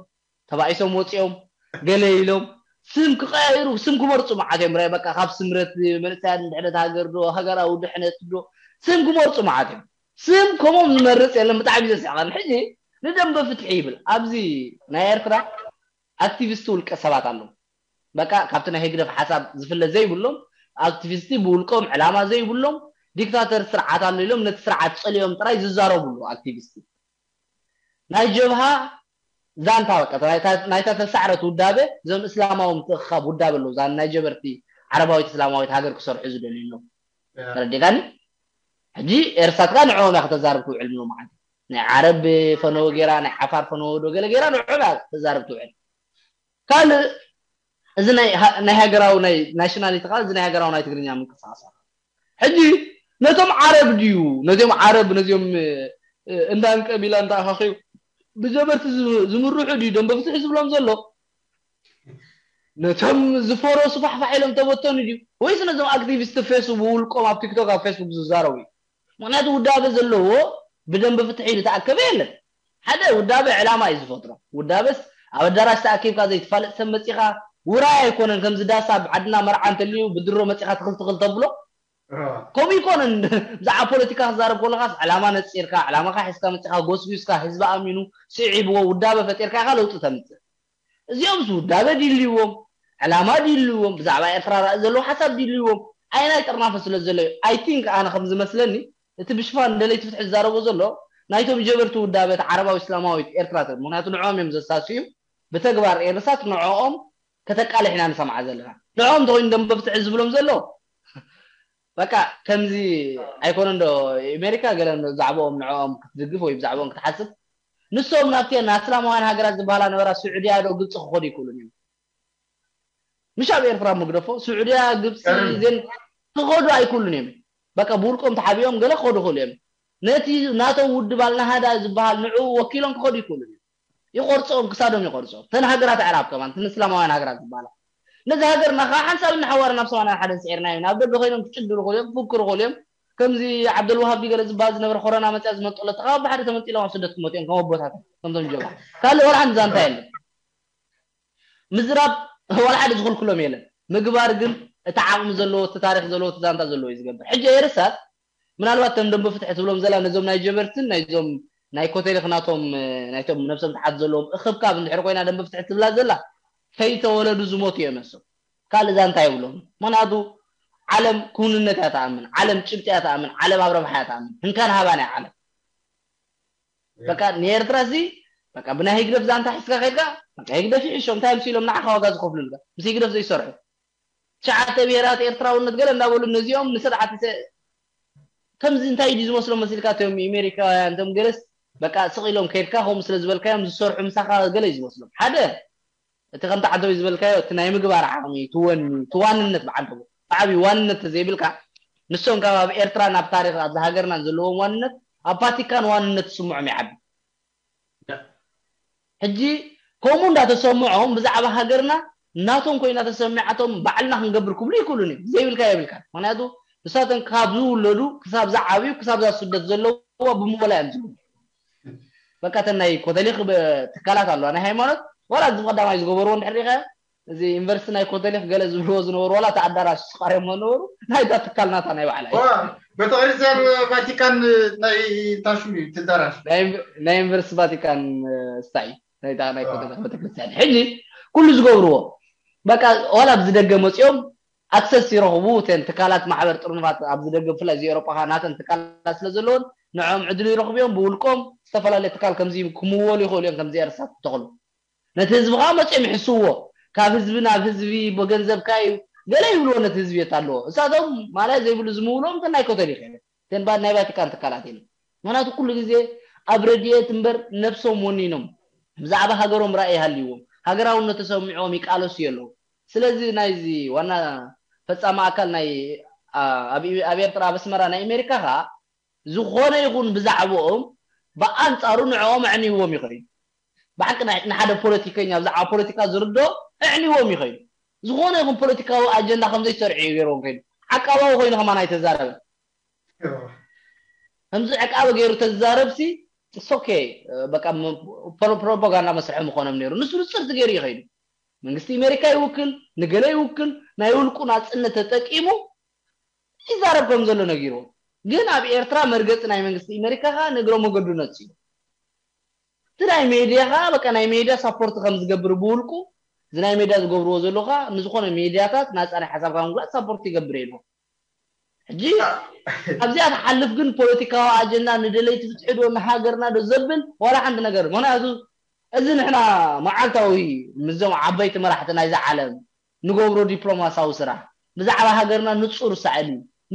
ተባኢሶም ወፂኦም ገለ ኢሎም ስም ክቀያይሩ ስም ክመርፁ መዓት እዮም። ራይ በቃ ካብ ስምረት መንእሰያት ድሕነት ሃገር ዶ ሃገራዊ ድሕነት ዶ ስም ክመርፁ መዓት እዮም። ስም ከምኦም ዝመርፅ የለን። ብጣዕሚ ዘስዕቐኒ ሕጂ ንደንበ ፍትሒ ይብል ኣብዚ ናይ ኤርትራ ኣክቲቪስት ውልቀ ሰባት ኣለዉ። በቃ ካብቲ ናይ ህግደፍ ሓሳብ ዝፍለ ዘይብሎም ኣክቲቪስቲ ብውልቆም ዕላማ ዘይብሎም ዲክታተር ስርዓት ኣሎ ኢሎም ነቲ ስርዓት ጸሊኦም ጥራይ ዝዛረቡ ኣለዉ ኣክቲቪስቲ ናይ ጀብሃ ዛንታ በቃ ናይታ- ናይታ ተሳዕረት ውዳበ እዞም እስላማዊ ምትእኽኻብ ውዳበ ኣለዉ ዛን ናይ ጀበርቲ ዓረባዊት እስላማዊት ሃገር ክሰርሑ ዝደልዩ ኣለዉ ተረዲእካኒ ሕጂ ኤርሳት ከኣ ንዕኦም እያ ከተዛርብ ትውዕል ምሎ ማለት ናይ ዓረብ ፈነወ ገይራ ናይ ዓፋር ፈነወ ዶ ገለ ገይራ ንዕኦም እያ ተዛርብ ትውዕል ካልእ እዚ ናይ ሃ- ናይ ሃገራዊ ናይ ናሽናሊቲ ከዓ እዚ ናይ ሃገራዊ ናይ ትግርኛ ምንቅስቃስ ኣሎ። ሕጂ ነቶም ዓረብ ድዩ ነዚኦም ዓረብ ነዚኦም እ፣ እንዳን ቀቢላ እንዳኣኻኺቡ ብጀበርቲ ዝ- ዝምርሑ ድዩ ደንበ ፍትሒ ዝብሎም ዘሎ ነቶም ዝፈረሱ ፋሕፋሕ ኢሎም ተበተኑ ድዩ ወይስ ነዞም ኣክቲቪስት ፌስቡክ ውልቆም ኣብ ቲክቶክ ኣብ ፌስቡክ ዝዛረቡ እዩ ምክንያቱ ውዳበ ዘለዎ ብደንበ ፍትሒ ዝተኣከበ የለን ሓደ ውዳበ ዕላማ እዩ ዝፈጥሮ ውዳበስ ኣብ ኣዳራሽ ተኣኪብካ ዘይትፋለጥ ሰብ መፂኻ ውራይ ኣይኮነን ከምዚ ዳስ ኣብ ዓድና መርዓ እንተልዩ ብድሮ መፂኻ ትኽል ትኽል ተብሎ ከምኡ ይኮነን ብዛዕባ ፖለቲካ ክዛረብ ከለኻስ ዕላማ ነፂርካ ዕላማካ ሒዝካ መፂኻ ጎስጒስካ ህዝቢ ኣሚኑ ስዒብዎ ውዳበ ፈጢርካ ኢኻ ለውጢ ተምፅእ እዚኦምስ ውዳበ ድልዎም ዕላማ ድልዎም ብዛዕባ ኤርትራ ራእ ዘለዎ ሓሳብ ድልዎም ኣይናይ ጥርናፈ ስለ ዘሎ እዩ I think ኣነ ከም ዝመስለኒ እቲ ብሽፋን ደለይቲ ፍትሒ ዝዛረቦ ዘሎ ናይቶም ጀበርቲ ውዳበት ዓረባዊ እስላማዊት ኤርትራ ተ ምክንያቱ ንዕኦም እዮም ዘሳስዩ ብተግባር ኤርሳት ንዕኦም ከተቃልሕ ኢና ንሰምዓ ዘለና ንዕኦም እንተኮይኑ ደንበ ፍትሒ ዝብሎም ዘሎ በቃ ከምዚ ኣይኮነ እንዶ ኣሜሪካ ገለ እንዶ ብዛዕባኦም ንዕኦም ክትድግፍ ወይ ብዛዕባኦም ክትሓስብ ንሶም ናብቲ ናይ እስላማውያን ሃገራት ዝበሃላ ነበራ ስዑድያ ዶ ግብፂ ክኸዱ ይክእሉን እዮም ምሽ ኣብ ኤርትራ ምግደፎ ስዑድያ ግብፂ ዜን ክኸዱ ኣይክእሉን እዮም በቃ ብውልቆም ተሓቢኦም ገለ ክኸዱ ክእሉ እዮም ነቲ ናቶም ውድብ ኣልናሃዳ ዝበሃል ንዕኡ ወኪሎም ክኸዱ ይክእሉን እዮም ይቆርፅኦም ክሳዶም ይቆርፅኦም ተን ሃገራት ኣዕራብ ከማን ተን እስላማውያን ሃገራት ዝበሃላ ነዚ ሃገርና ከዓ ሓንሳብ እናሓዋረ ናብ ሰማንያን ሓደን ስዒርና እዩ ናብ ደገ ኮይኖም ክጭድሩ ክእሉ እዮም ክፍክሩ ክእሉ እዮም ከምዚ ዓብደልዋሃብ ገለ ዝበሃል ዝነበረ ኮሮና መፅያ ዝመንጠሎ ተኻባ ብሓደ ተመንጢሎም ኣብ ስደት ክመጡ እዮም ከም ኣቦታት ከምቶም ጀባ ካልእ ወላ ሓንቲ ዛንታ የለን ምዝራብ ወላ ሓደ ዝኽልክሎም የለን ምግባር ግን እቲ ዓቕሚ ዘለዎ እቲ ታሪክ ዘለዎ እቲ ዛንታ ዘለዎ እዩ ዝገብር ሕጂ ኤርሳት ምናልባት ተም ደንበ ፍትሒ ትብሎም ዘላ ነዞም ናይ ጀበርትን ናይዞም ናይ ኮተሊክ ናቶም ናይቶም ነብሰም ተሓት ዘለዎም እኽብካብ እንድሕር ኮይና ደንበ ፍትሒ ትብላ ዘላ ከይተወለዱ ዝሞቱ እዮም እሶም ካልእ ዛንታ የብሎም። ምክንያቱ ዓለም ክውንነት እያ ትኣምን፣ ዓለም ጭብጢ እያ ትኣምን፣ ዓለም ኣብ ረብሓ እያ ትኣምን። ህንካን ሃባን እያ ዓለም። በቃ ንኤርትራ ሲ በቃ ብናይ ህግደፍ ዛንታ ሒዝካ ከይድካ በቃ ህግደፍ ይሕሾም እንታይ ምስ ኢሎም ንዓኻ ዋጋ ዝኸፍሉልካ ምስ ህግደፍ ዘይሰርሑ ትሽዓተ ብሄራት ኤርትራውነት ገለ እንዳበሉ ነዚኦም ንስርዓት ከምዚ እንታይ ድዩ ዝመስሎም መሲልካ እቶም ኣሜሪካውያን እቶም ገለስ በቃ ስቕ ኢሎም ከይድካ ከምኡ ስለ ዝበልካዮም ዝሰርሑ ምሳኻ ገለ እዩ ዝመስሎም ሓደ እቲ ከምቲ ዓደዊ ዝበልካዮ እቲ ናይ ምግባር ዓቕሚ ትወኒ ትዋንነት ብዓንተቦ ብዓብዩ ዋንነት ተዘይብልካ ንሶም ካብ ኣብ ኤርትራን ኣብ ታሪኽ ኣብዚ ሃገርናን ዘለዎም ዋንነት ኣብ ቫቲካን ዋንነት ዝስምዖም ይዓቢ ሕጂ ከምኡ እንዳተሰምዖም ብዛዕባ ሃገርና ናቶም ኮይና ተሰሚዓቶም ባዕልና ክንገብር ክብሉ ይክእሉን እዮም ዘይብልካ የብልካ ምክንያቱ ንሳቶም ካብ ዝውለዱ ክሳብ ዝዓብዩ ክሳብ ዛ ስደት ዘለዋ ብምወላ እዮም ዝብሉ በቃ ተን ናይ ኮተሊክ ትካላት ኣለዋ ናይ ሃይማኖት ዋላ እዚ ቀዳማይ ዝገበርዎ እንድሕር ሪኸ እዚ ዩኒቨርሲቲ ናይ ኮተሊክ ገለ ዝብልዎ ዝነበሩ ዋላ እቲ ኣዳራሽ ስቃርዮም ነበሩ ናይዛ ትካል ናታ ናይ ባዕላ ቤተክርስትያን ቫቲካን ናይ ታሽሙ እዩ ትዳራሽ ናይ ዩኒቨርሲቲ ቫቲካን ስታይ ናይታ ናይ ኮተሊክ ቤተክርስትያን ሕጂ ኩሉ ዝገብርዎ በቃ ዋላ ኣብዚ ደገ መፂኦም ኣክሰስ ይረኽቡ እተን ትካላት ማሕበር ጥርኑፋት ኣብዚ ደገ ብፍላይ እዚ ኤሮጳ ናተን ትካላት ስለ ዘለዎን ንዕኦም ዕድል ይረኽቡ እዮም ብውልቆም ዝተፈላለየ ትካል ከምዚ ክምወሉ ይኽእሉ እዮም ከምዚ ኤርሳት ተኽሉ ነቲ ህዝቢ ከዓ መፅኦም ይሕስዎ ካብ ህዝቢ ናብ ህዝቢ ብገንዘብካ እዩ ገለ ይብልዎ ነቲ ህዝቢ የት ኣለዎ እሳቶም ማልያ ዘይብሉ ዝምውልዎም እተን ናይ ኮተሊክ እየን እተን ናይ ቫቲካን ትካላት እየን ምክንያቱ ኩሉ ግዜ ኣብ ረድኤት እምበር ነብሶም ወኒኖም ብዛዕባ ሃገሮም ራእይ ይሃልይዎም ሃገራውነት ተሰሚዖም ይቃለሱ የለዉ ስለዚ ናይዚ ዋና ፈፃሚ ኣካል ናይ ኣብ ኤርትራ ኣብ ኣስመራ ናይ ኣሜሪካ ከዓ ዝኾነ ይኹን ብዛዕባኦም ብኣንፃሩ ንዕኦም ኣዕንይዎም ይኽእል ብሓቂ ንሓደ ፖለቲከኛ ብዛዕባ ፖለቲካ ዝርዶ ኣዕንይዎም ይኽእል ዝኾነ ይኹን ፖለቲካዊ ኣጀንዳ ከም ዘይሰርዑ እዩ ገይርዎም ከይዱ ዓቃባዊ ኮይኑ ከማን ኣይተዛረበ ከምዚ ዕቃበ ገይሩ ተዛረብሲ ሶኬ በቃ ፕሮፓጋንዳ መስርሒ ምኾኖም ነይሩ ንሱ ንፅርቲ ገይሩ ይኸይዱ መንግስቲ ኣሜሪካ ይውክል ንገለ ይውክል ናይ ውልቁ ናፅነት ተጠቂሙ ይዛረብ ከም ዘሎ ነጊርዎ ግን ኣብ ኤርትራ መርገፂ ናይ መንግስቲ ኣሜሪካ ከዓ ንግረ መገዱ ነፂ እቲ ናይ ሜድያ ከዓ በቃ ናይ ሜድያ ሳፖርት ከም ዝገብር ብውልቁ እዚ ናይ ሜድያ ዝገብርዎ ዘሎ ከዓ ንዝኾነ ሜድያታት ናፃ ናይ ሓሳብካ ምግላፅ ሳፖርት ይገብር የለ ሕጂ ኣብዚኣ ትሓልፍ ግን ፖለቲካዊ ኣጀንዳ ንደለይቲ ፍትሒ ዶ ንሃገርና ዶ ዘብል ዋላ ሓንቲ ነገር ምክንያቱ እዚ ንሕና መዓልታዊ ምስዞም ዓበይቲ መራሕቲ ናይዛ ዓለም ንገብሮ ዲፕሎማሳዊ ስራሕ ብዛዕባ ሃገርና ንፁር ሳዕሊ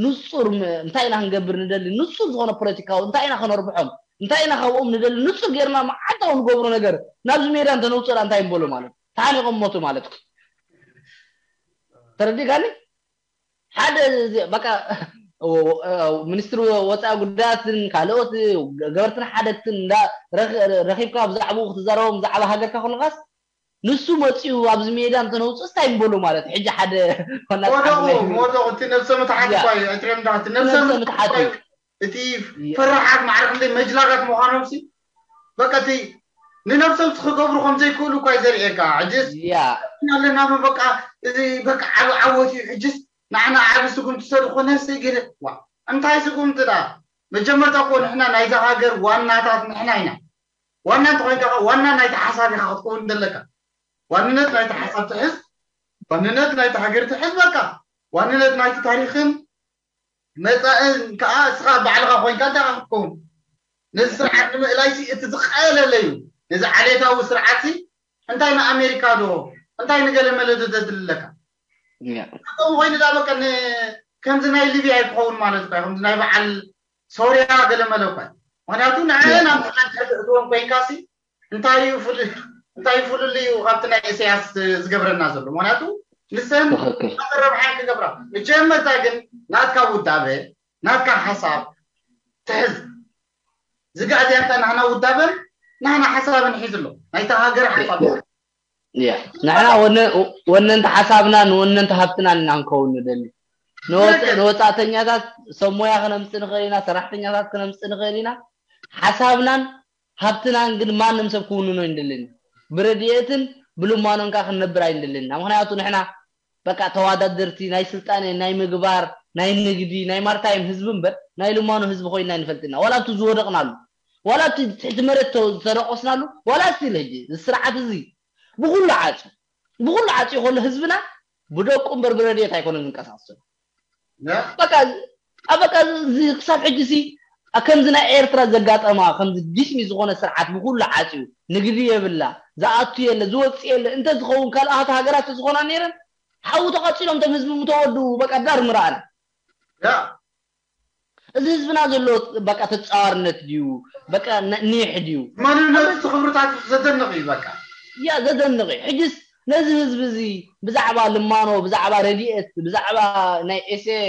ንፁር እንታይ ኢና ክንገብር ንደሊ ንፁር ዝኾነ ፖለቲካዊ እንታይ ኢና ከነርብሖም እንታይ ኢና ካብኦም ንደሊ ንፁር ጌርና መዓልታዊ ንገብሮ ነገር ናብዚ ሜዳ እንተነውፅእ እንታይ ንበሎ ማለት ተሓኒቆም ሞቱ ማለት ተረዲእካኒ ሓደ በቃ ሚኒስትሪ ወፃኢ ጉዳያትን ካልኦት ገበርትን ሓደግትን ረኪብካ ብዛዕባኡ ክትዛረቦም ብዛዕባ ሃገርካ ከለካስ ንሱ መፂኡ ኣብዚ ሜዳ እንተነውፅእ እንታይ ንበሎ ማለት ሕጂ ሓደ ወደቁ እቲ ነብሰ ምትሓት እኳ እዩ እትሪኦም ዳ እቲ ነብሰ ምትሓት እዩ እቲ ፈራሓት ማዕረ ክንደይ መጅላጋት ምዃኖም ሲ በቃ እቲ ንነብሶም ክገብሩ ከም ዘይክእሉ እኳ እዩ ዘርእየካ ሕጅስ ኣለና በቃ እዚ በቃ ዓቢ ዓወት እዩ ሕጅስ ንዓና ዓቢ ስጉምቲ ተድኮነስ ገለ ዋ እንታይ ስጉምቲ ዳ መጀመርታ እኮ ንሕና ናይዛ ሃገር ዋናታት ንሕና ኢና ዋና እንተኮይንካ ዋና ናይቲ ሓሳብ ኢካ ክትከውን ዘለካ ዋንነት ናይቲ ሓሳብ ትሕዝ ዋንነት ናይቲ ሃገር ትሕዝ በቃ ዋንነት ናይቲ ታሪክን መፃእን ከዓ እስኻ ባዕልኻ ኮይንካ እንታይ ክትከውን ነዚ ስርዓት ንምእላይሲ እቲ ዝቀለለ እዩ ነዚ ዓሌታዊ ስርዓትሲ እንታይ ንኣሜሪካ ዶ እንታይ ንገለመለ ዶ ዘድልለካ ከምኡ ኮይኑ ዳ በቃ ከምዚ ናይ ሊብያ ኣይክኸውን ማለት እኳ ከምዚ ናይ በዓል ሶርያ ገለመለ እኳ ምክንያቱ ንዕና ምክንያት ሕዚ እትዎም ኮይንካሲ እንታይ እዩ ፍል- እንታይ እዩ ፍልልዩ ካብቲ ናይ ኢሳያስ ዝገብረና ዘሎ ምክንያቱ ንሰን ትኽክል ኣረብሓን ክገብራ መጀመርታ ግን ናትካ ውዳበ ናትካ ሓሳብ ትሕዝ ዝጋእዝያ እንተ ናህና ውዳበን ናህና ሓሳብን ሒዝ ኣሎ ናይታ ሃገር ሓሳብ ንሕና ወነንቲ ሓሳብና ንወነንቲ ሃብትናን ኢና ክንከውን ንደሊ ንወፃእተኛታት ሰብ ሞያ ክነምፅእ ንኽእል ኢና ሰራሕተኛታት ክነምፅእ ንኽእል ኢና ሓሳብናን ሃብትናን ግን ማንም ሰብ ክውንኖ ኣይንደልን ብረድኤትን ብልማኖን ከዓ ክንነብር ኣይንደልን ኢና ምክንያቱ ንሕና በቃ ተዋዳደርቲ ናይ ስልጣነ ናይ ምግባር ናይ ንግዲ ናይ ማርታይም ህዝቢ እምበር ናይ ልማኖ ህዝቢ ኮይና ኣይንፈልጥና ዋላ እቲ ዝወደቕናሉ ዋላ እቲ ትሕቲ መሬት ዝተደቆስናሉ ዋላ እስቲል ሕጂ እዚ ስርዓት እዚ ብኩሉ ዓፂ ብኩሉ ዓፂ ከሎ ህዝብና ብደቁ እምበር ብረድኤት ኣይኮነን ዝንቀሳቀስ ዘሎ። በቃ በቃ እዚ ክሳብ ሕጂ ሲ ከምዚ ናይ ኤርትራ ዘጋጠማ ከምዚ ዲስሚ ዝኾነ ስርዓት ብኩሉ ዓፅዩ፣ ንግዲ የብላ፣ ዝኣቱ የለ፣ ዝወፅእ የለ። እንተ ዝኸውን ካልኣት ሃገራት ዝኾና ነይረን ሓዊ ተቐፂሎም ቶም ህዝቢ ምተወዱ በቃ ዳር ምረኣና። እዚ ህዝብና ዘሎ በቃ ተፃዋርነት ድዩ? በቃ ኒሕ ድዩ? ማንነቱ ክብርታት ዘደንቕ እዩ። በቃ ያ ዘደንቕ እዩ። ሕጅስ ነዚ ህዝቢ እዚ ብዛዕባ ልማኖ፣ ብዛዕባ ረድኤት፣ ብዛዕባ ናይ ኤስኤ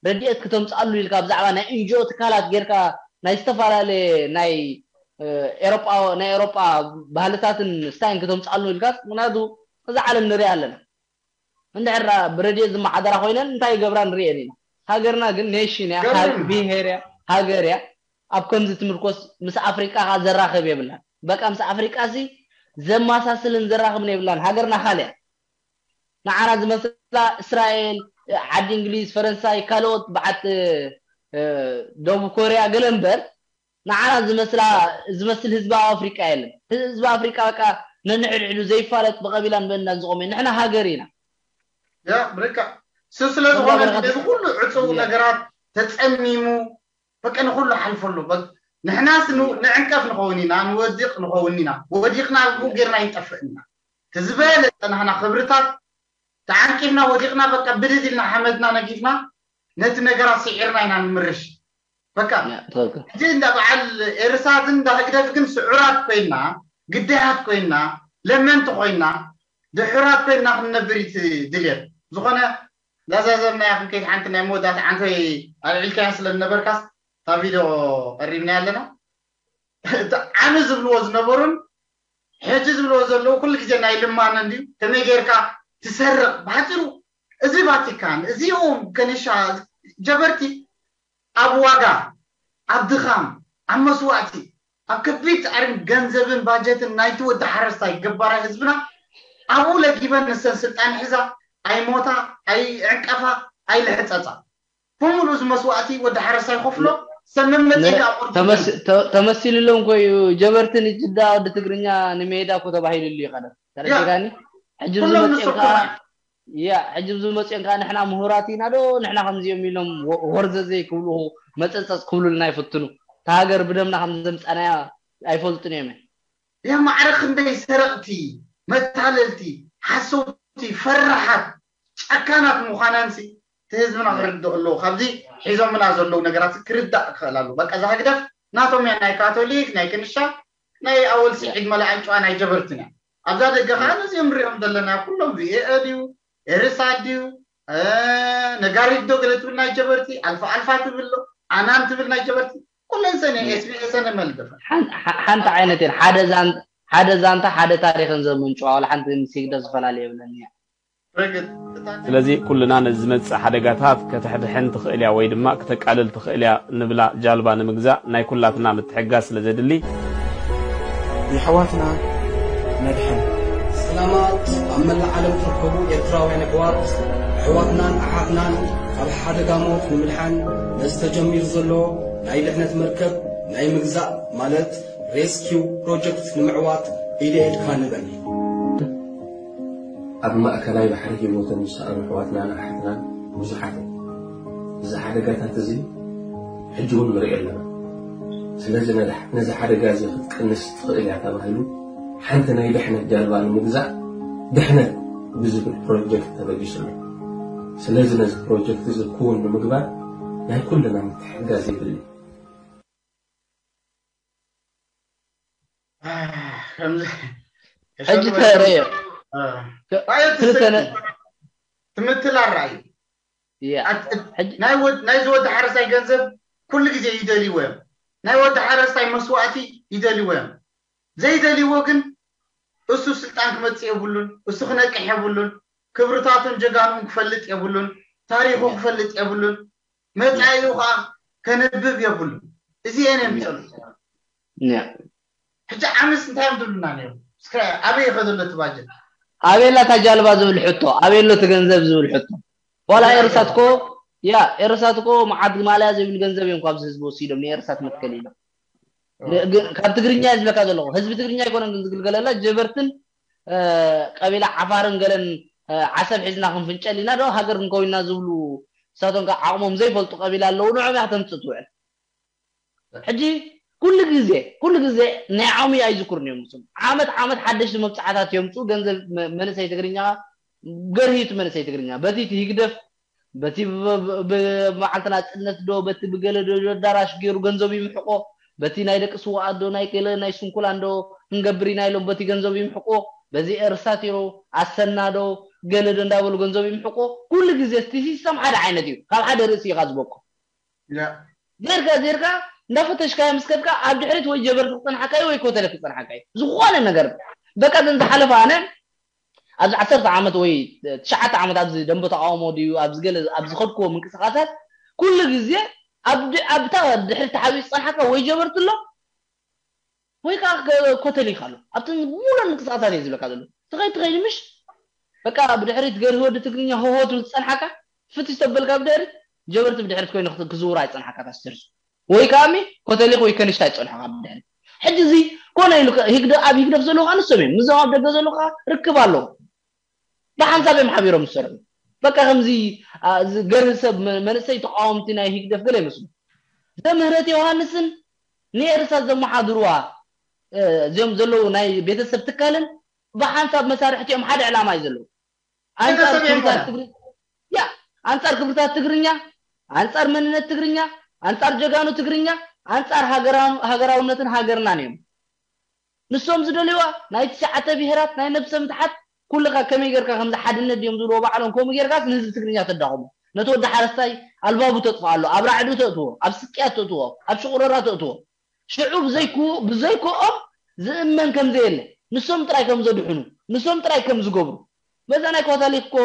ረድኤት ክተምፅኣሉ ኢልካ ብዛዕባ ናይ ኤንጂኦ ትካላት ጌርካ ናይ ዝተፈላለየ ናይ ኤሮጳ ናይ ኤሮጳ ባህልታትን ስታይን ክተምፅኣሉ ኢልካ ምክንያቱ እዛ ዓለም ንሪኣ ኣለና። እንድሕር ብረድኤት ዝመሓደራ ኮይነን እንታይ ይገብራ ንሪኤን ኢና። ሃገርና ግን ኔሽን እያ፣ ብሄር እያ፣ ሃገር እያ። ኣብ ከምዚ ትምርኮስ ምስ ኣፍሪቃ ከ ዘራኽብ የብላን። በቃ ምስ ኣፍሪቃ ሲ ዘማሳስልን ዘራኽብን የብላን። ሃገርና ካልያ ንዓና ዝመስላ እስራኤል፣ ዓዲ እንግሊዝ፣ ፈረንሳይ፣ ካልኦት በዓት ደቡብ ኮርያ ገለ እምበር ንዓና ዝመስላ ዝመስል ህዝቢ ኣብ ኣፍሪቃ የለን። ህዝቢ ኣፍሪቃ በቃ ነንሕድሕዱ ዘይፋለጥ ብቐቢላን ብእንዳን ዝቖመ ንሕና ሃገር ኢና። ያ ብርካ ስ ስለ ዝኾነ ነዚ ኩሉ ዕፅው ነገራት ተፀሚሙ በቃ ንኩሉ ሓልፈሉ። ንሕናስ ንዕንቀፍ ንኸውን ኢና፣ ንወዲቕ ንኸውን ኢና። ወዲቕና ጌርና ይንጠፍእ ኢና። ዝበለፀ ናህና ክብርታት ተዓንቂፍና ወዲቕና በቃ ብድድ ኢልና ሓመድና ነጊፍና ነቲ ነገራት ስዒርና ኢና ንምርሽ። በቃ ሕጂ እንዳ በዓል ኤርሳት እንዳ ህግደፍ ግን ስዑራት ኮይና ግዳያት ኮይና ለመንቲ ኮይና ድሑራት ኮይና ክንነብር እዩ ድልየት። ዝኾነ ላዛዘምናያ ክንከይድ ሓንቲ ናይ መወዳእታ ዓንተይ ኣልዒልካያ ስለ ዝነበርካስ እታ ቪድዮ ቀሪብናያ ኣለና። ዓሚ ዝብልዎ ዝነበሩን ሕጂ ዝብልዎ ዘለዉ ኩሉ ግዜ ናይ ልማነ እንድዩ። ከመይ ጌርካ ትሰርቕ ባጭሩ እዚ ቫቲካን እዚኦም ከኒሻ ጀበርቲ ኣብ ዋጋ ኣብ ድኻም ኣብ መስዋእቲ ኣብ ከቢድ ጻዕርን ገንዘብን ባጀትን ናይቲ ወዲ ሓረስታይ ገባራይ ህዝብና ኣብኡ ለጊበን ንሰን ስልጣን ሒዛ ኣይሞታ ኣይዕንቀፋ ኣይልሕጸጻ። ብምሉእ እዚ መስዋእቲ ወዲ ሓረስታይ ይኸፍሎ። ሰመመፂ ተመሲልሎም ኮዩ ጀበርቲ ንጅዳ ወዲ ትግርኛ ንሜዳ ኮ ተባሂሉሉ እዩ ቀደም ተረዲእካኒ። ሕጂ ዝመፅኦም ከዓ ያ ሕጂ ዝመፅኦም ከዓ ንሕና ምሁራት ኢና ዶ ንሕና ከምዚኦም ኢሎም ወርዘዘይ ክብሉ መፀፀፅ ክብሉልና ይፍትኑ። እታ ሃገር ብደምና ከም ዘምፃናያ ኣይፈልጡን እዮም። ያ ማዕረ ክንደይ ሰረቕቲ፣ መታለልቲ፣ ሓሰውቲ፣ ፈራሓት፣ ጨካናት ምዃናንሲ እቲ ህዝብና ክርድኦ ኣለዎ። ካብዚ ሒዞምና ዘለዉ ነገራት ክርዳእ ክኽእል ኣለዎ። በቃ እዛ ህግደፍ ናቶም እያ፣ ናይ ካቶሊክ፣ ናይ ክንሻ፣ ናይ ኣወል ስዒድ መላኣን ጨዋ ናይ ጀበርትን እያ። ኣብዛ ደገ ከዓ ነዚኦም ንሪኦም ዘለና ኩሎም ቪኤ ድዩ ኤርሳ ድዩ ነጋሪት ዶ ገለ ትብል ናይ ጀበርቲ ኣልፋ ኣልፋ ትብል ዶ ኣናን ትብል ናይ ጀበርቲ ኩለን ሰን ኤስቢኤስ ን መልደፈ ሓንቲ ዓይነት እየን። ሓደ ዛንታ ሓደ ዛንታ ሓደ ታሪኽን ዘምንጭዋ ዋላ ሓንቲ ምስ ህግደፍ ዝፈላለ የብለን እያ። ስለዚ ኩልና ነዚ ዝመጽእ ሓደጋታት ከተሕድሕን ትኽእል እያ ወይ ድማ ክተቃልል ትኽእል እያ ንብላ ጃልባ ንምግዛእ ናይ ኩላትና ምትሕግጋዝ ስለ ዘድሊ፣ የሕዋትና ነድሕን። ሰላማት ኣብ መላእ ዓለም ትርከቡ ኤርትራውያን ኣሕዋት ኣሕዋትናን ኣሓትናን ካብ ሓደጋ ሞት ንምድሓን ነዚ ተጀሚሩ ዘሎ ናይ ድሕነት መርከብ ናይ ምግዛእ ማለት ሬስኪው ፕሮጀክት ንምዕዋት ኢደ ኢድካ ንበል። ኣብ ማእከላይ ባሕሪ ህይወቶም ዝሰኣኑ ኣሕዋትናን ኣሓትናን ብዙሓት እዮም። እዚ ሓደጋታት እዚ ሕጂ እውን ንሪኦ ኣለና። ስለዚ ነዚ ሓደጋ እዚ ክትቅንስ ትኽእል እያ ተባሂሉ ሓንቲ ናይ ድሕነት ጃልባ ንምግዛእ ድሕነት ብዝብል ፕሮጀክት ተበጊሱ ኣሎ። ስለዚ ነዚ ፕሮጀክት እዚ ክውን ንምግባር ናይ ኩልና ምትሕግጋዝ የድሊ። ሕጂ ተረዮ ትምትል ኣረኣዩ ናይዚ ወዲ ሓረሳይ ገንዘብ ኩሉ ግዜ ይደልይዎ እዮም። ናይ ወዲ ሓረስታይ መስዋእቲ ይደልይዎ እዮም። ዘይደልይዎ ግን እሱ ስልጣን ክመፅእ የብሉን፣ እሱ ክነቅሕ የብሉን፣ ክብርታቱን ጀጋኑን ክፈልጥ የብሉን፣ ታሪኹ ክፈልጥ የብሉን፣ መፃኢኡ ከዓ ከንብብ የብሉን። እዚኤን እዮም ዝፀልኡ። ሕጂ ዓምስ እንታይ እዮም ዝብሉና ነይሮም? እስከ ኣበይ ይኸዶ ኣሎ እቲ ባጀት? ኣበይ ኣላ እታ ጃልባ ዝብል ሕቶ፣ ኣበይ ኣሎ እቲ ገንዘብ ዝብል ሕቶ። ዋላ ኤርሳት ኮ ያ ኤርሳት ኮ መዓት ማልያ ዘይብሉ ገንዘብ እዮም ካብዚ ህዝቢ ወሲዶም ንኤርሳት መትከል ኢሎም። ካብ ትግርኛ ዝብለካ ዘለኹ ህዝቢ ትግርኛ ኣይኮነን ግን ዝግልገለላ ጀበርትን ቀቢላ ዓፋርን ገለን ዓሰብ ሒዝና ክንፍንጨል ኢና ዶ ሃገር ክንከውን ኢና ዝብሉ፣ ንሳቶም ከዓ ዓቕሞም ዘይፈልጡ ቀቢላ ኣለዉ፣ ንዕኦም እያ ክተምፅእ ትውዕል። ሕጂ ኩሉ ግዜ ኩሉ ግዜ ናይ ዓሙይ ኣይዝክሩን እዮም። ንሶም ዓመት ዓመት ሓደሽቲ መብፃዕታት የምፅኡ። ገንዘብ መ- መንእሰይ ትግርኛ ገርሂቱ መንእሰይ ትግርኛ በቲ እቲ ህግደፍ በቲ ብ- ብ- ብ- መዓልቲ ናፅነት ዶ በቲ ብገለ ዶ ኣዳራሽ ገይሩ ገንዘብ ይምሕቆ። በቲ ናይ ደቂ ስዋኣት ዶ ናይ ገለ ናይ ስንኩላን ዶ ክንገብር ኢና ኢሎም በቲ ገንዘብ ይምሕቆ። በዚ ኤርሳት ዶ ኣሰና ዶ ገለ ዶ እንዳበሉ ገንዘብ ይምሕቆ። ኩሉ ግዜ እቲ ሲስተም ሓደ ዓይነት እዩ። ካብ ሓደ ርእሲ ኢኻ ዝበቆ ጌርካ ጌርካ እንዳፈተሽካዮ ምስ ከድካ ኣብ ድሕሪት ወይ ጀበርቲ ክፀንሓካ እዩ ወይ ኮተለ ክፀንሓካ እዩ። ዝኾነ ነገር በቃ ዘን ዝሓለፈ ኣነ ኣብዚ ዓሰርተ ዓመት ወይ ትሽዓተ ዓመት ኣብዚ ደንበ ተቃውሞ ድዩ ኣብዚ ገለ ኣብ ዝኸድክዎ ምንቅስቃሳት ኩሉ ግዜ ኣብታ ድሕሪ ተሓቢኡ ዝፀንሓካ ወይ ጀበርቲ ኣሎ ወይ ከዓ ኮተሊካ ኣሎ ኣብተን ሙሉን ምንቅስቃሳት እየ ዝብለካ ዘሎ። ትኸይድ ትኸይድ ምሽ በቃ ብድሕሪት ገርሂ ወዲ ትግርኛ ሆሆ ትብል ዝፀንሓካ ፍትሽ ተበልካ ብድሕሪት ጀበርቲ ብድሕሪት ኮይኑ ክዝውራ ይፀንሓካ ታስተርሱ ወይ ከኣሚ ኮተሊክ ወይ ከንሻ ይፀንሖካ ብድሕሪት። ሕጂ እዚ ኮነ ኢሉ ህግደ ኣብ ህግደፍ ዘለዉ ከዓ ንሶም እዮም። ንዞም ኣብ ደገ ዘለዉ ከዓ ርክብ ኣለዉ። ብሓንሳብ እዮም ሓቢሮም ዝሰርሑ። በቃ ከምዚ ገርህ ሰብ መንእሰይ ተቃወምቲ ናይ ህግደፍ ገለ ይመስሉ። ዘምህረት ዮሃንስን ንኤርትራ ዘመሓድርዋ እዚኦም ዘለዉ ናይ ቤተሰብ ትካልን ብሓንሳብ መሳርሕቲ እዮም ሓደ ዕላማ እዩ ዘለዉ። ኣንጻር ክብርታት ትግርኛ፣ ኣንጻር መንነት ትግርኛ፣ ኣንጻር ጀጋኑ ትግርኛ፣ ኣንጻር ሃገራውነትን ሃገርናን እዮም። ንሶም ዝደልይዋ ናይ ትሽዓተ ብሄራት ናይ ነብሰ ምትሓት ኩልኻ ከመይ ጌርካ ከምዚ ሓድነት ድዮም ዝብልዎ ባዕሎም ከምኡ ጌርካስ ንህዝቢ ትግርኛ ተዳኽሞ። ነቲ ወዲ ሓረስታይ ኣልባቡ ተጥፍኣ ኣሎ፣ ኣብ ራዕዲ ተእትዎ፣ ኣብ ስቅያት ተእትዎ፣ ኣብ ሽቑረራ ተእትዎ። ሽዑ ብዘይክኡ ብዘይክኦም ዝእመን ከም ዘየለ፣ ንሶም ጥራይ ከም ዘድሕኑ፣ ንሶም ጥራይ ከም ዝገብሩ። በዛ ናይ ካቶሊክ እኮ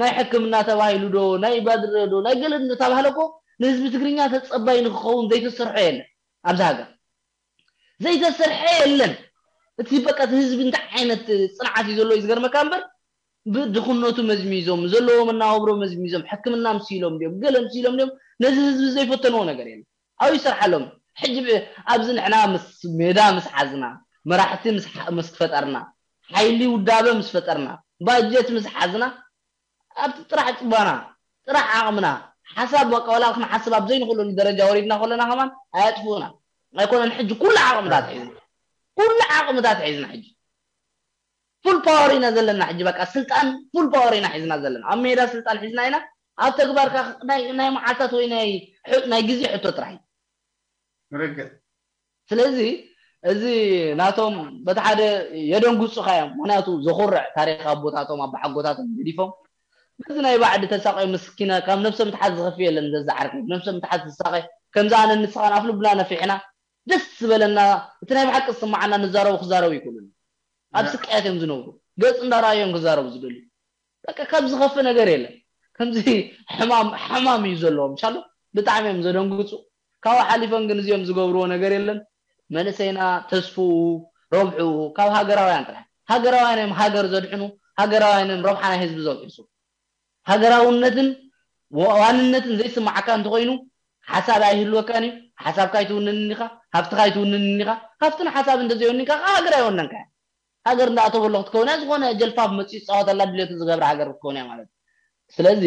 ናይ ሕክምና ተባሂሉ ዶ ናይ ባድረ ዶ ናይ ገለ እንዳተባህለ እኮ ንህዝቢ ትግርኛ ተጸባይ ንክኸውን ዘይተሰርሖ የለ ኣብዚ ሃገር። ዘይተሰርሐ የለን። እቲ በቃ እቲ ህዝቢ እንታይ ዓይነት ፅንዓት እዩ ዘለዎ እዩ ዝገርመካ እምበር ብድኽነቱ መዝሚዞም ዘለዎ መናባብሮ መዝሚዞም ሕክምና ምስ ኢሎም ድዮም ገለ ምስ ኢሎም ድዮም ነዚ ህዝቢ ዘይፈተንዎ ነገር የለን። ኣብኡ ይሰርሓሎም። ሕጂ ኣብዚ ንሕና ምስ ሜዳ ምስ ሓዝና መራሕቲ ምስ ፈጠርና ሓይሊ ውዳበ ምስ ፈጠርና ባጀት ምስ ሓዝና ኣብቲ ጥራሕ ፅባና ጥራሕ ዓቕምና ሓሳብ በቃ ዋላ ክንሓስብ ኣብ ዘይንኽእለሉ ደረጃ ወሪድና ከለና ከማን ኣያጥፍኡና ኣይኮነን። ሕጂ ኩሉ ዓቕምታት ሒዝና ኩሉ ዓቕምታት ሒዝና ሕጂ ፉል ፓወር ኢና ዘለና። ሕጂ በቃ ስልጣን ፉል ፓወር ኢና ሒዝና ዘለና። ኣብ ሜዳ ስልጣን ሒዝና ኢና፣ ኣብ ተግባር ከ ናይ ናይ መዓልታት ወይ ናይ ሕ- ናይ ግዜ ሕቶ ጥራሕ እዩ። ርግእ ስለዚ እዚ ናቶም በቲ ሓደ የደንግጹኻ እዮም። ምክንያቱ ዘኹርዕ ታሪኽ ኣቦታቶም ኣቦሓጎታቶም ገዲፎም በዚ ናይ ባዕዲ ተሳቒ ምስኪና ካብ ነብሰ ምትሓት ዝኸፍእ የለን። ዘዝዓርከይ ነብሰ ምትሓት ዝሳቐ ከምዚ ኣነ ንስኻን ኣፍ ልብና ነፊሕና ደስ ዝበለና እቲ ናይ ብሓቂ ዝስማዓና ንዛረቡ ክዛረቡ ይክእሉን ኣብ ስቃያት እዮም ዝነብሩ ገጽ እንዳረኣዮም ክዛረቡ ዝደልዩ በቃ ካብ ዝኸፍእ ነገር የለን። ከምዚ ሕማም ሕማም እዩ ዘለዎም ሻሎ ብጣዕሚ እዮም ዘደንግጹ። ካብኡ ሓሊፎም ግን እዚኦም ዝገብርዎ ነገር የለን። መንእሰይና ተስፍኡ ረብሑ ካብ ሃገራውያን ጥራሕ ሃገራውያን እዮም ሃገር ዘድሕኑ ሃገራውያን እዮም ረብሓ ናይ ህዝቢ ዘውሕሱ። ሃገራውነትን ዋንነትን ዘይስማዓካ እንተኮይኑ ሓሳብ ኣይህልወካን እዩ። ሓሳብካ ኣይትውንንን ኢኻ፣ ሃብትኻ ኣይትውንንን ኢኻ። ሃብትን ሓሳብ እንተዘይወኒንካ ከዓ ሃገር ኣይወነንካ። ሃገር እንዳኣተወሎ ክትከውን እያ። ዝኾነ ጀልፋፍ መፂኡ ዝፃወተላ ድሌቱ ዝገብር ሃገር ክትከውን እያ ማለት እዩ። ስለዚ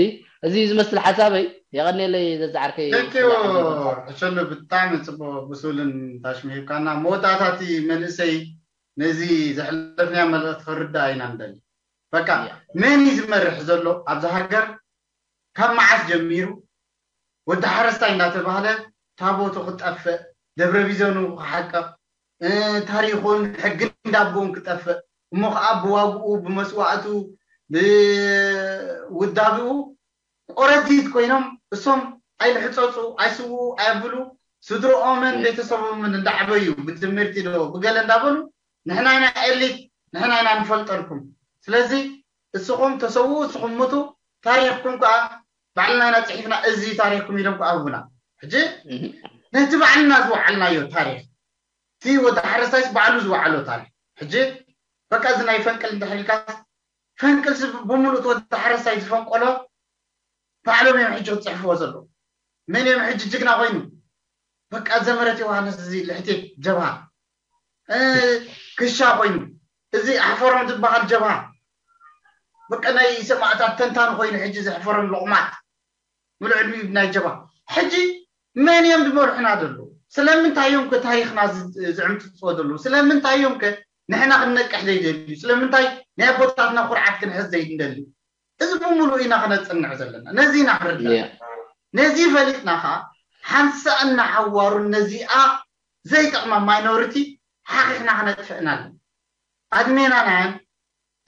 እዚ ዝመስል ሓሳበይ የቐንየለይ ዘዝዓርከይ። ሕሸሉ ብጣዕሚ ፅቡቅ ብሱልን ታሽም ሂብካና መወዳእታ እቲ መንእሰይ ነዚ ዘሕለፍናዮ መልእኽቲ ክርዳእ ኢና ንደሊ። በቃ መን እዩ ዝመርሕ ዘሎ ኣብዚ ሃገር? ካብ መዓስ ጀሚሩ ወዲ ሓረስታይ እንዳተባህለ ታቦቱ ክጠፍእ፣ ደብረ ቢዘኑ ክሓቅቕ፣ ታሪኹን ሕጊ እንዳቦን ክጠፍእ፣ እሞ ከዓ ብዋግኡ ብመስዋእቱ ብውዳብኡ ቆረዲት ኮይኖም እሶም ኣይልሕፀፁ ኣይስውኡ ኣየብሉ ስድርኦምን ቤተሰቦምን እንዳዓበዩ ብትምህርቲ ዶ ብገለ እንዳበሉ ንሕና ኢና ኤሊት ንሕና ኢና ንፈልጠልኩም ስለዚ እስኹም ተሰውኡ እስኹም ሙቱ ታሪኽኩም ከዓ ባዕልና ኢና ፅሒፍና እዚ ታሪኽኩም ኢሎም ከዓ ህቡና ሕጂ ነቲ ባዕልና ዝወዓልናዮ ታሪኽ እቲ ወዲ ሓረስታይስ ባዕሉ ዝወዓሎ ታሪኽ ሕጂ በቃ እዚ ናይ ፈንቅል እንድሕር ኢልካ ፈንቅል ብምሉእ እቲ ወዲ ሓረስታይ ዝፈንቆሎ ባዕሎም እዮም ሕጂ ክፅሕፍዎ ዘለዉ መን እዮም ሕጂ ጅግና ኮይኑ በቃ ዘመረት ዮሃንስ እዚ ልሕቴት ጀብሃ ክሻ ኮይኑ እዚ ኣሕፈሮም ዝበሃል ጀብሃ በቃ ናይ ሰማዕታት ተንታን ኮይኑ ሕጂ ዘሕፈሮም ሎቕማት ምሉእ ዕድሚኡ ናይ ጀባ። ሕጂ መን እዮም ዝመርሑና ዘለዉ? ስለምንታይ እዮም ከ ታሪኽና ዝ- ዝዕምፅፅዎ ዘለዉ? ስለምንታይ እዮም ከ ንሕና ክንነቅሕ ዘይደልዩ? ስለምንታይ ናይ ኣቦታትና ኩርዓት ክንሕዝ ዘይንደሊ? እዚ ብምሉእ ኢና ክነፅንዕ ዘለና። ነዚ ኢና ክርዳእ። Yeah. ነዚ ፈሊጥና ከዓ ሓንሳእና ሓዋሩን ነዚኣ ዘይጠቕማ ማይኖሪቲ ሓኺኽና ክነጥፍእና ኣለና። ኣድሜናናያን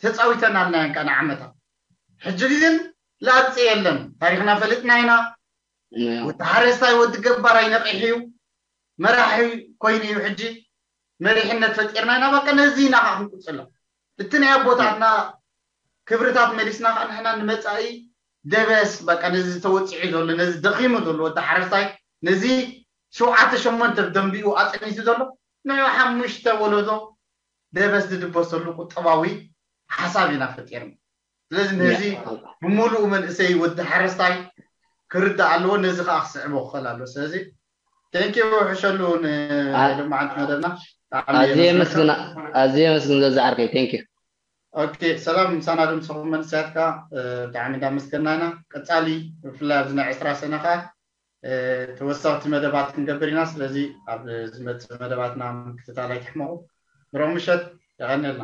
ተፃዊተናልናያን ከዓ ንዓመታት። ሕጂ ግን ላብፂ የለን። ታሪኽና ፈሊጥና ኢና። Yeah. ወዲ ሓረስታይ ወዲ ገባራይ ነቒሑ እዩ፣ መራሒ ኮይኑ እዩ። ሕጂ መሪሕነት ፈጢርና ኢና። በቃ ነዚ ኢና ከዓ ክንቅፅሎ። እቲ ናይ ኣቦታትና ክብርታት መሊስና ከዓ ንሕና ንመፃኢ ደበስ በቃ ነዚ ተወፂዑ ዘሎ ነዚ ደኺሙ ዘሎ ወዲ ሓረስታይ ነዚ ሸውዓተ ሸሞንተ ደንቢኡ ኣፀኒቱ ዘሎ ንዑ ሓሙሽተ ወለዶ ደበስ ዝድበሰሉ ቁጠባዊ ሓሳብ ኢና ፈጢርና። ስለዚ ነዚ ብምሉኡ መንእሰይ ወዲ ሓረስታይ ክርዳእ ኣለዎ። ነዚ ከዓ ክስዕቦ ክኽእል ኣለዎ። ስለዚ ቴንኪ ሕሸሉ ኣ- ንሎማዓንቲ መደብና ብጣዕሚ ኣዝየ የመስግነካ። የመስግን ኣዝየ የመስግን ዘዛ ዓርከይ። Thank you። ኦኬ ሰላም ምሳና ድምፅኹም መንእሰያት ከዓ እ፣ ብጣዕሚ እንዳመስገና ኢና። ቀፃሊ ብፍላይ ኣብዚ ናይ ዕስራ ሰነ ከዓ እ፣ ተወሰኽቲ መደባት ክንገብር ኢና። ስለዚ ኣብ ዝመፅእ መደባትና ምክትታል ኣይትሕመቑ። ብሩኽ ምሸት። የቐንየልና።